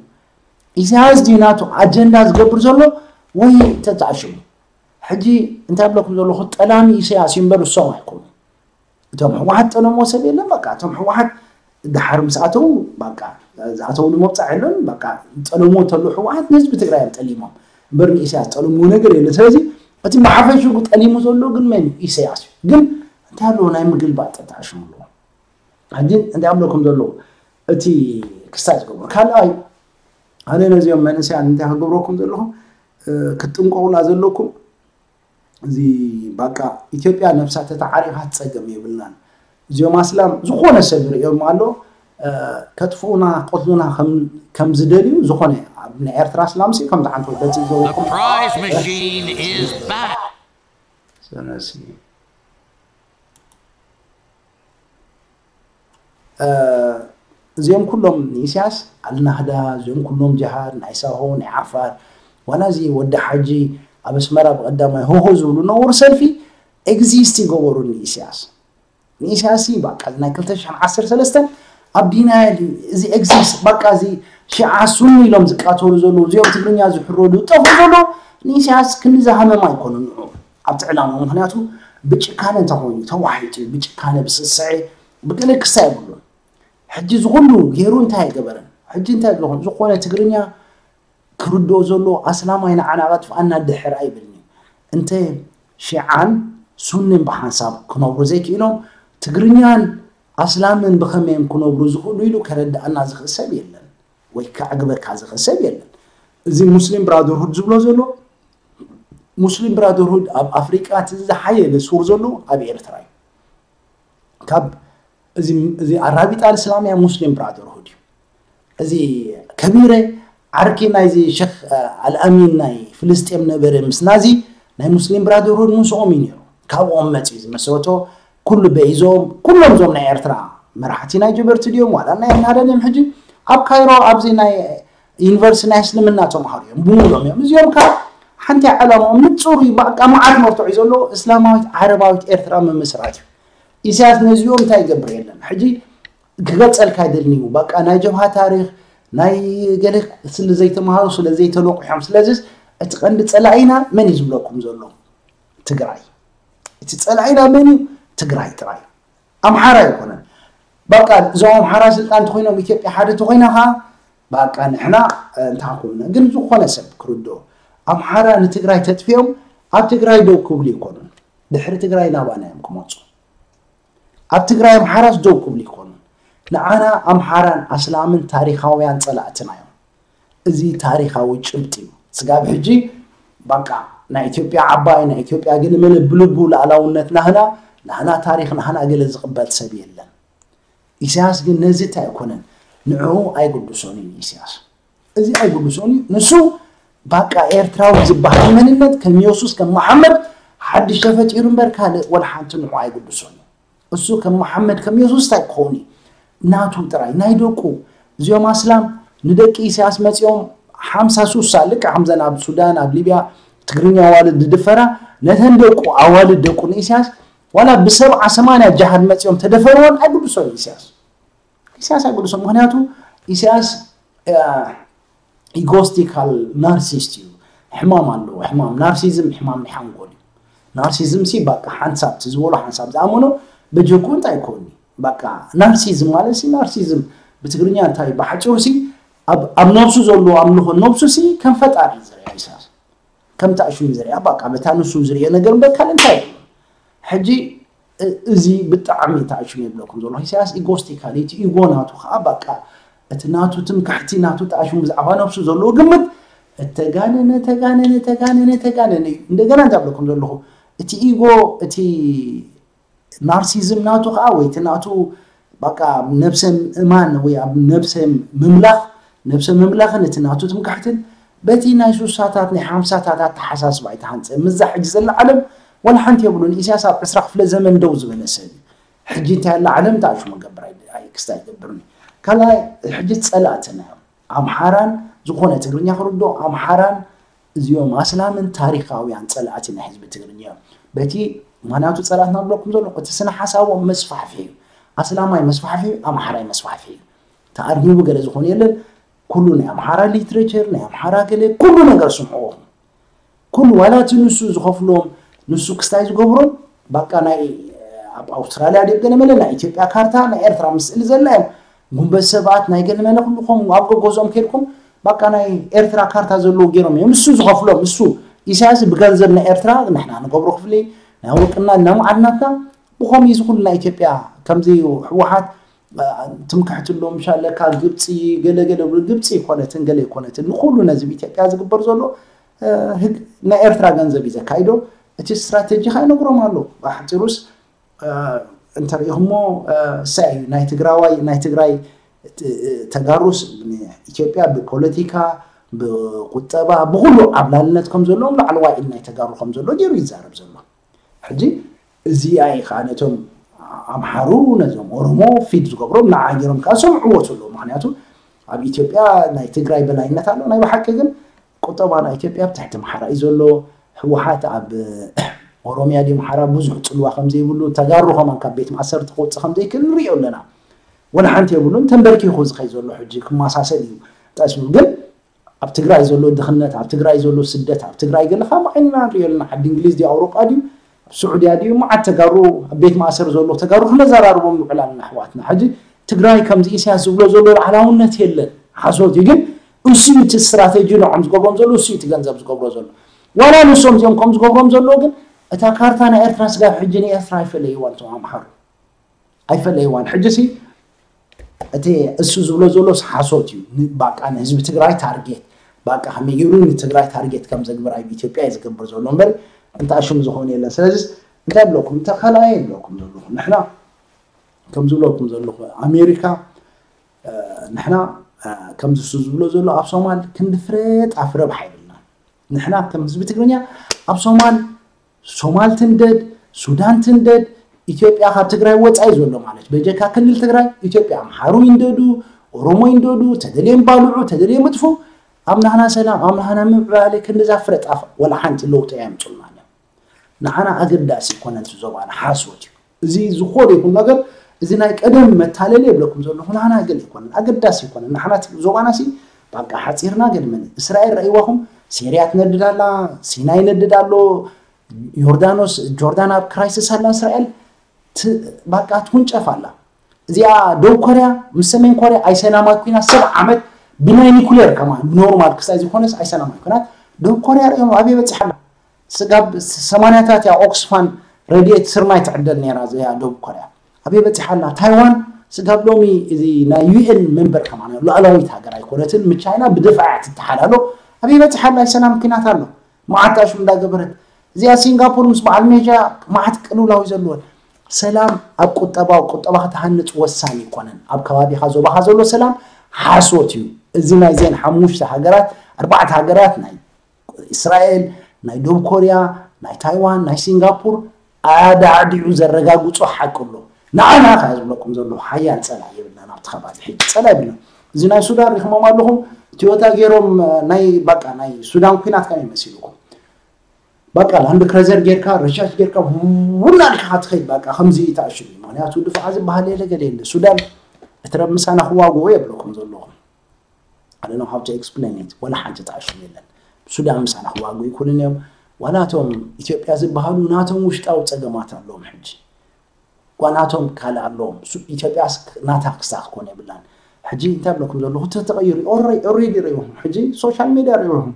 ኢሳያስ ድዩ ናቱ ኣጀንዳ ዝገብር ዘሎ ወይ ተጣሽሙ? ሕጂ እንታይ ብለኩም ዘለኹ ጠላሚ ኢሳያስ እዩ እምበር እሶም ኣይኮኑ። እቶም ህወሓት ጠለሞ ሰብ የለን። በቃ እቶም ህወሓት ድሓር ምስ ኣተው በቃ ዝኣተው ንመብፃዕ የለን። በቃ ጠለሞ ተሎ ህወሓት ንህዝቢ ትግራይ እዮም ጠሊሞም እምበር ንኢሳያስ ጠለምዎ ነገር የለን። ስለዚ እቲ ብሓፈሽኡ ጠሊሙ ዘሎ ግን መን እዩ? ኢሳያስ እዩ። ግን እንታይ ኣለዎ ናይ ምግልባጥ ተጣሽሙ ኣለዎ። ሕጂ እንታይ ኣብለኩም ዘለዉ እቲ ክስታይ ዝገብሩ ካልኣይ ኣነ ነዚኦም መንእሰያን እንታይ ክገብረኩም ዘለኹም ክትጥንቀቑላ ዘለኩም እዚ በቃ ኢትዮጵያ ነብሳ ተተዓሪኻ ትፀገም የብልናን። እዚኦም ኣስላም ዝኾነ ሰብ ርእዮም ኣሎ ከጥፍኡና ቆትሉና ከም ዝደልዩ ዝኾነ ኣብ ናይ ኤርትራ ኣስላም ሲ ከምዚ ሓንቲ ወደት ዝዘበኩም እዚኦም ኩሎም ንኢሳያስ ኣልናህዳ እዚኦም ኩሎም ጅሃድ ናይ ሳሆ ናይ ዓፋር ዋላ እዚ ወዲ ሓጂ ኣብ ኣስመራ ብቀዳማይ ሆሆ ዝብሉ ነውር ሰልፊ ኤግዚስት ይገበሩ ንኢሳያስ ንኢሳያስ በቃ ናይ ክልተ ሽሕን ዓሰርተ ሰለስተን ኣብ ዲናይል እዩ እዚ ኤግዚስት በቃ እዚ ሽዓ ሱኒ ኢሎም ዝቃተሉ ዘለዉ እዚኦም ትግርኛ ዝሕረዱ ዝጠፍኡ ዘለዉ ንኢሳያስ ክንዲ ዝሃመም ኣይኮኑ ንዑ ኣብቲ ዕላማ ምክንያቱ ብጭካነ እንተኮይኑ ተዋሒጡ ብጭካነ ብስስዐ ብገለ ክሳ የብሉን ሕጂ ዝኩሉ ገይሩ እንታይ ኣይገበረን ሕጂ እንታይ ዝኾን ዝኾነ ትግርኛ ክርድኦ ዘለዎ ኣስላማይ ንዓና ከጥፍኣና ድሕር ኣይብልኒ እንተ ሺዓን ሱንን ብሓንሳብ ክነብሩ ዘይክኢሎም ትግርኛን ኣስላምን ብኸመዮም ክነብሩ ዝኽእሉ ኢሉ ከረድኣና ዝኽእል ሰብ የለን ወይ ከዕግበካ ዝኽእል ሰብ የለን እዚ ሙስሊም ብራደርሁድ ዝብሎ ዘሎ ሙስሊም ብራደርሁድ ኣብ ኣፍሪቃ እቲ ዝሓየለ ሱር ዘሎ ኣብ ኤርትራ እዩ ካብ እዚ ኣራቢጣ እስላምያ ሙስሊም ብራደርሁድ እዩ እዚ ከቢረ ዓርኪ ናይዚ ሸክ ኣልኣሚን ናይ ፍልስጤም ነበረ ምስ ናዚ ናይ ሙስሊም ብራደርሁድ ምስኦም እዩ ነይሩ ካብኦም መፅኡ ዝመሰረቶ ኩሉ በይዞም ኩሎም ዞም ናይ ኤርትራ መራሕቲ ናይ ጀበርቲ ድዮም ዋላ ናይ ናደን እዮም ሕጂ ኣብ ካይሮ ኣብዚ ናይ ዩኒቨርሲቲ ናይ እስልምና ተምሃሩ እዮም ብሙሎም እዮም እዚኦም ካብ ሓንቲ ዓላማኦም ንፁር እዩ በቃ መዓት መርትዑ እዩ ዘሎ እስላማዊት ዓረባዊት ኤርትራ ምምስራት እዩ ኢሳያስ ነዚኦም እንታይ ይገብር የለን ሕጂ ክገልፀልካ ይደልኒ እዩ በቃ ናይ ጀብሃ ታሪክ ናይ ገለ ስለ ዘይተምሃሩ ስለ ዘይተለቁሖም ስለዚስ እቲ ቀንዲ ፀላኢና መን እዩ ዝብለኩም ዘሎ ትግራይ እቲ ፀላኢና መን እዩ ትግራይ ጥራይ ኣምሓራ ኣይኮነን በቃ እዞም ኣምሓራ ስልጣን ተኮይኖም ኢትዮጵያ ሓደ ተኮይና ከዓ በቃ ንሕና እንታይ ኮንና ግን ዝኾነ ሰብ ክርድኦ ኣምሓራ ንትግራይ ተጥፊኦም ኣብ ትግራይ ደው ክብሉ ይኮኑን ድሕሪ ትግራይ ናባና እዮም ክመፁ ኣብ ትግራይ ኣምሓራስ ደው ክብሉ ይኮኑን ንዓና ኣምሓራን ኣስላምን ታሪካውያን ፀላእትና እዮም እዚ ታሪካዊ ጭብጢ እዩ ስጋብ ሕጂ በቃ ናይ ኢትዮጵያ ዓባይ ናይ ኢትዮጵያ ግን መለ ብልቡ ሉኣላውነት ናህና ናህና ታሪክ ናህና ገለ ዝቅበል ሰብ የለን ኢሳያስ ግን ነዚ እንታይ ኣይኮነን ንዕኡ ኣይግድሶን እዩ ኢሳያስ እዚ ኣይግድሶን እዩ ንሱ በቃ ኤርትራዊ ዝበሃል መንነት ከም የሱስ ከም መሓመድ ሓድሽ ተፈጢሩ እምበር ካልእ ወላ ሓንቲ ንዕኡ ኣይግድሶን እዩ እሱ ከም መሓመድ ከም የሱስ እንታይ ክኸውን እዩ ናቱ ጥራይ ናይ ደቁ እዚኦም ኣስላም ንደቂ ኢሳያስ መፂኦም ሓምሳ ሱሳ ልክዕ ከምዘን ኣብ ሱዳን ኣብ ሊብያ ትግርኛ ኣዋልድ ዝድፈራ ነተን ደቁ ኣዋልድ ደቁ ንኢሳያስ ዋላ ብሰብዓ ሰማንያ ጃሃድ መፂኦም ተደፈርዎን ኣይግድሶን ኢሳያስ ኢሳያስ ኣይግድሶን ምክንያቱ ኢሳያስ ኢጎስቲካል ናርሲስት እዩ ሕማም ኣለዎ ሕማም ናርሲዝም ሕማም ናይ ሓንጎል እዩ ናርሲዝም ሲ በቃ ሓንሳብ ዝበሎ ሓንሳብ ዝኣመኖ በጀኩ እንታይ ይኮኒ በቃ ናርሲዝም ማለት ሲ ናርሲዝም ብትግርኛ እንታይ ብሓጭሩ ሲ ኣብ ነብሱ ዘሎ ኣምልኾ ነብሱ ሲ ከም ፈጣሪ ዝርያ ኢሳያስ ከም ታእሹ ዝርያ በቃ በታ ንሱ ዝርዮ ነገር እምበር ካልእ እንታይ የብሉን ሕጂ እዚ ብጣዕሚ ታእሹ የብለኩም ዘሎ ኢሳያስ ኢጎስቲካል እቲ ኢጎ ናቱ ከዓ በቃ እቲ ናቱ ትምክሕቲ ናቱ ጣሽሙ ብዛዕባ ነብሱ ዘለዎ ግምት እተጋነነ ተጋነነ ተጋነነ ተጋነነ እዩ እንደገና እንታይ ብለኩም ዘለኹ እቲ ኢጎ እቲ ናርሲዝም ናቱ ከዓ ወይ እቲ ናቱ በቃ ነብሰ እማን ወይ ኣብ ነብሰ ምምላኽ ነብሰ ምምላኽን እቲ ናቱ ትምክሕትን በቲ ናይ ሱሳታት ናይ ሓምሳታት ኣተሓሳስባ ኣይተሃንፀ ምዛ ሕጂ ዘላ ዓለም ዋላ ሓንቲ የብሉን ኢሳያስ ኣብ ዕስራ ክፍለ ዘመን ደው ዝበለ ሰብ እዩ ሕጂ እንታይ ኣላ ዓለም ታእሹ መገብር ክስታ ይገብርኒ ካልኣይ ሕጂ ፀላእትና እዮም ኣምሓራን ዝኾነ ትግርኛ ክርድኦ ኣምሓራን እዚኦም ኣስላምን ታሪኻውያን ጸላእቲ ናይ ህዝቢ ትግርኛ እዮም። በቲ ምኽንያቱ ጸላእትና ብለኩም ዘሎ እቲ ስነ ሓሳቦም መስፋሕፍሒ እዩ። ኣስላማይ መስፋሕፍሒ እዩ፣ ኣምሓራይ መስፋሕፍሒ እዩ። ተኣርጊቡ ገለ ዝኾነ የለን። ኩሉ ናይ ኣምሓራ ሊትሬቸር ናይ ኣምሓራ ገለ ኩሉ ነገር ስምዕዎም። ኩሉ ዋላ እቲ ንሱ ዝኸፍሎም ንሱ ክስታይ ዝገብሮም ባቃ ናይ ኣብ ኣውስትራልያ ድዮም ገለ መለ ናይ ኢትዮጵያ ካርታ ናይ ኤርትራ ምስእሊ ዘላ እዮም። ጉንበት ሰባት ናይ ገለ መለ ኩሉ ከም ኣብ ገጎዞም ከድኩም ባቃ ናይ ኤርትራ ካርታ ዘለዎ ገይሮም እዮም። ንሱ ዝኸፍሎም ንሱ ኢሳያስ ብገንዘብ ናይ ኤርትራ ንሕና ንገብሮ ክፍሊ ናይ ወርቅና እና መዓድናትና ብኸም እዚ ኩሉ ናይ ኢትዮጵያ ከምዚ ህወሓት ትምክሕቲ ኣሎ ምሻለካ ግብፂ ገለገለ ብሉ ግብፂ ይኮነትን ገለ ይኮነትን ንኩሉ ነዚ ኢትዮጵያ ዝግበር ዘሎ ህግ ናይ ኤርትራ ገንዘብ እዩ ዘካይዶ። እቲ ስትራቴጂ ከ ይነግሮም ኣሎ። ኣሕፂሩስ እንተሪኢኹሞ እሳይ እዩ ናይ ትግራዋይ ናይ ትግራይ ተጋሩስ ኢትዮጵያ ብፖለቲካ ብቁጠባ ብኩሉ ዓብላልነት ከም ዘለዎም ላዕለዋይ ኢድ ናይ ተጋሩ ከም ዘሎ ገይሩ ይዛረብ ዘሎ። ሕጂ እዚኣ እዩ ከዓ ነቶም ኣምሓሩ ነዞም ኦሮሞ ፊድ ዝገብሮም ንዓ ገይሮም ከዓ ሰምዕዎ ዘለዉ። ምክንያቱ ኣብ ኢትዮጵያ ናይ ትግራይ በላይነት ኣሎ። ናይ ብሓቂ ግን ቁጠባ ናይ ኢትዮጵያ ኣብ ትሕቲ ኣምሓራ እዩ ዘሎ። ህወሓት ኣብ ኦሮሚያ ድዩ ኣምሓራ ብዙሕ ፅልዋ ከምዘይብሉ ተጋሩ ከማን ካብ ቤት ማእሰርቲ ክወፅእ ከምዘይክእል ንሪኦ ኣለና። ወላ ሓንቲ የብሉን። ተንበርኪኹ ዝኸይ ዘሎ ሕጂ ክመሳሰል እዩ ጠስሙ ግን ኣብ ትግራይ ዘሎ ድኽነት ኣብ ትግራይ ዘሎ ስደት ኣብ ትግራይ ገለኻ ብዓይንና ንሪኦ ኣለና። ዓዲ እንግሊዝ ድዩ ኣውሮጳ ድዩ ኣብ ስዑድያ ድዩ መዓት ተጋሩ ኣብ ቤት ማእሰር ዘሎ ተጋሩ ክነዘራርቦም ንውዕል ኣለና ኣሕዋትና። ሕጂ ትግራይ ከምዚ ኢሳያስ ዝብሎ ዘሎ ላዕላውነት የለን ሓሶት እዩ። ግን እሱ እቲ ስትራቴጂ ንዖም ዝገብሮም ዘሎ እሱ እቲ ገንዘብ ዝገብሮ ዘሎ ዋላ ንሶም እዚኦም ከም ዝገብሮም ዘሎ ግን እታ ካርታ ናይ ኤርትራ ስጋብ ሕጂ ንኤርትራ ኣይፈለይዋን እቶም ኣምሓሩ ኣይፈለይዋን። ሕጂ ሲ እቲ እሱ ዝብሎ ዘሎ ሓሶት እዩ። ባቃ ንህዝቢ ትግራይ ታርጌት ባቃ ከመይ ገይሩ ንትግራይ ታርጌት ከም ዘግብር ኣብ ኢትዮጵያ እዩ ዝገብር ዘሎ እምበር እንታይ ሽም ዝኾነ የለን። ስለዚ እንታይ ብለኩም እንተ ካልኣየ ይብለኩም ዘለኹ ንሕና ከም ዝብለኩም ዘለኹ ኣሜሪካ ንሕና ከምዚ እሱ ዝብሎ ዘሎ ኣብ ሶማል ክንዲ ፍረ ጣፍ ረብሓ ይብልና። ንሕና ከም ህዝቢ ትግርኛ ኣብ ሶማል ሶማል ትንደድ ሱዳን ትንደድ ኢትዮጵያ ካብ ትግራይ ወፃኢ ዘሎ ማለት በጀካ ክልል ትግራይ ኢትዮጵያ ኣምሓሩ ይንደዱ ኦሮሞ ይንደዱ ተደልዮም ባልዑ ተደልዮም እጥፉ ኣብ ናህና ሰላም ኣብ ናህና ምዕባለ ክንድዛ ፍረ ጣፍ ወላ ሓንቲ ለውጢ ኣየምፁልና እዮም። ንዓና ኣገዳሲ ይኮነን እቲ ዞባና ሓሶት እዩ። እዚ ዝኾነ ይኹን ነገር እዚ ናይ ቀደም መታለሊ የብለኩም ዘለኹ ንዓና ገለ ይኮነን ኣገዳሲ ይኮነን ንዓና ዞባና ሲ ባቃ ሓፂርና ገድመን እስራኤል ረእይዋኹም ሴርያ ትነድድ ኣላ ሲናይ ይነድድ ኣሎ ዮርዳኖስ ጆርዳን ኣብ ክራይስስ ኣላ እስራኤል ባቃ ትውንጨፍ ኣላ። እዚኣ ደቡብ ኮርያ ምስ ሰሜን ኮርያ ኣይሰላማት ኩናት ሰብ ዓመት ብናይ ኒኩሌር ከማ ብኖርማል ክሳይ ዝኾነስ ኣይሰላማት ኩናት ደቡብ ኮርያ ርእዮም ኣበይ በፂሓ ኣላ። ስጋብ ሰማንያታት እያ ኦክስፋን ረድኤት ስርናይ ትዕደል ነይራ እዚኣ ደቡብ ኮርያ ኣበይ በፂሓ ኣላ። ታይዋን ስጋብ ሎሚ እዚ ናይ ዩኤን መንበር ከማ ሉኣላዊት ሃገር ኣይኮነትን ምስ ቻይና ብድፋዕ እያ ትተሓላሎ። ኣበይ በፂሓ ኣላ ሰላም ኩናት ኣሎ። መዓት ኣሽሙ እንዳገበረት እዚኣ ሲንጋፖር ምስ በዓል ሜጃ መዓት ቅልውላው ዘለወን ሰላም ኣብ ቁጠባ ቁጠባ ክትሃንፅ ወሳኒ ይኮነን ኣብ ከባቢካ ዞባካ ዘሎ ሰላም ሓሶት እዩ። እዚ ናይዘን ሓሙሽተ ሃገራት ኣርባዕተ ሃገራት ናይ እስራኤል ናይ ደቡብ ኮርያ ናይ ታይዋን ናይ ሲንጋፖር ኣዳዕዲዑ ዘረጋግፆ ሓቂ ኣሎ። ንዓና ከ ዝብለኩም ዘለኹ ሓያል ፀላኢ የብልና ናብቲ ከባቢ ሕጂ ፀላኢ የብልና። እዚ ናይ ሱዳን ሪኽሞም ኣለኹም ቲዮታ ገይሮም ናይ በቃ ናይ ሱዳን ኩናት ከመይ መሲልኩም በቃ ላንድ ክረዘር ጌርካ ረሻሽ ጌርካ ውና ልካ ትኸይድ በቃ ከምዚ ተኣሽሙ ምክንያቱ ድፋዓ ዝበሃል የለ ገለ የለ ሱዳን እትረብ ምሳና ክዋግኡ የብለኩም ዘለኹም I don't know how to explain it ወላ ሓንቲ ተኣሽሙ የለን ሱዳን ምሳና ክዋግኡ ይኩልን እዮም ዋላቶም ኢትዮጵያ ዝበሃሉ ናቶም ውሽጣዊ ፀገማት ኣለዎም ሕጂ ጓናቶም ካልእ ኣለዎም ኢትዮጵያ ናታ ክሳ ክኮን የብላን ሕጂ እንታይ ብለኩም ዘለኹ እቲ ተቀይሩ ኦሬዲ ሪኢኹም ሕጂ ሶሻል ሜድያ ሪኢኹም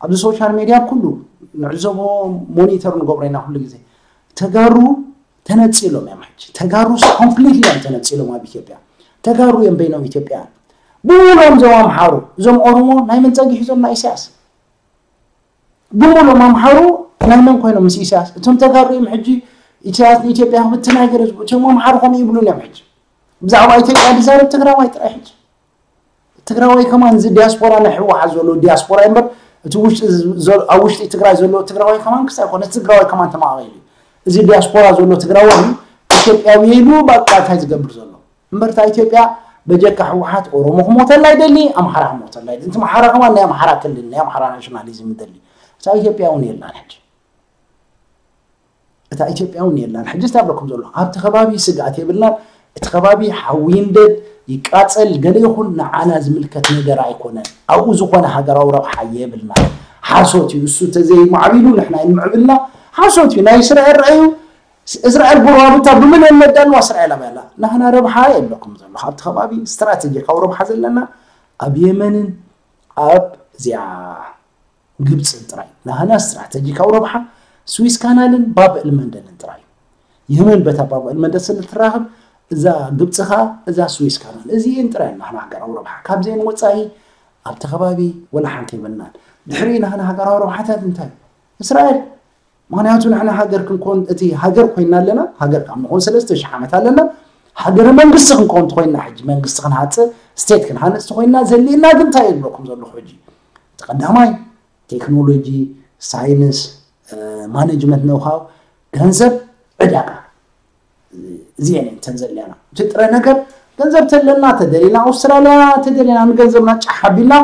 ኣብዚ ሶሻል ሜድያ ኩሉ ንዕዘቦ ሞኒተር ንገብሮ ኢና ኩሉ ግዜ ተጋሩ ተነፂሎም እዮም ሕጂ ተጋሩ ኮምፕሊትሊ እዮም ተነፂሎም ኣብ ኢትዮጵያ ተጋሩ እዮም በይኖም ኢትዮጵያን ብሙሉኦም እዞም ኣምሓሩ እዞም ኦሮሞ ናይ መን ፀጊሑ እዞም ናይ ኢሳያስ ብሙሉኦም ኣምሓሩ ናይ መን ኮይኖም ምስ ኢሳያስ እቶም ተጋሩ እዮም ሕጂ ኢሳያስ ንኢትዮጵያ ክብትና ይገለ ዝብሉ እቶም ኣምሓሩ ከምኡ ይብሉን እዮም ሕጂ ብዛዕባ ኢትዮጵያ ዝዛረብ ትግራዋይ ጥራይ ሕጂ ትግራዋይ ከማን እዚ ዲያስፖራ ናይ ህወሓት ዘሎ ዲያስፖራ እምበር እቲ ውሽጢ ኣብ ውሽጢ ትግራይ ዘሎ ትግራዋይ ከማን ክሳይ ኮነ ትግራዋይ ከማን ተማቒሉ እዩ እዚ ዲያስፖራ ዘሎ ትግራዋይ ኢትዮጵያዊ ኢሉ በቃ እንታይ ዝገብር ዘሎ እምበርታ ኢትዮጵያ በጀካ ህወሓት ኦሮሞ ክሞተላ ይደሊ፣ ኣምሓራ ክሞተላ ይደሊ። እቲ ኣምሓራ ከማን ናይ ኣምሓራ ክልል፣ ናይ ኣምሓራ ናሽናሊዝም ይደሊ። እታ ኢትዮጵያ እውን የላን ሕጂ። እታ ኢትዮጵያ እውን የላን። ሕጂ እንታይ ብለኩም ዘሎ ኣብቲ ከባቢ ስግኣት የብልናን። እቲ ከባቢ ሓዊ ይንደድ ይቃፀል ገለ ይኹን ንዓና ዝምልከት ነገር ኣይኮነን። ኣብኡ ዝኾነ ሃገራዊ ረብሓ የብልናን። ሓሶት እዩ። እሱ ተዘይማዕቢሉ ንሕና ይንምዕብልና። ሓሶት እዩ። ናይ እስራኤል ረኣዩ። እስራኤል ጎረባብታ ብምልእን ነዳልዋ እስራኤል ኣበላ ናህና ረብሓ የብለኩም ዘሎ ኣብቲ ከባቢ። ስትራቴጂካዊ ረብሓ ዘለና ኣብ የመንን ኣብ እዚኣ ግብፅን ጥራይ። ናህና ስትራቴጂካዊ ረብሓ ስዊስ ካናልን ባብ እልመንደልን ጥራይ። የመን በታ ባብ እልመንደል ስለ ትራኸብ እዛ ግብፂ ኸዓ እዛ ስዊስ ካናል እዚኤን ጥራይ ናህና ሃገራዊ ረብሓ። ካብዚኤን ወፃኢ ኣብቲ ከባቢ ወላ ሓንቲ የብልናን። ድሕሪ ናህና ሃገራዊ ረብሓታት እንታይ እስራኤል። ምክንያቱ ንሕና ሃገር ክንኮን እቲ ሃገር ኮይና ኣለና። ሃገር ካብ ንኾን ሰለስተ ሽሕ ዓመት ኣለና። ሃገረ መንግስቲ ክንኮን ተኮይና ሕጂ መንግስቲ ክንሃፅእ ስቴት ክንሃንፅ ተኮይና ዘሊና ግን እንታይ የብለኩም ዘለኹ ሕጂ እቲ ቀዳማይ ቴክኖሎጂ ሳይንስ ማኔጅመንት ነውሃው ገንዘብ ዕዳጋ እዚአን እተን ዘለና እቲ ጥረ ነገር ገንዘብ ተለና ተደሊና ኣውስትራልያ ተደሊና ንገንዘብና ጫሕ ኣቢልና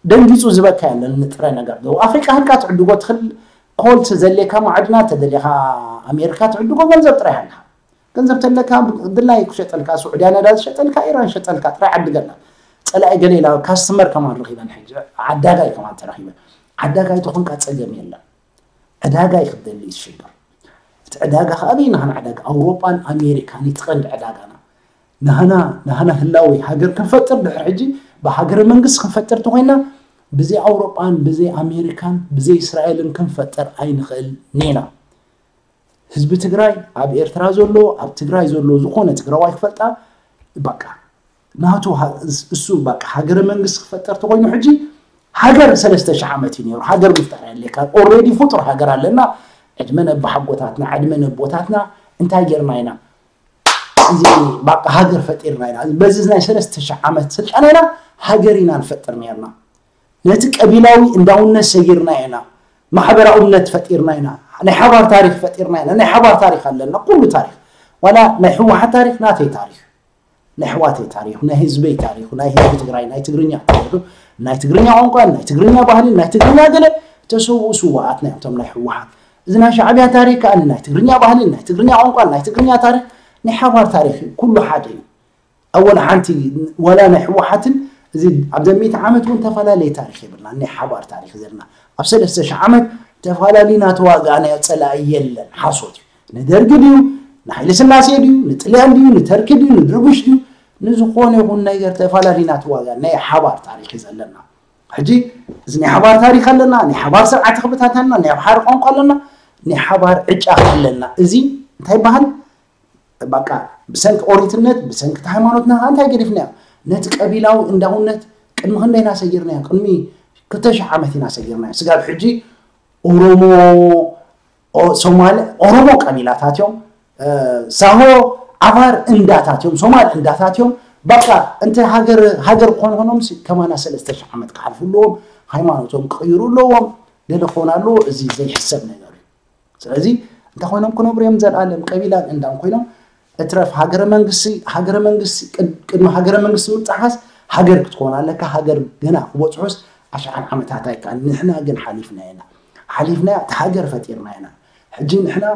ደንጊፁ ዝበካ የለን ንጥረ ነገር ደቡብ ኣፍሪቃ ህልካ ትዕድጎ ትኽል ኮልት ዘሌካ ማዕድና ተደሊኻ ኣሜሪካ ትዕድጎ ገንዘብ ጥራይ ሃልካ ገንዘብ ተለካ ድላይ ክሸጠልካ ስዑድያ ነዳ ዝሸጠልካ ኢራን ሸጠልካ ጥራይ ዓድገላ ፀላኢ ገለ ኢላ ካስተመር ከማን ረኺበን ሕጂ ዓዳጋይ ከማን ተረኺበን ዓዳጋይ ተኾንካ ፀገም የለን ዕዳጋ እዩ ክደሊ ዝሽገር እቲ ዕዳጋ ከኣ ኣበይ ናህና ዕዳጋ ኣውሮጳን ኣሜሪካን እቲ ቀንዲ ዕዳጋና ናህና ናህና ህላዊ ሃገር ክንፈጥር ድሕር ሕጂ ብሃገረ መንግስት ክንፈጥር ተኮይና ብዘይ ኣውሮጳን ብዘይ ኣሜሪካን ብዘይ እስራኤልን ክንፈጥር ኣይንኽእል ኔና ህዝቢ ትግራይ ኣብ ኤርትራ ዘሎ ኣብ ትግራይ ዘሎ ዝኾነ ትግራዋይ ክፈልጣ በቃ ናቱ እሱ በቃ ሃገረ መንግስት ክፈጠር ተኮይኑ ሕጂ ሃገር ሰለስተ ሽሕ ዓመት እዩ ነይሩ ሃገር ምፍጣር ያለካ ኦሬዲ ፍጡር ሃገር ኣለና ዕድመ ነባሓጎታትና ዕድመ ነቦታትና እንታይ ጌርና ኢና እዚ በቃ ሃገር ፈጢርና ኢና በዚ ናይ ሰለስተ ሽሕ ዓመት ስልጣን ኢና ሃገር ኢና ንፈጥር ነርና ነቲ ቀቢላዊ እንዳውነት ሰጊርና ኢና ማሕበራዊ እምነት ፈጢርና ኢና ናይ ሓባር ታሪክ ፈጢርና ኢና ናይ ሓባር ታሪክ ኣለና ኩሉ ታሪክ ዋላ ናይ ህወሓት ታሪክ ናተይ ታሪክ ናይ ኣሕዋተይ ታሪክ ናይ ህዝበይ ታሪክ ናይ ህዝቢ ትግራይ ናይ ትግርኛ ታሪክ ናይ ትግርኛ ቋንቋ ናይ ትግርኛ ባህሊ ናይ ትግርኛ ገለ ተሰውኡ ስዋኣት ናይ እቶም ናይ ህወሓት እዚ ናይ ሻዕብያ ታሪክ ከኣ ናይ ትግርኛ ባህሊ ናይ ትግርኛ ቋንቋ ናይ ትግርኛ ታሪክ ናይ ሓባር ታሪክ ኩሉ ሓደ እዩ ኣወላ ሓንቲ ዋላ ናይ ህወሓትን እዚ ኣብዘ ሚእቲ ዓመት እውን ተፈላለየ ታሪክ የብልና ናይ ሓባር ታሪክ ዘለና ኣብ ሰለስተ ሽሕ ዓመት ተፈላለዩና ተዋጋእናዮ ፀላኢ የለን ሓሶት እዩ ንደርጊ ድዩ ንሃይለ ስላሴ ድዩ ንጥልያን ድዩ ንተርኪ ድዩ ንድርቡሽ ድዩ ንዝኾነ ይኹን ነገር ተፈላለዩና ተዋጋ ናይ ሓባር ታሪክ እዩ ዘለና ሕጂ እዚ ናይ ሓባር ታሪክ ኣለና ናይ ሓባር ስርዓት ክብታታና ናይ ሓባር ቋንቋ ኣለና ናይ ሓባር ዕጫ ኣለና እዚ እንታይ ይበሃል በቃ ብሰንኪ ኦሪትነት ብሰንኪ ሃይማኖትና ከዓ እንታይ ገዲፍናዮ ነቲ ቀቢላዊ እንዳውነት ቅድሚ ክንደይ ኢና ሰጊርናዮ ቅድሚ ክልተ ሽሕ ዓመት ኢና ሰጊርናዮ ስጋብ ሕጂ ኦሮሞ ሶማል ኦሮሞ ቀቢላታት እዮም ሳሆ ዓፋር እንዳታት እዮም ሶማል እንዳታት እዮም በቃ እንተ ሃገር ሃገር ክኾኑ ኾኖም ከማና ሰለስተ ሽሕ ዓመት ክሓልፉ ኣለዎም ሃይማኖቶም ክቕይሩ ኣለዎም ገለ ክኾን ኣለዎ እዚ ዘይሕሰብ ነገር እዩ ስለዚ እንታይ ኮይኖም ክነብሩ እዮም ዘልኣለም ቀቢላን እንዳን ኮይኖም እትረፍ ሃገረ መንግስቲ ሃገረ መንግስቲ ቅድሚ ሃገረ መንግስቲ ምጥሓስ ሃገር ክትኮን ኣለካ ሃገር ገና ክበፅሑስ ኣሽሓት ዓመታት ኣይከኣል ንሕና ግን ሓሊፍና ኢና ሓሊፍና እቲ ሃገር ፈጢርና ኢና ሕጂ ንሕና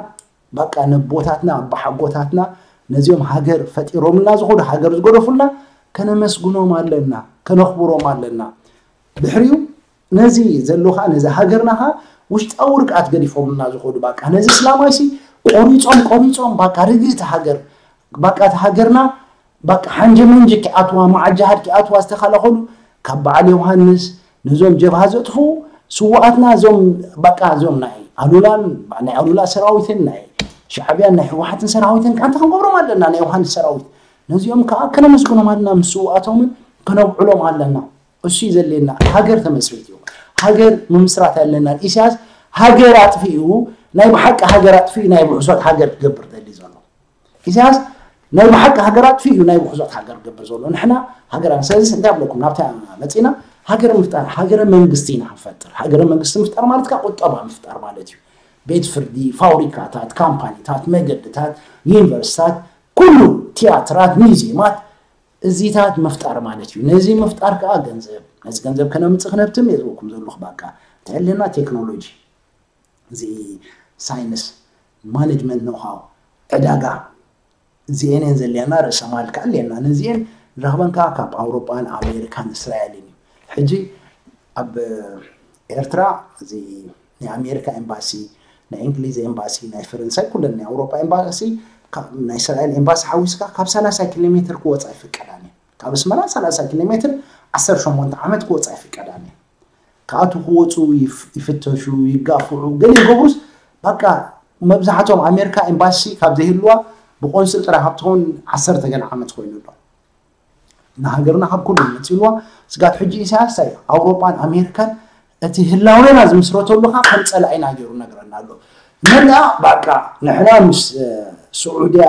በቃ ነቦታትና ኣባሓጎታትና ነዚኦም ሃገር ፈጢሮምልና ዝኮዱ ሃገር ዝገደፉልና ከነመስግኖም ኣለና ከነኽብሮም ኣለና ድሕሪኡ ነዚ ዘሎ ከዓ ነዚ ሃገርና ከዓ ውሽጣዊ ርግኣት ገዲፎምልና ዝኮዱ በቃ ነዚ እስላማይ ሲ ቆሪፆም ቆሪፆም በቃ ርግእቲ ሃገር በቃ እቲ ሃገርና በቃ ሓንጀ መንጀ ኪኣትዋ መዓጃሃድ ኪኣትዋ ዝተኸላኸሉ ካብ በዓል ዮሃንስ ነዞም ጀብሃ ዘጥፍኡ ስዋኣትና እዞም በቃ እዞም ናይ ኣሉላን ናይ ኣሉላ ሰራዊትን ናይ ሻዕብያን ናይ ህወሓትን ሰራዊትን ከዓንተ ክንገብሮም ኣለና ናይ ዮሃንስ ሰራዊት ነዚኦም ከዓ ከነመስግኖም ኣለና ምስ ስዋኣቶምን ከነብዕሎም ኣለና እሱ ዘሌና ሃገር ተመስሪት እዩ ሃገር ምምስራት ኣለና ኢሳያስ ሃገር ኣጥፊኡ ናይ ብሓቂ ሃገር ኣጥፊኡ ናይ ብሕሶት ሃገር ክገብር ደሊ ዘሎ ኢሳያስ ናይ ብሓቂ ሃገር ኣጥፊኡ እዩ ናይ ብሕሶት ሃገር ክገብር ዘሎ ንሕና ሃገር ስለዚ እንታይ ብለኩም ናብታ መፂና ሃገር ምፍጣር ሃገረ መንግስቲ ኢና ክንፈጥር ሃገረ መንግስቲ ምፍጣር ማለት ካ ቁጠባ ምፍጣር ማለት እዩ ቤት ፍርዲ ፋብሪካታት ካምፓኒታት መገድታት ዩኒቨርሲታት ኩሉ ቲያትራት ሙዚየማት እዚታት ምፍጣር ማለት እዩ። ነዚ ምፍጣር ከዓ ገንዘብ፣ ነዚ ገንዘብ ከነምፅእ ክነብትም እየ ዝበልኩም ዘለኹ። በቃ እንተህልና ቴክኖሎጂ፣ እዚ ሳይንስ፣ ማኔጅመንት ኖሃው፣ ዕዳጋ፣ እዚኤን እየን ዘልያና፣ ርእሰ ማል ከዓ ኣለና። ነዚኤን ንረኽበን ከዓ ካብ ኣውሮጳን ኣሜሪካን እስራኤልን እዩ። ሕጂ ኣብ ኤርትራ እዚ ናይ ኣሜሪካ ኤምባሲ፣ ናይ እንግሊዝ ኤምባሲ፣ ናይ ፈረንሳይ፣ ኩለን ናይ ኣውሮጳ ኤምባሲ፣ ካብ ናይ እስራኤል ኤምባሲ ሓዊስካ ካብ ሰላሳ ኪሎ ሜትር ክወፃ ይፍቀዳን እየን። ካብ ኣስመራ ሰላሳ ኪሎ ሜትር ዓሰርተ ሸሞንተ ዓመት ክወፃ ይፍቀዳን እየን። ክኣቱ ክወፁ ይፍ- ይፍተሹ፣ ይጋፍዑ፣ ገለ ይገብሩስ በቃ መብዛሕቶም ኣሜሪካ ኤምባሲ ካብ ዘይህልዋ ብቆንስል ጥራይ ካብ ትኸውን ዓሰርተ ገለ ዓመት ኮይኑ ኣሎ። ንሃገርና ካብ ኩሉ መፂልዋ ስጋት ሕጂ ኢሳያስ እንታይ እዩ? ኣውሮጳን ኣሜሪካን እቲ ህላዌና ዝምስረተሉ ከዓ ከም ፀላኢና ገይሩ ነግረና ኣሎ። መን ደኣ በቃ ንሕና ምስ እ፣ ስዑድያ፣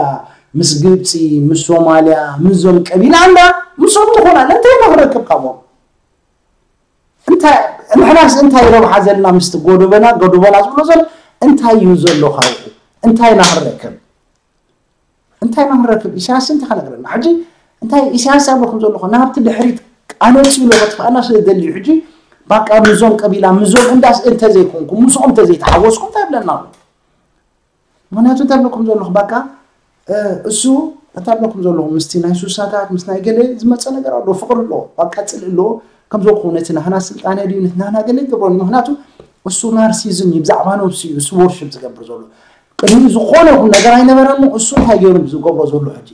ምስ ግብፂ፣ ምስ ሶማልያ፣ ምስዞም ቀቢላ እንዳ ምስኦም ንኾና ኣለና። እንታይ ኢና ክንረክብ ካብኦም? እንታይ ንሕናስ እንታይ ረብሓ ዘለና ምስቲ ጎዶበና ጎዶበና ዝብሎ ዘሎ እንታይ እዩ ዘሎ ካብኡ? እንታይ ኢና ክንረክብ? እንታይ ኢና ክንረክብ? ኢሳያስ እንታይ ከነግረና? ሕጂ እንታይ ኢሳያስ ኣብለኩም ዘለኹ ናብቲ ድሕሪት ኣነፂ ኢሉ ከጥፋእና ስለ ዝደሊ እዩ። ሕጂ ባቃ ምዞም ቀቢላ ምዞም እንዳስ እንተዘይኮንኩም ምስኦም እንተዘይተሓወስኩም እንታይ ይብለና ኣሎ? ምክንያቱ እንታይ ኣብለኩም ዘለኹ ባቃ እ፣ እሱ እንታይ ኣብለኩም ዘለኹ ምስቲ ናይ ሱሳታት ምስ ናይ ገለ ዝመፀ ነገር ኣሎ፣ ፍቅሪ ኣሎ፣ ባቃ ፅልኢ ኣሎ። ከምዚ ክኾነ እቲ ናህና ስልጣነ ድዩ ነቲ ናህና ገለ ይገብሮ። ምክንያቱ እሱ ናርሲዝም እዩ፣ ብዛዕባ ነብሱ እዩ እሱ ወርሽፕ ዝገብር ዘሎ። ቅድሚ ዝኾነ ይኹን ነገር ኣይነበረን። እሱ እንታይ ገይሩ ዝገብሮ ዘሎ ሕጂ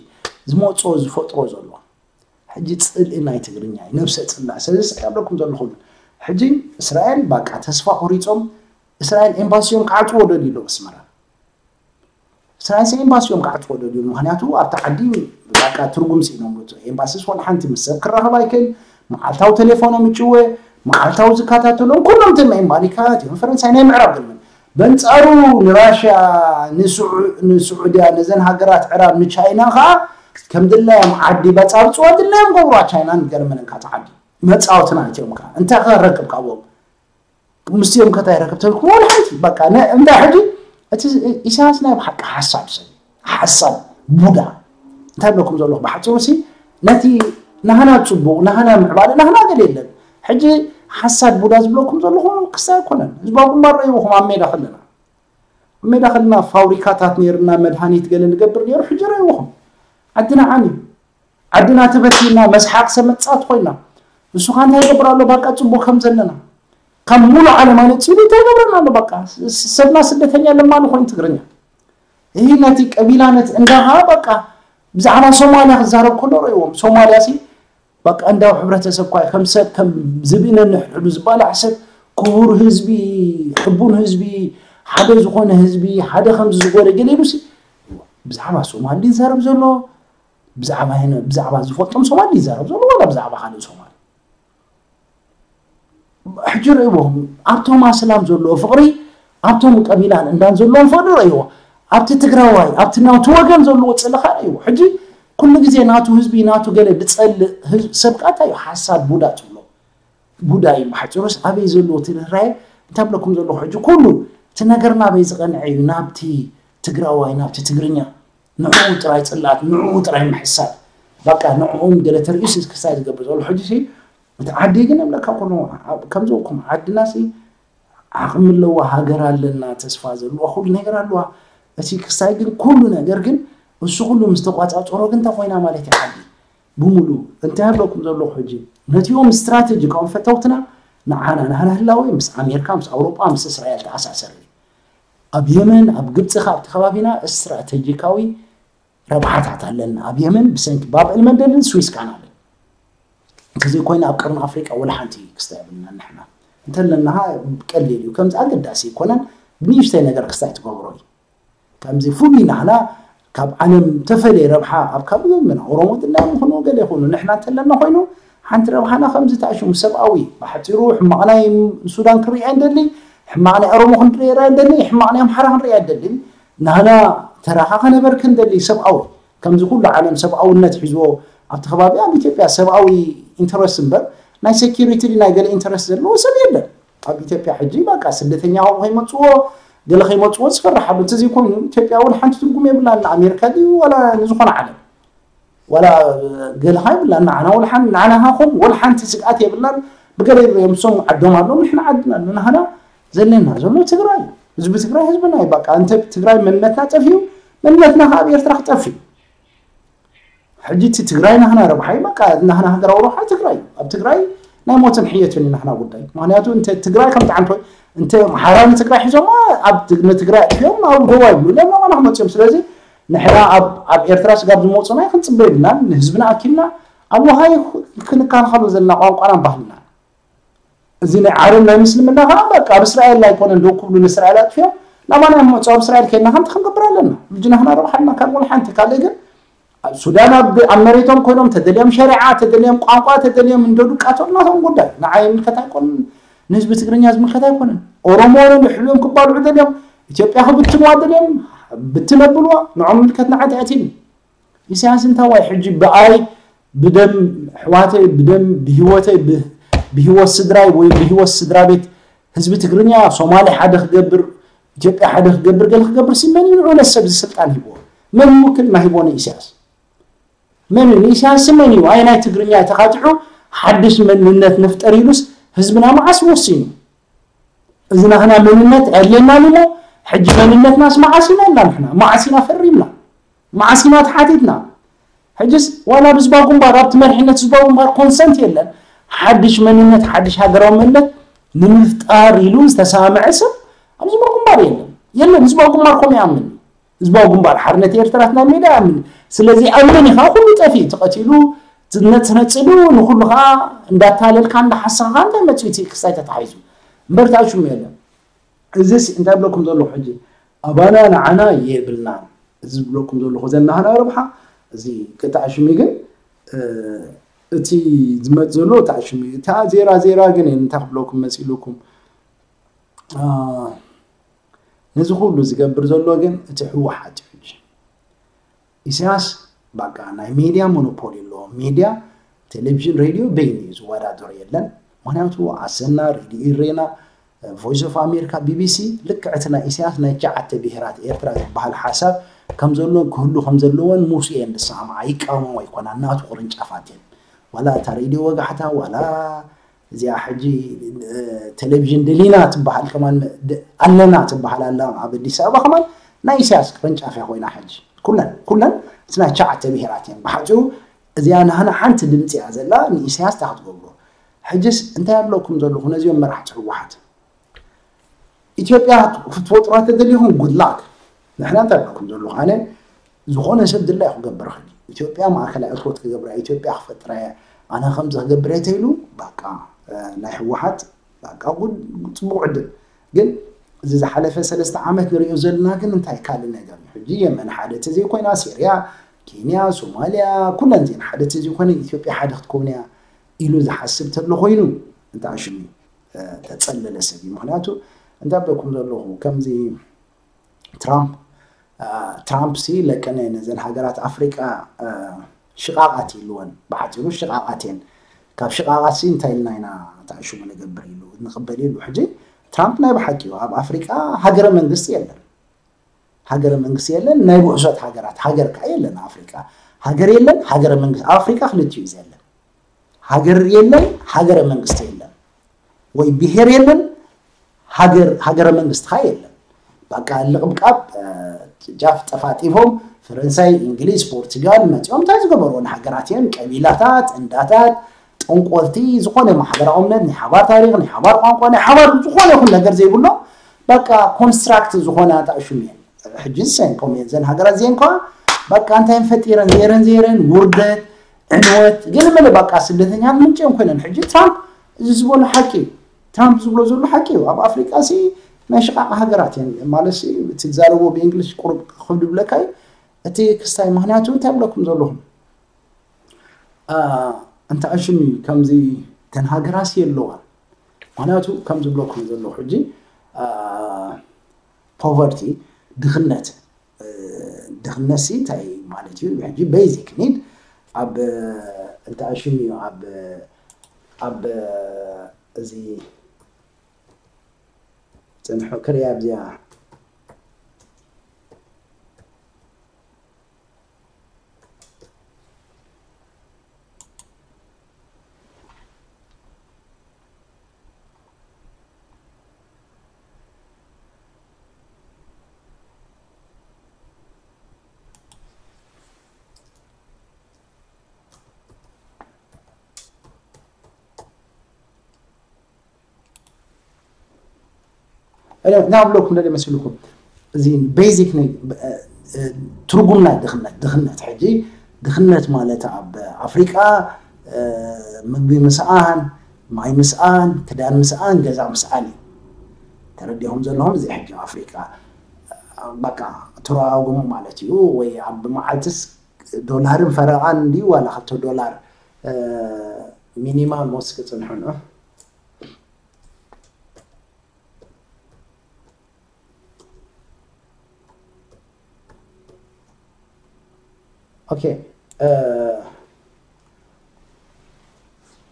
ዝመፅኦ ዝፈጥሮ ዘሎ ሕጂ ፅልኢ ናይ ትግርኛ እዩ፣ ነብሰ ፅላእ። ስለዚ ስለ ኣብለኩም ዘለኹ ሕጂ እስራኤል ባቃ ተስፋ ቆሪፆም እስራኤል ኤምባሲዮም ክዓፅዎ ደልዩ ኣሎ ኣስመራ። እስራኤል ኤምባሲዮም ክዓፅዎ ደልዩ፣ ምክንያቱ ኣብቲ ዓዲ ባቃ ትርጉም ስኢኖም። ኤምባሲስ ወላ ሓንቲ ምስ ሰብ ክራኸብ ኣይክእል፣ መዓልታዊ ቴሌፎኖም ይጭወ፣ መዓልታዊ ዝከታተሎም ኩሎም እቶም ኣሜሪካ እቲኦም ፈረንሳይ ናይ ምዕራብ ገለመን በንፃሩ ንራሽያ ንስዑ- ንስዑድያ ነዘን ሃገራት ዕራብ ንቻይና ከዓ ከም ድላዮም ዓዲ በፃብፅዋ ድላዮም ገብርዋ ቻይናን ገለመንን ካብቲ ዓዲ መፃወትና እቲኦም ከዓ እንታይ ከረክብ ካብኦም ምስቲኦም ከታይ ረክብ ተልኩም ወላ ሓንቲ በቃ ነ- እንታይ ሕጂ እቲ ኢሳያስ ናይ ብሓቂ ሓሳብ ሰብ ሓሳብ ቡዳ እንታይ ብለኩም ዘለኹ ብሓፂሩ ሲ ነቲ ናህና ፅቡቅ ናህና ምዕባለ ናህና ገለ የለን። ሕጂ ሓሳብ ቡዳ ዝብለኩም ዘለኹ ክስታይ ኣይኮነን። ህዝባዊ ግንባር ረይብኹም ኣብ ሜዳ ከለና ኣብ ሜዳ ከለና ፋብሪካታት ነይርና መድሃኒት ገለ ንገብር ነይሩ ሕጂ ረይብኹም ዓድና ዓንዩ ዓድና ተበቲና መስሓቅ ሰብ መጻወቲ ኮይና ንሱ ከ እንታይ ይገብር ኣሎ ባቃ ጽቡቅ ከም ዘለና ካብ ሙሉ ዓለም ኣነጺሉ እንታይ ይገብረና ኣሎ ባቃ ሰብና ስደተኛ ለማኒ ኮይኑ ትግርኛ ይህ ነቲ ቀቢላ ነቲ እንዳ ከኣ ባቃ ብዛዕባ ሶማልያ ክዛረብ ከሎ ረእዎም ሶማልያ ሲ ባቃ እንዳው ሕብረተሰብ ኳ ከም ሰብ ከም ዝብኢ ነንሕድሕዱ ዝባላዕ ሰብ ክቡር ህዝቢ ሕቡን ህዝቢ ሓደ ዝኾነ ህዝቢ ሓደ ከምዚ ዝጎደ ገለ ኢሉ ሲ ብዛዕባ ሶማል ድዩ ዝዛረብ ዘሎ ብዛዕባ ይነ ብዛዕባ ዝፈልጦም ሶማል ይዛረብ ዘሎ ወላ ብዛዕባ ካልእ ሶማል ሕጂ ርእይዎም ኣብቶም ኣስላም ዘለዎ ፍቕሪ ኣብቶም ቀቢላን እንዳን ዘለዎም ፍቕሪ ርእይዎ ኣብቲ ትግራዋይ ኣብቲ ናቱ ወገን ዘለዎ ፅልኻ ርእይዎ ሕጂ ኩሉ ግዜ ናቱ ህዝቢ ናቱ ገለ ዝፀልእ ህዝቢ ሰብ ከዓ እንታይ እዩ ሓሳድ ቡዳ ትብሎ ጉዳይ እዩ ብሓፂሩስ ኣበይ ዘለዎ እቲ ርህራሄ እንታይ ብለኩም ዘለኹ ሕጂ ኩሉ እቲ ነገር ናበይ ዝቐንዐ እዩ ናብቲ ትግራዋይ ናብቲ ትግርኛ ንዕኡ ጥራይ ፅላት ንዕኡ ጥራይ ምሕሳብ በቃ ንዕኦም ገለ ተርእዩስ ክስታይ ዝገብር ዘሎ ሕጂ ሲ እቲ ዓዲ ግን እብለካ ኩሉ ከምዚ ኩም ዓድና ሲ ዓቕሚ ኣለዋ ሃገር ኣለና ተስፋ ዘለዋ ኩሉ ነገር ኣለዋ እቲ ክስታይ ግን ኩሉ ነገር ግን እሱ ኩሉ ምስ ተቋፃፀሮ ግን እንታይ ኮይና ማለት እዩ ዓዲ ብምሉኡ እንታይ ኣለኩም ዘለኹ ሕጂ ነቲኦም ስትራቴጂካኦም ፈተውትና ንዓና ናህና ህላወ ምስ ኣሜሪካ ምስ ኣውሮጳ ምስ እስራኤል ተኣሳሰር ኣብ የመን ኣብ ግብፂ ካብቲ ከባቢና ስትራቴጂካዊ ረብሓታት ኣለና ኣብ የመን ብሰንኪ ባብ ኤልመንደልን ስዊስ ካናልን እንተዘይኮይና ኣብ ቀርኒ ኣፍሪቃ ወላ ሓንቲ ክስታ የብልና ንሕና እንተለና ቀሊል እዩ ከምዚ ኣገዳሲ ይኮነን ብንእሽተይ ነገር ክስታይ ትገብሮ እዩ ከምዚ ፍሉይ ናህና ካብ ዓለም ተፈለየ ረብሓ ኣብ ካብ ምን ኦሮሞ ድላዮም ይኹኑ ገለ ይኹኑ ንሕና እንተለና ኮይኑ ሓንቲ ረብሓና ከምዚ ተኣሽሙ ሰብኣዊ ብሓፂሩ ሕማቕ ናይ ሱዳን ክርኢ ኣይንደሊ ሕማቕ ናይ ኦሮሞ ክንርኢ ኣይንደሊ ሕማቕ ናይ ኣምሓራ ክንርኢ ኣይንደሊ ናህና ተራኻ ከነበርክ ንደሊ ሰብኣዊ ከምዚ ኩሉ ዓለም ሰብኣውነት ሒዝዎ ኣብቲ ከባቢ ኣብ ኢትዮጵያ ሰብኣዊ ኢንተረስት እምበር ናይ ሴኪሪቲ ናይ ገለ ኢንተረስት ዘለዎ ሰብ የለን ኣብ ኢትዮጵያ ሕጂ በቃ ስደተኛ ከይመፅዎ ገለ ከይመፅዎ ዝፈርሓሉ እንተዘይኮይኑ ኢትዮጵያ እውን ሓንቲ ትርጉም የብላን ንኣሜሪካ ድዩ ዋላ ንዝኾነ ዓለም ዋላ ገለኻ ይብላን ንዓና ወልሓን ንዓና ሃኹም ወልሓንቲ ስግኣት የብላን። ብገለ እዮም ሶም ዓዶም ኣለዉ ንሕና ዓድና ኣሎ ናህና ዘለና ዘሎ ትግራይ ህዝቢ ትግራይ ህዝብና እዩ። በቃ እንተ ትግራይ መንነትና ጠፊኡ መንነትና ከዓ ኣብ ኤርትራ ክጠፍእ እዩ። ሕጂ እቲ ትግራይ ናህና ረብሓ እዩ። በቃ ናህና ሃገራዊ ረብሓ ትግራይ እዩ። ኣብ ትግራይ ናይ ሞትን ሕየትን እዩ ናህና ጉዳይ። ምክንያቱ እንተ ትግራይ ከም ጣዕንቶ እንተ ኣምሓራ ንትግራይ ሒዞማ ኣብ ትግ- ንትግራይ እዮም ኣብ ዶባ ይብሉ እዮም ናባና ክመፅኦም። ስለዚ ንሕና ኣብ ኣብ ኤርትራ ስጋብ ዝመፁና ክንፅበ የብልናን። ንህዝብና ኣኪልና ኣብ ውሃይ ክንከላኸሎ ዘለና ቋንቋናን ባህልና እዚ ናይ ዓረብ ናይ ምስልምና ከዓ በቃ ኣብ እስራኤል ኣይኮነን ደው ክብሉ ንእስራኤል ኣጥፊኦም ናባና እዮም መፁ ኣብ እስራኤል ከይድና ከምቲ ክንገብር ኣለና። ሕጂ ናህና ረብሓ ኣለና ካብ ወላ ሓንቲ ካልእ ግን ኣብ ሱዳን ኣብ ኣብ መሬቶም ኮይኖም ተደልዮም ሸሪዓ ተደልዮም ቋንቋ ተደልዮም እንዶ ድቃቶም ናቶም ጉዳይ ንዓይ ምልከት ኣይኮንን። ንህዝቢ ትግርኛ ዝምልከት ኣይኮንን። ኦሮሞ እዮም ይሕልዮም ክባልዑ ደልዮም ኢትዮጵያ ክብትንዋ ደልዮም ብትን ኣብልዋ ንዖም ምልከት ንዓይ ተኣቲኒ። ኢሳያስ እንታዋይ ሕጂ ብኣይ ብደም ኣሕዋተይ ብደም ብህይወተይ ብህይወት ስድራይ ወይ ብህይወት ስድራ ቤት ህዝቢ ትግርኛ ሶማሌ ሓደ ክገብር ኢትዮጵያ ሓደ ክገብር ገለ ክገብር ሲ መን እዩ ንዑ ነሰብ እዚ ስልጣን ሂብዎ? መን ይውክልና ሂቦ ንኢሳያስ? መን እዩ ንኢሳያስ ሲ መን እዩ ኣይ ናይ ትግርኛ ተኻቲዑ ሓድሽ መንነት ንፍጠር ኢሉስ ህዝብና መዓስ ወሲኑ? እዚ ናህና መንነት ኣድልየና እሞ ሕጂ መንነትናስ መዓስ ኢና ኢልና ንሕና መዓስ ኢና ፈሪምና? መዓስ ኢና ተሓቲትና? ሕጅስ ዋላ ብዝባ ግንባር ኣብቲ መሪሕነት ዝባ ግንባር ኮንሰንት የለን። ሓድሽ መንነት ሓድሽ ሃገራዊ መንነት ንምፍጣር ኢሉ ዝተሰማምዐ ሰብ ኣብ ዝባ ግንባር የለን የለን። ዝባ ግንባር ከምኡ ይኣምን። ህዝባዊ ግንባር ሓርነት ኤርትራ ናይ ሜዳ ይኣምን። ስለዚ ይኣምን ኢኻ ኩሉ ጠፊ ተቐቲሉ ትነጽነጽሉ ንኩሉ ከዓ እንዳታለልካ እንዳሓሰኻ እንታይ መፅኡ እቲ ክስታይ ተታሒዙ እምበር ተኣሽሙ የለን። እዚስ እንታይ ብለኩም ዘለኹ ሕጂ ኣባና ንዓና የብልናን። እዚ ዝብለኩም ዘለኹ ዘናህና ረብሓ እዚ ክተኣሽሙ ግን እቲ ዝመፅ ዘሎ ተኣሽሙ እዩ። እታ ዜራ ዜራ ግን እንታይ ክብለኩም መፂሉኩም ነዚ ኩሉ ዝገብር ዘሎ ግን እቲ ህወሓት እዩ። ሕጂ ኢሳያስ በቃ ናይ ሜድያ ሞኖፖል ኣለዎ። ሜድያ ቴሌቪዥን ሬድዮ በይኑ እዩ ዝወዳደሮ የለን። ምክንያቱ ኣሰና ሬድዮ ኢሬና ቮይስ ኦፍ ኣሜሪካ ቢቢሲ ልክዕ እቲ ናይ ኢሳያስ ናይ ትሽዓተ ብሄራት ኤርትራ ዝበሃል ሓሳብ ከም ዘሎ ክህሉ ከም ዘለዎን ምስ እየን ዝሰማምዓ ይቃወሞ ኣይኮና ናቱ ቅርንጫፋት እየን ዋላ እታ ሬድዮ ወጋሕታ ዋላ እዚኣ ሕጂ ቴሌቪዥን ደሊና ትበሃል ከማን ኣለና ትበሃል ኣላ ኣብ ኣዲስ ኣበባ ከማን ናይ ኢሳያስ ቅርንጫፍ እያ ኮይና ሕጂ ኩለን ኩለን እቲ ናይ ትሽዓተ ብሄራት እየን ብሓፂሩ እዚኣ ናህና ሓንቲ ድምፂ እያ ዘላ ንኢሳያስ እታ ክትገብሮ ሕጅስ እንታይ ኣለኩም ዘለኹ ነዚኦም መራሕቲ ህወሓት ኢትዮጵያ ክትፈጥሯ ተደሊኹም ጉድላክ ንሕና እንታይ ኣለኩም ዘለኹ ኣነ ዝኾነ ሰብ ድላይ ክገብር ኽእል ኢትዮጵያ ማእከላይ እቶት ክገብራ ኢትዮጵያ ክፈጥራ እየ ኣነ ከምዚ ክገብር እየ ተይሉ በቃ ናይ ህወሓት በቃ ጉድ ፅቡቅ ዕድል ግን እዚ ዝሓለፈ ሰለስተ ዓመት ንሪኦ ዘለና ግን እንታይ ካልእ ነገር እዩ ሕጂ የመን ሓደ ተዘይኮይና ሲርያ ኬንያ ሶማልያ ኩለን ዜን ሓደ ተዘይኮነ ኢትዮጵያ ሓደ ክትከውን እያ ኢሉ ዝሓስብ ተሎ ኮይኑ እንታይ ሽሙ ተፀለለ ሰብ እዩ ምክንያቱ እንታይ ብለኩም ዘለኹ ከምዚ ትራምፕ ትራምፕ ሲ ለቀነ ነዘን ሃገራት ኣፍሪቃ ሽቃቃት ይልወን ብሓፂሩ ሽቃቃት የን ካብ ሽቃቃት ሲ እንታይ ኢልና ኢና ተኣሽሙ ንገብር ኢሉ ንቅበል ኢሉ ሕጂ ትራምፕ ናይ ብሓቂ እዩ ኣብ ኣፍሪቃ ሃገረ መንግስቲ የለን ሃገረ መንግስቲ የለን ናይ ውሕሶት ሃገራት ሃገር ከዓ የለን ኣፍሪቃ ሃገር የለን ሃገረ መንግስቲ ኣብ ኣፍሪቃ ክልቲኡ እዩ ዘለን ሃገር የለን ሃገረ መንግስቲ የለን ወይ ብሄር የለን ሃገር ሃገረ መንግስቲ ከዓ የለን በቃ ልቕብቃብ ጫፍ ጠፋጢፎም ፈረንሳይ እንግሊዝ ፖርቱጋል መፂኦም እንታይ ዝገበርዎ ንሃገራት እየን ቀቢላታት እንዳታት ጠንቆልቲ ዝኾነ ማሕበራዊ እምነት ናይ ሓባር ታሪክ ናይ ሓባር ቋንቋ ናይ ሓባር ዝኾነ ይኹን ነገር ዘይብሎም በቃ ኮንስትራክት ዝኾነ ኣጣዕሹም እየን ሕጂ ዝሰንኮም እየን ዘን ሃገራት እዚአን ከዋ በቃ እንታይ ፈጢረን ዘይረን ዘይረን ውርደት ዕንወት ገለ መለ በቃ ስደተኛት ምንጭኦም ኮይነን ሕጂ ትራምፕ እዚ ዝበሎ ሓቂ እዩ ትራምፕ ዝብሎ ዘሎ ሓቂ እዩ ኣብ ኣፍሪቃ ሲ ናይ ሽቃቂ ሃገራት እየን ማለት እቲ ዝዛረቦ ብእንግሊሽ ቁሩብ ክብድ ብለካ እዩ እቲ ክስታይ ምክንያቱ እንታይ ብለኩም ዘለኹም እንተ ኣሽም እዩ ከምዚ ተን ሃገራሲ የለዋ ምክንያቱ ከም ዝብለኩም ዘለኹ ሕጂ ፖቨርቲ ድኽነት ድኽነት ሲ እንታይ ማለት እዩ ሕጂ ቤዚክ ኒድ ኣብ እንተ ኣሽም እዩ ኣብ ኣብ እዚ ፅንሑ ክሪያ ኣብዚኣ ናብለኩም ደለ መሲልኩም እዚ ቤዚክ ትርጉም ናይ ድኽነት ድኽነት ሕጂ ድኽነት ማለት ኣብ ኣፍሪቃ ምግቢ ምስኣን፣ ማይ ምስኣን፣ ክዳን ምስኣን፣ ገዛ ምስኣን እዩ። ተረዲኹም ዘለኹም እዚ ሕጂ ኣፍሪቃ በቃ ትረጋግሙ ማለት እዩ። ወይ ኣብ መዓልትስ ዶላርን ፈረቓን እንዲ ዋላ ክልተ ዶላር ሚኒማም ወስ ክፅንሑ ንዑ። ኦኬ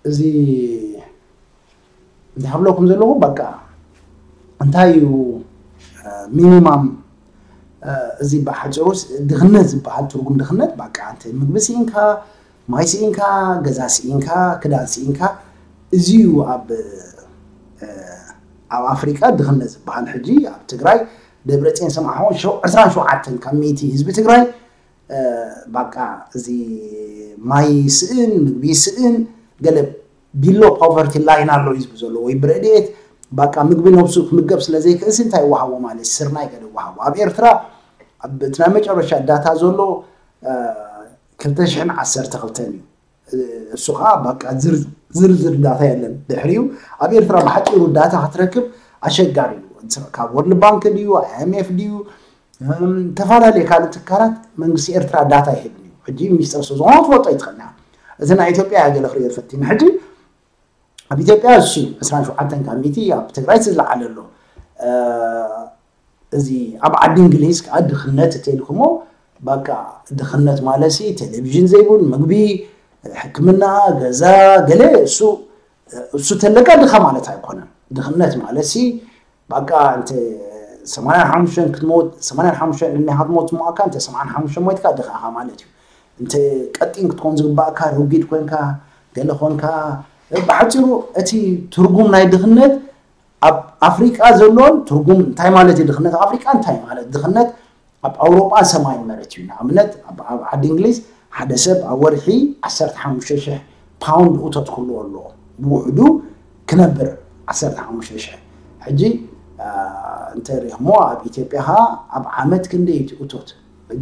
እዚ እንታይ ክብለኩም ዘለኹ በቃ እንታይ እዩ ሚኒማም እዚ ብሓፂሩ ድኽነት ዝበሃል ትርጉም ድኽነት በቃ እንተ ምግቢ ስኢንካ ማይ ስኢንካ ገዛ ስኢንካ ክዳን ስኢንካ እዚ እዩ ኣብ ኣብ ኣፍሪቃ ድኽነት ዝበሃል ሕጂ ኣብ ትግራይ ደብረፅዮን ሰማዕኹም ዕስራን ሸውዓተን ካብ ሚእቲ ህዝቢ ትግራይ በቃ እዚ ማይ ስእን ምግቢ ስእን ገለ ቢሎ ፖቨርቲ ላይን ኣሎ ህዝቢ ዘሎ ወይ ብረድኤት በቃ ምግቢ ነብሱ ክምገብ ስለ ዘይክእልሲ እንታይ ይወሃቦ ማለት ስርናይ ገለ ይወሃቦ ኣብ ኤርትራ እቲ ናይ መጨረሻ ዳታ ዘሎ ክልተ ሽሕን ዓሰርተ ክልተን እዩ እሱ ከዓ በቃ ዝርዝር ዳታ የለን ድሕሪኡ ኣብ ኤርትራ ብሓፂሩ ዳታ ክትረክብ ኣሸጋሪ እዩ ካብ ወርልድ ባንክ ድዩ ኣይኤምኤፍ ድዩ ተፈላለየ ካልእ ትካላት መንግስቲ ኤርትራ ዳታ ይህብን እዩ ሕጂ ሚስጥር ስለ ዝኾነ ክትፈልጦ ይትኽእልና እዚ ናይ ኢትዮጵያ ያገለ ክሪኦ ፈቲኒ ሕጂ ኣብ ኢትዮጵያ እሱ ዕስራን ሸውዓተን ካብ ሚእቲ ኣብ ትግራይ ዝለዓለ ኣሎ እዚ ኣብ ዓዲ እንግሊዝ ከዓ ድኽነት እተልኩሞ በቃ ድኽነት ማለት ሲ ቴሌቪዥን ዘይብሉ ምግቢ ሕክምና ገዛ ገለ እሱ እሱ ተለካ ድኻ ማለት ኣይኮነን ድኽነት ማለት ሲ በቃ እንተ ሰማንያን ሓሙሽተን ክትሞት ሰማንያን ሓሙሽተን እኒኻ ክትሞት ዝሞኣካ እንተ ሰማንያን ሓሙሽተን ሞይትካ ድኻ ኢኻ ማለት እዩ እንተ ቀጢን ክትኮን ዝግባእካ ርጊድ ኮንካ ገለ ኮንካ ብሓፂሩ እቲ ትርጉም ናይ ድኽነት ኣብ ኣፍሪቃ ዘሎን ትርጉም እንታይ ማለት እዩ ድኽነት ኣፍሪቃ እንታይ ማለት ድኽነት ኣብ ኣውሮጳ ሰማይ መረት እዩ ንኣብነት ኣብ ዓዲ እንግሊዝ ሓደ ሰብ ኣብ ወርሒ ዓሰርተ ሓሙሽተ ሽሕ ፓውንድ እቶት ክህልዎ ኣለዎ ብውሕዱ ክነብር ዓሰርተ ሓሙሽተ ሽሕ ሕጂ እንተ ሪእሞ ኣብ ኢትዮጵያ ኸ ኣብ ዓመት ክንደይ እቲ እቶት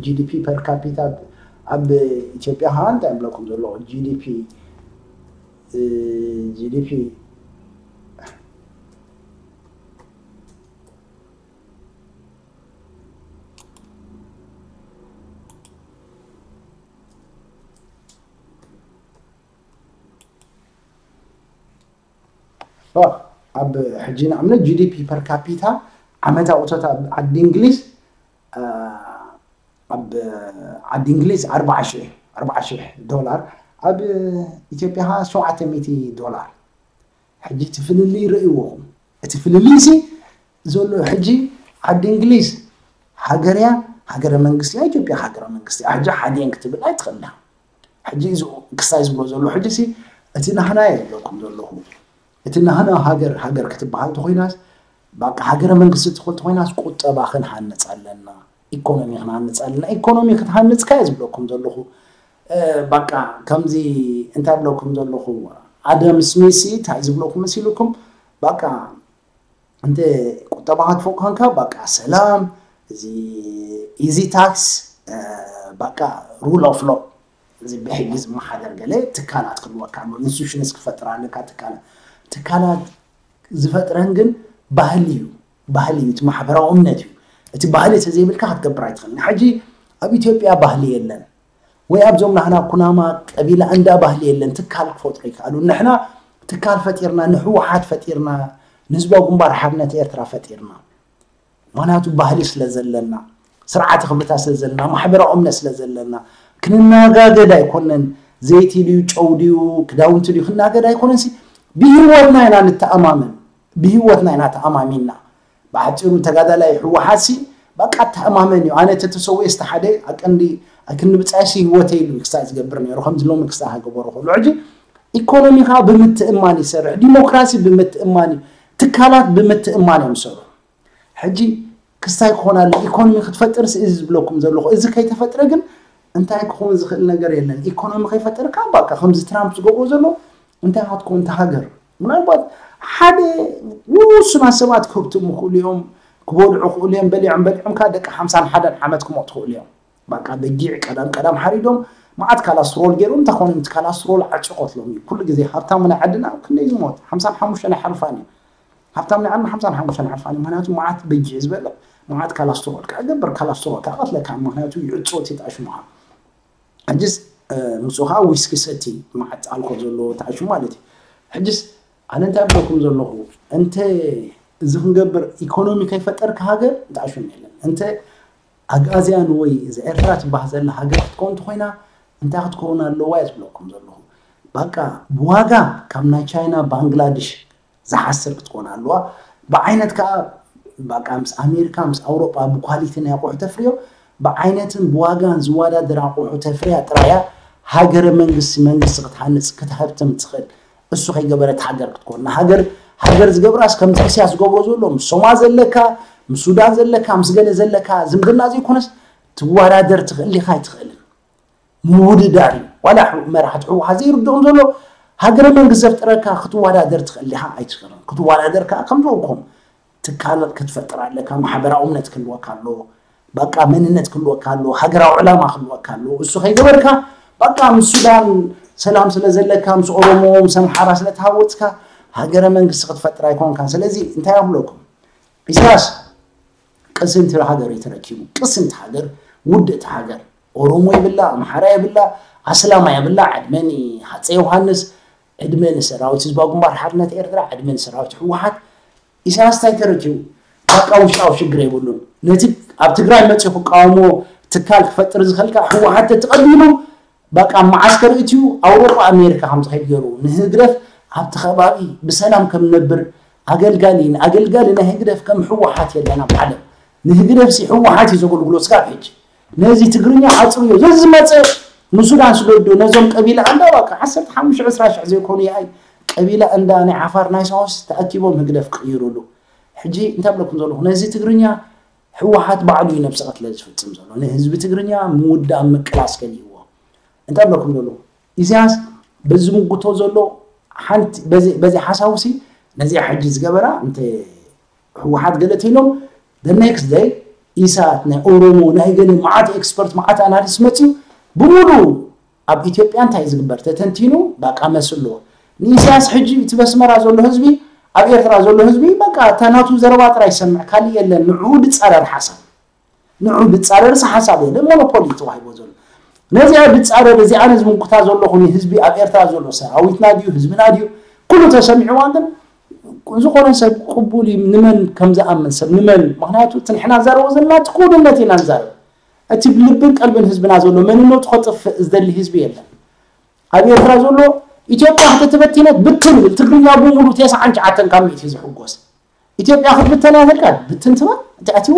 ጂዲፒ ፐር ካፒታ ኣብ ኢትዮጵያ ኸ እንታይ ብለኩም ዘለዎ ጂዲፒ ጂዲፒ ኣብ ሕጂ ንኣብነት ጂዲፒ ፐር ካፒታ ዓመታዊ እቶት ኣብ ዓዲ እንግሊዝ ኣብ ዓዲ እንግሊዝ ኣርባዓ ሽሕ ዶላር ኣብ ኢትዮጵያ ከዓ ሸውዓተ ሚእቲ ዶላር ሕጂ እቲ ፍልልይ ርእይዎኹም እቲ ፍልልይ ሲ ዘሎ ሕጂ ዓዲ እንግሊዝ ሃገር እያ ሃገረ መንግስቲ እያ ኢትዮጵያ ሃገረ መንግስቲ እያ ሕጂ ሓዲኤን ክትብል ኣይትኽእልና ሕጂ እዚ ክስታይ ዝብሎ ዘሎ ሕጂ ሲ እቲ ናህና እየ ዝብለኩም ዘለኹ እቲ ናህና ሃገር ሃገር ክትበሃል ተኮይናስ በቃ ሃገረ መንግስቲ ትኾን ተኮይናስ ቁጠባ ክንሃንፅ ኣለና ኢኮኖሚ ክንሃንፅ ኣለና ኢኮኖሚ ክትሃንፅካ እየ ዝብለኩም ዘለኹ በቃ ከምዚ እንታይ ብለኩም ዘለኹ ኣደም ስሚሲ እንታይ ዝብለኩም መሲልኩም በቃ እንተ ቁጠባ ክትፎቅ ኮንካ በቃ ሰላም እዚ ኢዚ ታክስ በቃ ሩል ኦፍ ሎ እዚ ብሕጊ ዝመሓደር ገለ ትካላት ክህልወካ ኣሎ ኢንስቲቱሽንስ ክፈጥር ኣለካ ትካላት ትካላት ዝፈጥረን ግን ባህሊ እዩ ባህሊ እዩ እቲ ማሕበራዊ እምነት እዩ እቲ ባህሊ ተዘይብልካ ክትገብር ኣይትኽእልን ሕጂ ኣብ ኢትዮጵያ ባህሊ የለን ወይ ኣብዞም ናህና ኩናማ ቀቢላ እንዳ ባህሊ የለን ትካል ክፈጥሩ ይከኣሉ ንሕና ትካል ፈጢርና ንህወሓት ፈጢርና ንህዝባዊ ግንባር ሓርነት ኤርትራ ፈጢርና ምክንያቱ ባህሊ ስለ ዘለና ስርዓተ ክብርታት ስለ ዘለና ማሕበራዊ እምነት ስለ ዘለና ክንናጋገድ ኣይኮነን ዘይቲ ድዩ ጨው ድዩ ክዳውንቲ ድዩ ክናገድ ኣይኮነን ብህወትና ኢና ንተኣማመን ብህወትና ኢና ተኣማሚንና ብሓፂሩ ተጋዳላይ ህወሓት ሲ በቃ ተኣማመን እዩ ኣነ ተተሰውየ ዝተሓደ ኣቀንዲ ኣይክንብፃይ ሲ ህወተይ ኢሉ ክስታይ ዝገብር ነይሩ ከምዚ ሎሚ ክስታይ ሃገበሩ ከሎ ሕጂ ኢኮኖሚ ከዓ ብምትእማን ይሰርሕ ዲሞክራሲ ብምትእማን እዩ ትካላት ብምትእማን እዮም ዝሰርሑ ሕጂ ክስታይ ክኾን ኣለ ኢኮኖሚ ክትፈጥር ሲ እዚ ዝብለኩም ዘለኹ እዚ ከይተፈጥረ ግን እንታይ ክኸውን ዝኽእል ነገር የለን ኢኮኖሚ ከይፈጠርካ በቃ ከምዚ ትራምፕ ዝገብሮ ዘሎ እንታይ ክትኮን እታ ሃገር ምናልባት ሓደ ውሱናት ሰባት ክህብትሙ ይኽእሉ እዮም ክበልዑ ክእሉ እዮም። በሊዖም በሊዖም ከኣ ደቂ ሓምሳን ሓደን ዓመት ክሞቱ ክእሉ እዮም። በቃ በጊዕ ቀዳም ቀዳም ሓሪዶም መዓት ካላስትሮል ገይሮም፣ እንተኾነ እቲ ካላስትሮል ዓጭ ቀትሎም እዩ። ኩሉ ግዜ ሃብታም ናይ ዓድና ክንደይ ዝሞት ሓምሳን ሓሙሽተን ኣይሓልፋን እዩ። ሃብታም ናይ ዓድና ሓምሳን ሓሙሽተን ኣይሓልፋን እዩ። ምክንያቱ መዓት በጊዕ ዝበልዕ መዓት ካላስትሮል ከዓ ገበር፣ ካላስትሮል ከዓ ቀትለካ፣ ምክንያቱ ይዕጾ እቲ ጣሽሙኻ። ሕጅስ ምስ ውሃ ዊስኪ ሰቲ መዓት ኣልኮል ዘለዎ ተዓሽሙ ማለት እዩ። ሕጅስ ኣነ እንታይ ብለኩም ዘለኹ፣ እንተ እዚ ክንገብር ኢኮኖሚ ከይፈጠርካ ሃገር ተዓሽሙ የለን። እንተ ኣግኣዝያን ወይ እዚ ኤርትራ ትበሃል ዘላ ሃገር ክትከውን እንተኮይና እንታይ ክትከውን ኣለዋ እየ ዝብለኩም ዘለኹ። በቃ ብዋጋ ካብ ናይ ቻይና ባንግላድሽ ዝሓስር ክትኮን ኣለዋ። ብዓይነት ከዓ በቃ ምስ ኣሜሪካ ምስ ኣውሮጳ ብኳሊቲ ናይ ኣቑሑ ተፍርዮ ብዓይነትን ብዋጋን ዝወዳደር ኣቑሑ ተፍርያ ጥራያ ሃገረ መንግስቲ መንግስቲ ክትሃንፅ ክትሃብትም ትኽእል። እሱ ከይገበረት ሃገር ክትኮን ንሃገር ሃገር ዝገብራስ ከምዚ እስያ ዝገብሮ ዘሎ ምስ ሶማ ዘለካ ምስ ሱዳን ዘለካ ምስ ገለ ዘለካ ዝምድና ዘይኮነስ ትወዳደር ትኽእል ዲኻ ኣይትኽእልን ምውድዳር እዩ። ዋላ መራሕቲ ህወሓት ዘይርድኦም ዘሎ ሃገረ መንግስቲ ዘፍጥረካ ክትወዳደር ትኽእል ዲኻ ኣይትኽእልን። ክትወዳደር ከዓ ከም ዝበልኩም ትካል ክትፈጥር ኣለካ፣ ማሕበራዊ እምነት ክህልወካ ኣለዎ፣ በቃ መንነት ክህልወካ ኣለዎ፣ ሃገራዊ ዕላማ ክህልወካ ኣለዎ። እሱ ከይገበርካ በቃ ምስ ሱዳን ሰላም ስለ ዘለካ ምስ ኦሮሞ ምስ ኣምሓራ ስለ ተሃወፅካ ሃገረ መንግስቲ ክትፈጥር ኣይኮንካን። ስለዚ እንታይ ኣብለኩም ኢሳያስ ቅስንቲ ሃገር እዩ ተረኪቡ። ቅስንቲ ሃገር፣ ውድእቲ ሃገር። ኦሮሞ ይብላ፣ ኣምሓራ ይብላ፣ ኣስላማ ይብላ፣ ዕድመ ንሃፀይ ዮሃንስ፣ ዕድመ ንሰራዊት ህዝባዊ ግንባር ሓርነት ኤርትራ፣ ዕድመ ንሰራዊት ህወሓት። ኢሳያስ እንታይ ተረኪቡ? በቃ ውሽጣዊ ሽግር የብሉን። ነቲ ኣብ ትግራይ መፅኡ ክቃወሞ ትካል ክፈጥር ዝኽእል ከዓ ህወሓት ተተቐቢሉ በቃ መዓስከር እትዩ ኣውሮጳ ኣሜሪካ ከም ዝኸይድ ገይሩ ንህግደፍ ኣብቲ ከባቢ ብሰላም ከም ነብር ኣገልጋሊ ንኣገልጋሊ ናይ ህግደፍ ከም ህወሓት የለን ኣብ ዓለም ንህግደፍ ሲ ህወሓት እዩ ዘገልግሎ ስጋብ ሕጂ ነዚ ትግርኛ ዓፅርዮ ዘዝመፀ ንሱዳን ስደዶ ነዞም ቀቢላ ኣንዳ በቃ ዓሰርተ ሓሙሽተ ዕስራ ሽሕ ዘይኮኑ ይኣይ ቀቢላ እንዳ ናይ ዓፋር ናይ ሳውስ ተኣኪቦም ህግደፍ ክቕይሩሉ ሕጂ እንታይ ብለኩም ዘለኹ ነዚ ትግርኛ ህወሓት ባዕሉ እዩ ነብሰ ቅትለት ዝፍፅም ዘሎ ንህዝቢ ትግርኛ ምውዳእ ምቅላስ ከሊእዎ እንታይ ብለኩም ዘሎ ኢሳያስ በዚ ዝምጉቶ ዘሎ ሓንቲ በዚ ሓሳቡ ሲ ነዚኣ ሕጂ ዝገበራ እንተ ህወሓት ገለ ተይሎም the next day ኢሳት ናይ ኦሮሞ ናይ ገለ መዓት ኤክስፐርት መዓት ኣናሊስት መፅዩ ብምሉ ኣብ ኢትዮጵያ እንታይ ዝግበር ተተንቲኑ በቃ መስሎ ንኢሳያስ ሕጂ እቲ በስመራ ዘሎ ህዝቢ ኣብ ኤርትራ ዘሎ ህዝቢ በቃ እታ ናቱ ዘረባ ጥራይ ይሰምዕ ካልእ የለን ንዕኡ ዝፃረር ሓሳብ ንዑ ዝፃረርሲ ሓሳብ የለ ሞኖፖሊ ተዋሂቦ ዘሎ ነዚኣ ዝፃረር እዚኣ ነዚ ምንኩታ ዘለኹ ህዝቢ ኣብ ኤርትራ ዘሎ ሰራዊትና ድዩ ህዝብና ድዩ ኩሉ ተሰሚዕዋ ግን ዝኾነ ሰብ ቅቡል እዩ ንመን ከም ዝኣምን ሰብ ንመን ምክንያቱ እቲ ንሕና ንዛረቦ ዘለና እቲ ክውንነት ኢና ንዛረብ እቲ ብልብን ቀልብን ህዝብና ዘሎ መንነቱ ከጥፍእ ዝደሊ ህዝቢ የለን ኣብ ኤርትራ ዘሎ ኢትዮጵያ ከተተበቲነት ብትን ብል ትግርኛ ብምሉ ተስዓን ትሽዓተን ካብ ሚእቲ ዝሕጎስ ኢትዮጵያ ክትብተን እያ ተልካ ብትን ትበል እቲ ኣትዎ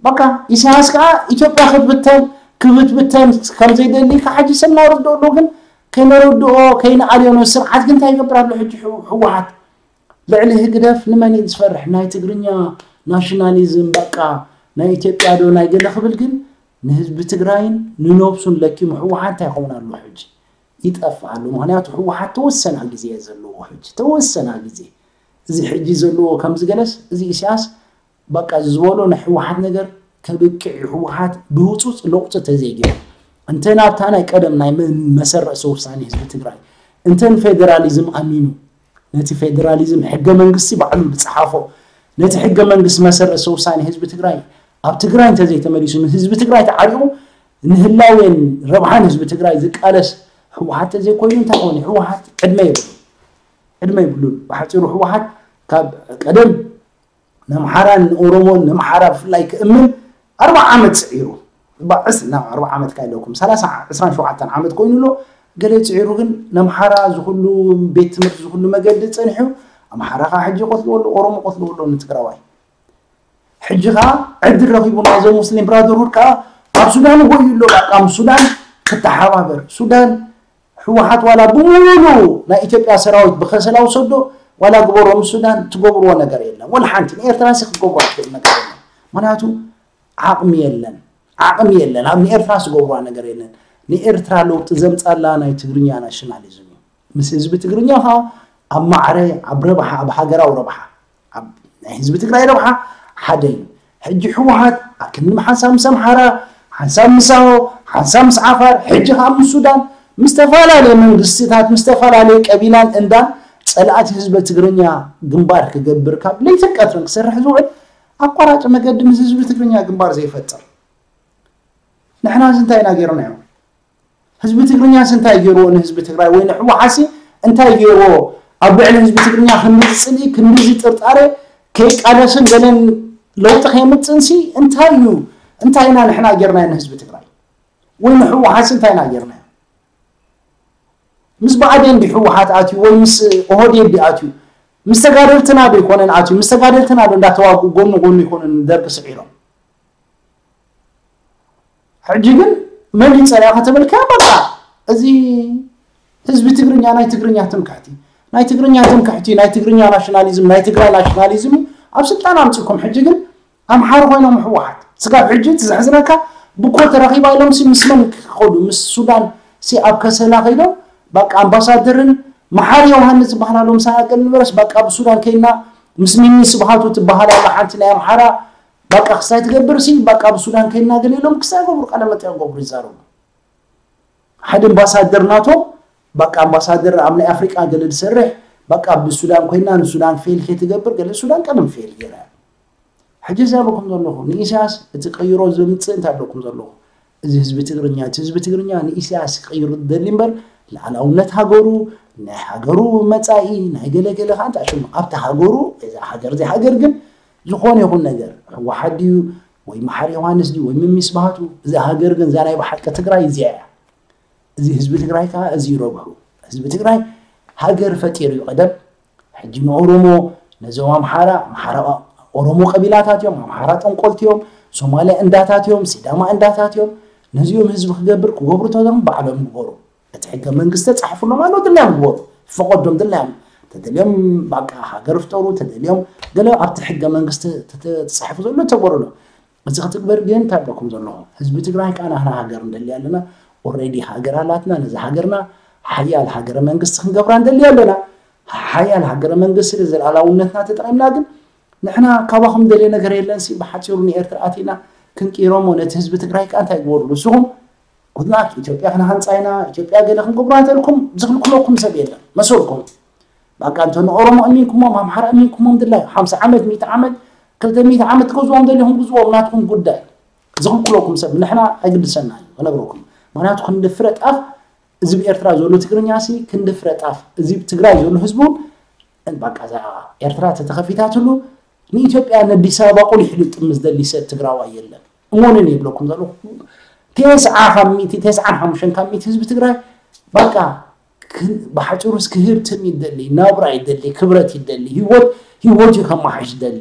በቃ ኢሳያስ ከዓ ኢትዮጵያ ክትብተን ክብትብተን ከም ዘይደሊ ካብ ሕጂ ሰብ እናረድኦ ኣሎ ግን ከይነረድኦ ከይንኣልዮ ስርዓት ግን እንታይ ይገብር ኣሎ ሕጂ ህወሓት ልዕሊ ህግደፍ ንመን እዩ ዝፈርሕ ናይ ትግርኛ ናሽናሊዝም በቃ ናይ ኢትዮጵያ ዶ ናይ ገለ ክብል ግን ንህዝቢ ትግራይን ንነብሱን ለኪሙ ህወሓት እንታይ ይኸውን ኣሎ ሕጂ ይጠፍእ ኣሎ ምክንያቱ ህወሓት ተወሰና ግዜ ዘለዎ ሕጂ ተወሰና ግዜ እዚ ሕጂ ዘለዎ ከምዚ ገለስ እዚ ኢሳያስ በቃ እዚ ዝበሎ ናይ ህወሓት ነገር ከብቅዕ እዩ ህወሓት ብህፁፅ ለውጢ ተዘይገይሩ እንተ ናብታ ናይ ቀደም ናይ መሰረሰ ውሳኔ ህዝቢ ትግራይ እንተ ንፌደራሊዝም ኣሚኑ ነቲ ፌደራሊዝም ሕገ መንግስቲ ባዕሉ ዝፀሓፎ ነቲ ሕገ መንግስቲ መሰረሰ ውሳኔ ህዝቢ ትግራይ ኣብ ትግራይ እንተዘይተመሊሱ ንህዝቢ ትግራይ ተዓሪቑ ንህላዌን ረብሓን ህዝቢ ትግራይ ዝቃለስ ህወሓት ተዘይኮይኑ እንታይ ኾነ ህወሓት ዕድመ የብሉ ዕድመ ይብሉን ብሓፂሩ ህወሓት ካብ ቀደም ነምሓራን ንኦሮሞን ነምሓራ ብፍላይ ክእምን ኣርባ ዓመት ስዒሩ ናብ ኣርባ ዓመት ካ ኢለኩም ሰላሳ ዕስራን ሸውዓተን ዓመት ኮይኑ ኣሎ ገለ ፅዒሩ ግን ነምሓራ ዝኩሉ ቤት ትምህርቲ ዝኩሉ መገዲ ፀኒሑ ኣምሓራ ካ ሕጂ ቆትልዎ ኣሎ ኦሮሞ ቆትልዎ ኣሎ ንትግራዋይ ሕጂ ካ ዕድል ረኪቡ ናይዞም ሙስሊም ብራደርሁድ ካ ኣብ ሱዳን ጎዩ ኣሎ በቃ ምስ ሱዳን ክተሓባበር ሱዳን ህወሓት ዋላ ብሙሉ ናይ ኢትዮጵያ ሰራዊት ብከሰላ ውሰዶ ዋላ ግበሮ ምስ ሱዳን ትገብርዎ ነገር የለን ወላ ሓንቲ ንኤርትራ ሲ ክትገብሮ ትኽእል ነገር የለን ምክንያቱ ዓቕሚ የለን ዓቕሚ የለን ኣብ ንኤርትራ ዝገብርዋ ነገር የለን ንኤርትራ ለውጢ ዘምፃላ ናይ ትግርኛ ናሽናሊዝም እዩ ምስ ህዝቢ ትግርኛ ከዓ ኣብ ማዕረ ኣብ ረብሓ ኣብ ሃገራዊ ረብሓ ኣብ ናይ ህዝቢ ትግራይ ረብሓ ሓደ እዩ። ሕጂ ህወሓት ኣክንዲ ሓንሳብ ምስ ኣምሓራ፣ ሓንሳብ ምስ ኣዎ፣ ሓንሳብ ምስ ዓፋር፣ ሕጂ ከዓ ምስ ሱዳን፣ ምስ ዝተፈላለዩ መንግስትታት፣ ምስ ዝተፈላለዩ ቀቢላን እንዳን ፀላእቲ ህዝቢ ትግርኛ ግንባር ክገብር ካብ ለይትን ቀትርን ክሰርሕ ዝውዕል ኣቋራጭ መገዲ ምስ ህዝቢ ትግርኛ ግንባር ዘይፈጥር። ንሕና እዚ እንታይ ኢና ገይርናዮ? ህዝቢ ትግርኛስ እንታይ ገይርዎ ንህዝቢ ትግራይ ወይ ንህወሓሲ እንታይ ገይርዎ? ኣብ ልዕሊ ህዝቢ ትግርኛ ክንድዚ ፅልኢ ክንድዚ ጥርጣሬ ከይቃለስን ገለን ለውጢ ከየምፅእንሲ እንታይ እዩ? እንታይ ኢና ንሕና ገይርናዮ ንህዝቢ ትግራይ ወይ ንህወሓሲ እንታይ ኢና ገይርናዮ? ምስ ብኣዴን ዲ ህወሓት ኣትዩ ወይ ምስ ኦህዴድ ዲ ኣትዩ? ምስ ተጋደልትና ዶ ይኮነን ኣትዩ? ምስ ተጋደልትና ዶ እንዳተዋጉ ጎኑ ጎኑ ይኮነን ደርጊ ስዒሮም? ሕጂ ግን መን ይፀልያ ከተበልካ በቃ እዚ ህዝቢ ትግርኛ ናይ ትግርኛ ትምክሕቲ ናይ ትግርኛ ትምክሕቲ ናይ ትግርኛ ናሽናሊዝም ናይ ትግራይ ናሽናሊዝም እዩ ኣብ ስልጣን ኣምፅኩም። ሕጂ ግን ኣምሓሩ ኮይኖም ህወሓት ስጋብ ሕጂ እቲ ዘሕዝነካ ብኮ ተረኺባ ኢሎም ሲ ምስ መን ክኸዱ ምስ ሱዳን ሲ ኣብ ከሰላ ከይዶም በቃ ኣምባሳደርን መሓሪ ዮሃንስ ዝበሃል ኣሎ ምሳና ገል ንበረስ በቃ ብሱዳን ከይና ምስ ሚኒ ስብሃቱ ትበሃል ኣላ ሓንቲ ናይ ኣምሓራ በቃ ክስታይ ትገብር ሲ በቃ ብሱዳን ከይና ገለ ኢሎም ክስታይ ገብሩ ቃለ መጠይቅ ገብሩ ይዛረቡ። ሓደ ኣምባሳደር ናቶ በቃ ኣምባሳደር ኣብ ናይ ኣፍሪቃ ገለ ዝሰርሕ በቃ ብሱዳን ኮይና ንሱዳን ፌል ከይትገብር ገለ ሱዳን ቀደም ፌል ገይራ እያ። ሕጂ እዛ በኩም ዘለኹ ንኢሳያስ እቲ ቀይሮ ዘምፅእ እንታይ ኣለኩም ዘለኹ? እዚ ህዝቢ ትግርኛ እቲ ህዝቢ ትግርኛ ንኢሳያስ ክቅይር ደሊ እምበር ልኣላውነት ሃገሩ ናይ ሃገሩ መፃኢ ናይ ገለ ገለ ከዓ እንታይ ሽሙ ኣብቲ ሃገሩ እዛ ሃገር እዚ ሃገር ግን ዝኾነ ይኹን ነገር ህወሓት ድዩ ወይ መሓር ዮሃንስ ድዩ ወይ ምሚስ ባህቱ እዛ ሃገር ግን እዛ ናይ ብሓቂ ትግራይ እዚኣ እያ። እዚ ህዝቢ ትግራይ ከዓ እዚ ረብሑ ህዝቢ ትግራይ ሃገር ፈጢሩ እዩ ቀደም ሕጂ ንኦሮሞ ነዞም ኣምሓራ ኣምሓራ ኦሮሞ ቀቢላታት እዮም ኣምሓራ ጠንቆልቲ እዮም ሶማሊያ እንዳታት እዮም ሲዳማ እንዳታት እዮም ነዚኦም ህዝቢ ክገብር ክገብሩ ተዞም ባዕሎም ግበሩ እቲ ሕገ መንግስቲ ተፃሕፉሎም ኣሎ ድላዮም ግበሩ ፈቀዶም ድላዮም ተደልዮም በቃ ሃገር ፍጠሩ ተደልዮም ገለ ኣብቲ ሕገ መንግስቲ ተፃሒፉ ዘሎ ተገበሩሎም እዚ ክትግበር ግን እንታይ ኣለኩም ዘለኹም ህዝቢ ትግራይ ከዓ ናህና ሃገር ንደሊ ኣለና ኦሬዲ ሃገር ኣላትና ነዚ ሃገርና ሓያል ሃገረ መንግስቲ ክንገብራ ንደሊ ኣለና ሓያል ሃገረ መንግስቲ ንዘለኣላውነትና ተጠቂምና ግን ንሕና ካባኹም ደልየ ነገር የለን ሲ ብሓፂሩ ንኤርትራ ኣቲና ክንቅይሮሞ ነቲ ህዝቢ ትግራይ ከዓ እንታይ ግበሩ ንስኹም ጉድላክ ኢትዮጵያ ክንሃንፃ ኢና ኢትዮጵያ ገለ ክንገብሩ እንተልኩም ዝኽልክለኩም ሰብ የለን መሰልኩም በቃ እንተ ንኦሮሞ እሚንኩሞም ኣምሓራ እሚንኩሞም ድላይ ሓምሳ ዓመት ሚእቲ ዓመት ክልተ ሚእቲ ዓመት ትገዝዎም ደሊኹም ግዝዎም ናትኩም ጉዳይ ዝኽልክለኩም ሰብ ንሕና ኣይግድሰና እዩ ክነግረኩም ምክንያቱ ክንዲ ፍረ ጣፍ እዚ ብኤርትራ ዘሎ ትግርኛ ሲ ክንዲ ፍረ ጣፍ እዚ ትግራይ ዘሎ ህዝቡ በቃ እዛ ኤርትራ ተተኸፊታትሉ ንኢትዮጵያ ነዲስ ኣበባ ቁሊሕ ኢሉ ጥምዝ ደሊ ሰብ ትግራዋይ የለን እሞንን የብለኩም ዘለኹ ተስዓ ካብ ሚእቲ ተስዓን ሓሙሽተን ካብ ሚእቲ ህዝቢ ትግራይ በቃ ብሓፂሩስ ክህብትም ይደሊ ናብራ ይደሊ ክብረት ይደሊ ህይወት ህይወት እዩ ከመሓሽ ይደሊ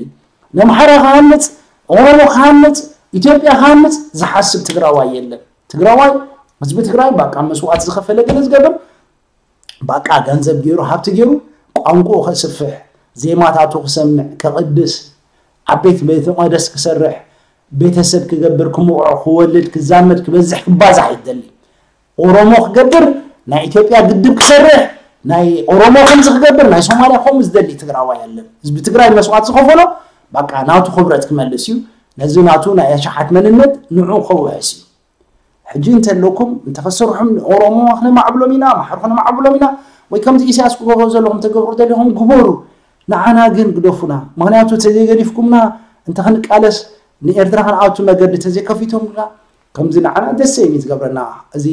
ነምሓራ ክሃንፅ ኦሮሞ ክሃንፅ ኢትዮጵያ ክሃንፅ ዝሓስብ ትግራዋይ የለን ትግራዋይ ህዝቢ ትግራይ በቃ መስዋዕት ዝኸፈለ ገለ ዝገብር በቃ ገንዘብ ገይሩ ሃብቲ ገይሩ ቋንቋኡ ከስፍሕ ዜማታቱ ክሰምዕ ከቕድስ ኣብ ቤት ቤተ መቅደስ ክሰርሕ ቤተሰብ ክገብር ክምቕዖ ክወልድ ክዛመድ ክበዝሕ ክባዛሕ ይደሊ ኦሮሞ ክገብር ናይ ኢትዮጵያ ግድብ ክሰርሕ ናይ ኦሮሞ ከምዚ ክገብር ናይ ሶማልያ ከምኡ ዝደሊ ትግራዋይ የለን ህዝቢ ትግራይ መስዋዕት ዝኸፈሎ በቃ ናቱ ክብረት ክመልስ እዩ ነዚ ናቱ ናይ ኣሽሓት መንነት ንዑ ከውሕስ እዩ ሕጂ እንተለኩም እንተኸሰርሑም ኦሮሞ ክነማዕብሎም ኢና ማሓር ክነማዕብሎም ኢና ወይ ከምዚ ኢሳያስ ክገብሮ ዘለኹም ተገብሩ ደሊኹም ግበሩ ንዓና ግን ግደፉና ምክንያቱ ተዘይገዲፍኩምና እንተክንቃለስ ንኤርትራ ክንኣቱ መገዲ ተዘይከፊቶምና ከምዚ ንዓና ደስ እዩ ዝገብረና እዚ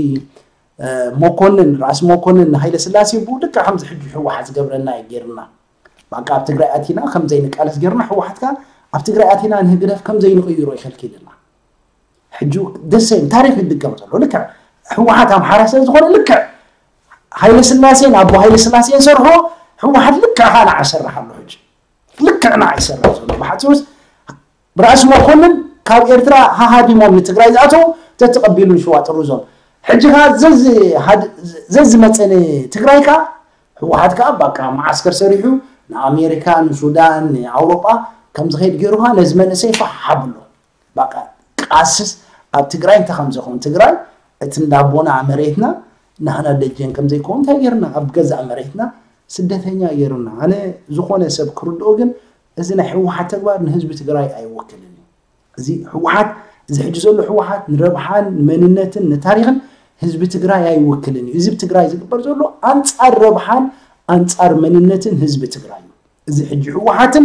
መኮንን ራእሲ መኮንን ሃይለ ስላሴ ብኡ ልክዕ ከምዚ ሕጂ ህወሓት ዝገብረና እዩ ገይርና በቃ ኣብ ትግራይ ኣቲና ከምዘይንቃለስ ገይርና ህወሓትካ ኣብ ትግራይ ኣቲና ንህግደፍ ከምዘይንቅይሮ ይከልኪልና ሕጂ ደስ ይብል ታሪክ ይድገም ዘሎ ልክዕ ህወሓት ኣምሓራ ስለ ዝኾነ ልክዕ ሃይለ ስላሴን ኣቦ ሃይለ ስላሴን ሰርሖ ህወሓት ልክዕ ከዓ ንዓ ይሰርሕ ኣሎ ሕጂ ልክዕ ንዓ ይሰርሕ ዘሎ ብሓፂሩስ ራእሲ መኮንን ካብ ኤርትራ ሃሃዲሞም ንትግራይ ዝኣተው ተተቐቢሉ ንሽዋ ጥሩዞም ሕጂ ከዓ ዘዝመፀ ንትግራይ ከዓ ህወሓት ከዓ በቃ መዓስከር ሰሪሑ ንኣሜሪካ ንሱዳን ንኣውሮጳ ከምዝኸይድ ገይሩ ከዓ ነዚ መንእሰይ ፋሕ ኣብሎ በቃ ቃስስ ኣብ ትግራይ እንታይ ከምዘይኮን ትግራይ እቲ እንዳቦና መሬትና ናህና ደጀን ከምዘይኮን እንታይ ገይርና ኣብ ገዛእ መሬትና ስደተኛ ገይሩና ኣነ ዝኾነ ሰብ ክርድኦ ግን እዚ ናይ ህወሓት ተግባር ንህዝቢ ትግራይ ኣይወክልን እዩ። እዚ ህወሓት፣ እዚ ሕጂ ዘሎ ህወሓት ንረብሓን ንመንነትን ንታሪኽን ህዝቢ ትግራይ ኣይወክልን እዩ። እዚ ኣብ ትግራይ ዝግበር ዘሎ ኣንፃር ረብሓን ኣንፃር መንነትን ህዝቢ ትግራይ እዩ። እዚ ሕጂ ህወሓትን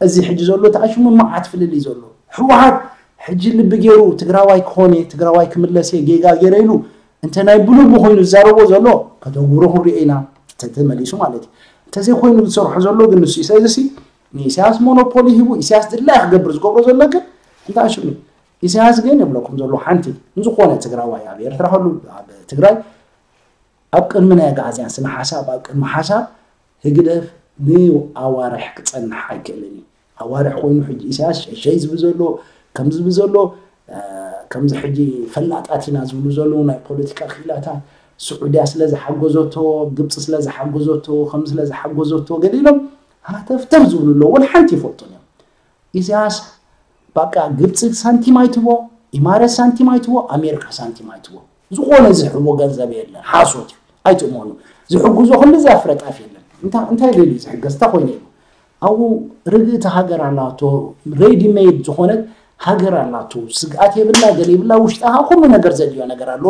እዚ ሕጂ ዘሎ ተኣሽሙ መዓት ፍልልይ ዘሎ። ህወሓት ሕጂ ልቢ ገይሩ ትግራዋይ ክኾን እየ፣ ትግራዋይ ክምለስ እየ፣ ጌጋ ገይረ ኢሉ እንተ ናይ ብልቡ ኮይኑ ዝዛረቦ ዘሎ ከተግብሮ ክንሪኦ ኢና፣ ተተመሊሱ ማለት እዩ። እንተዘይኮይኑ ዝሰርሖ ዘሎ ግን ንሱ እዩ። ስለዚ ሲ ንኢሳያስ ሞኖፖሊ ሂቡ ኢሳያስ ድላይ ክገብር ዝገብሮ ዘሎ ግን እንታይ ሽሙ? ኢሳያስ ግን የብለኩም ዘሎ ሓንቲ ንዝኾነ ትግራዋይ ኣብ ኤርትራ ከሉ ኣብ ትግራይ ኣብ ቅድሚ ናይ ኣግኣዝያን ስነ ሓሳብ ኣብ ቅድሚ ሓሳብ ህግደፍ ንኣዋርሕ ክጸንሕ ኣይክእልን እዩ። ኣዋርሕ ኮይኑ ሕጂ ኢሳያስ ሸሸይ ዝብል ዘሎ ከም ዝብል ዘሎ እ፣ ከምዚ ሕጂ ፈላጣት ኢና ዝብሉ ዘለዉ ናይ ፖለቲካ ክኢላታት ስዑድያ ስለ ዝሓገዘቶ ግብፂ ስለ ዝሓገዘቶ ከም ስለ ዝሓገዘቶ ገሊሎም ሃተፍተፍ ዝብሉ ኣለዉ። ወላ ሓንቲ ይፈልጡን እዮም። ኢሳያስ በቃ ግብፂ ሳንቲም ኣይትቦ፣ ኢማረት ሳንቲም ኣይትቦ፣ ኣሜሪካ ሳንቲም ኣይትቦ። ዝኾነ ዝሕቦ ገንዘብ የለን። ሓሶት እዩ። ኣይትእመኑ። ዝሕግዞ ክንዲ እዚ ኣፍረጣፍ የለን። እንታ- እንታይ ደልዩ ዝሕገዝ? እንታይ ኮይኑ ኢሉ? ኣብኡ ርግእቲ ሃገር ኣላቶ፣ ሬዲ ሜድ ዝኾነት ሃገር ኣላቶ። ስግኣት የብላ፣ ገለ የብላ። ውሽጣ ኩሉ ነገር ዘድልዮ ነገር ኣሎ።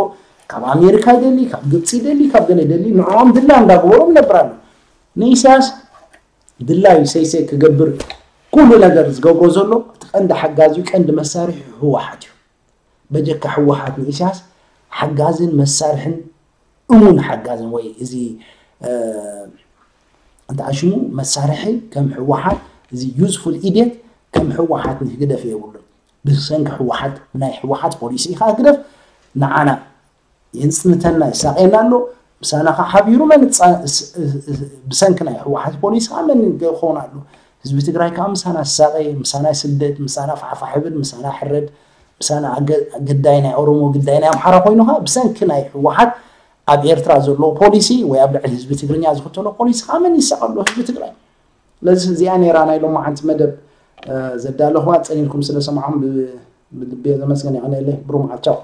ካብ ኣሜሪካ ይደሊ፣ ካብ ግብፂ ይደሊ፣ ካብ ገለ ይደሊ። ንዕኦም ድላ እንዳገበሮም ይነብር ኣሎ። ንኢሳያስ ድላዩ ሰይሰይ ክገብር ኩሉ ነገር ዝገብሮ ዘሎ እቲ ቀንዲ ሓጋዚኡ ቀንዲ መሳርሒ ህወሓት እዩ። በጀካ ህወሓት ንኢሳያስ ሓጋዝን መሳርሕን እሙን ሓጋዝን ወይ እዚ እ፣ እንታይ ሽሙ መሳርሒ ከም ህወሓት እዚ ዩዝፉል ኢድየት ከም ህወሓት ንህግደፍ የብሉን። ብሰንኪ ህወሓት ናይ ህወሓት ፖሊሲ ኢኻ ህግደፍ ንዓና የንፅንተና ይሳቀየና ኣሎ። ምሳና ከዓ ሓቢሩ መን ይፃ- ስ- ስ- ብሰንኪ ናይ ህወሓት ፖሊሲ ከዓ መን ክኾን ኣሎ? ህዝቢ ትግራይ ከዓ ምሳና ዝሳቀየ፣ ምሳና ይስደድ፣ ምሳና ፋሕፋሕ ይብል፣ ምሳና ይሕረድ፣ ምሳና ኣገ- ግዳይ ናይ ኦሮሞ ግዳይ ናይ ኣምሓራ ኮይኑ ከዓ ብሰንኪ ናይ ህወሓት ኣብ ኤርትራ ዘለዎ ፖሊሲ ወይ ኣብ ልዕሊ ህዝቢ ትግርኛ ዝኽተሎ ፖሊሲ ከዓ መን ይሳቀ ኣሎ? ህዝቢ ትግራይ። ስለዚ እዚኣ ነይራ ናይ ሎማዓንቲ መደብ እ፣ ዘዳለኹዋ። ፀኒልኩም ስለ ሰማዕኹም ብ- ብልቢ ዘመስገን የቐነየለይ። ብሩህ መዓልቲ። ቻው።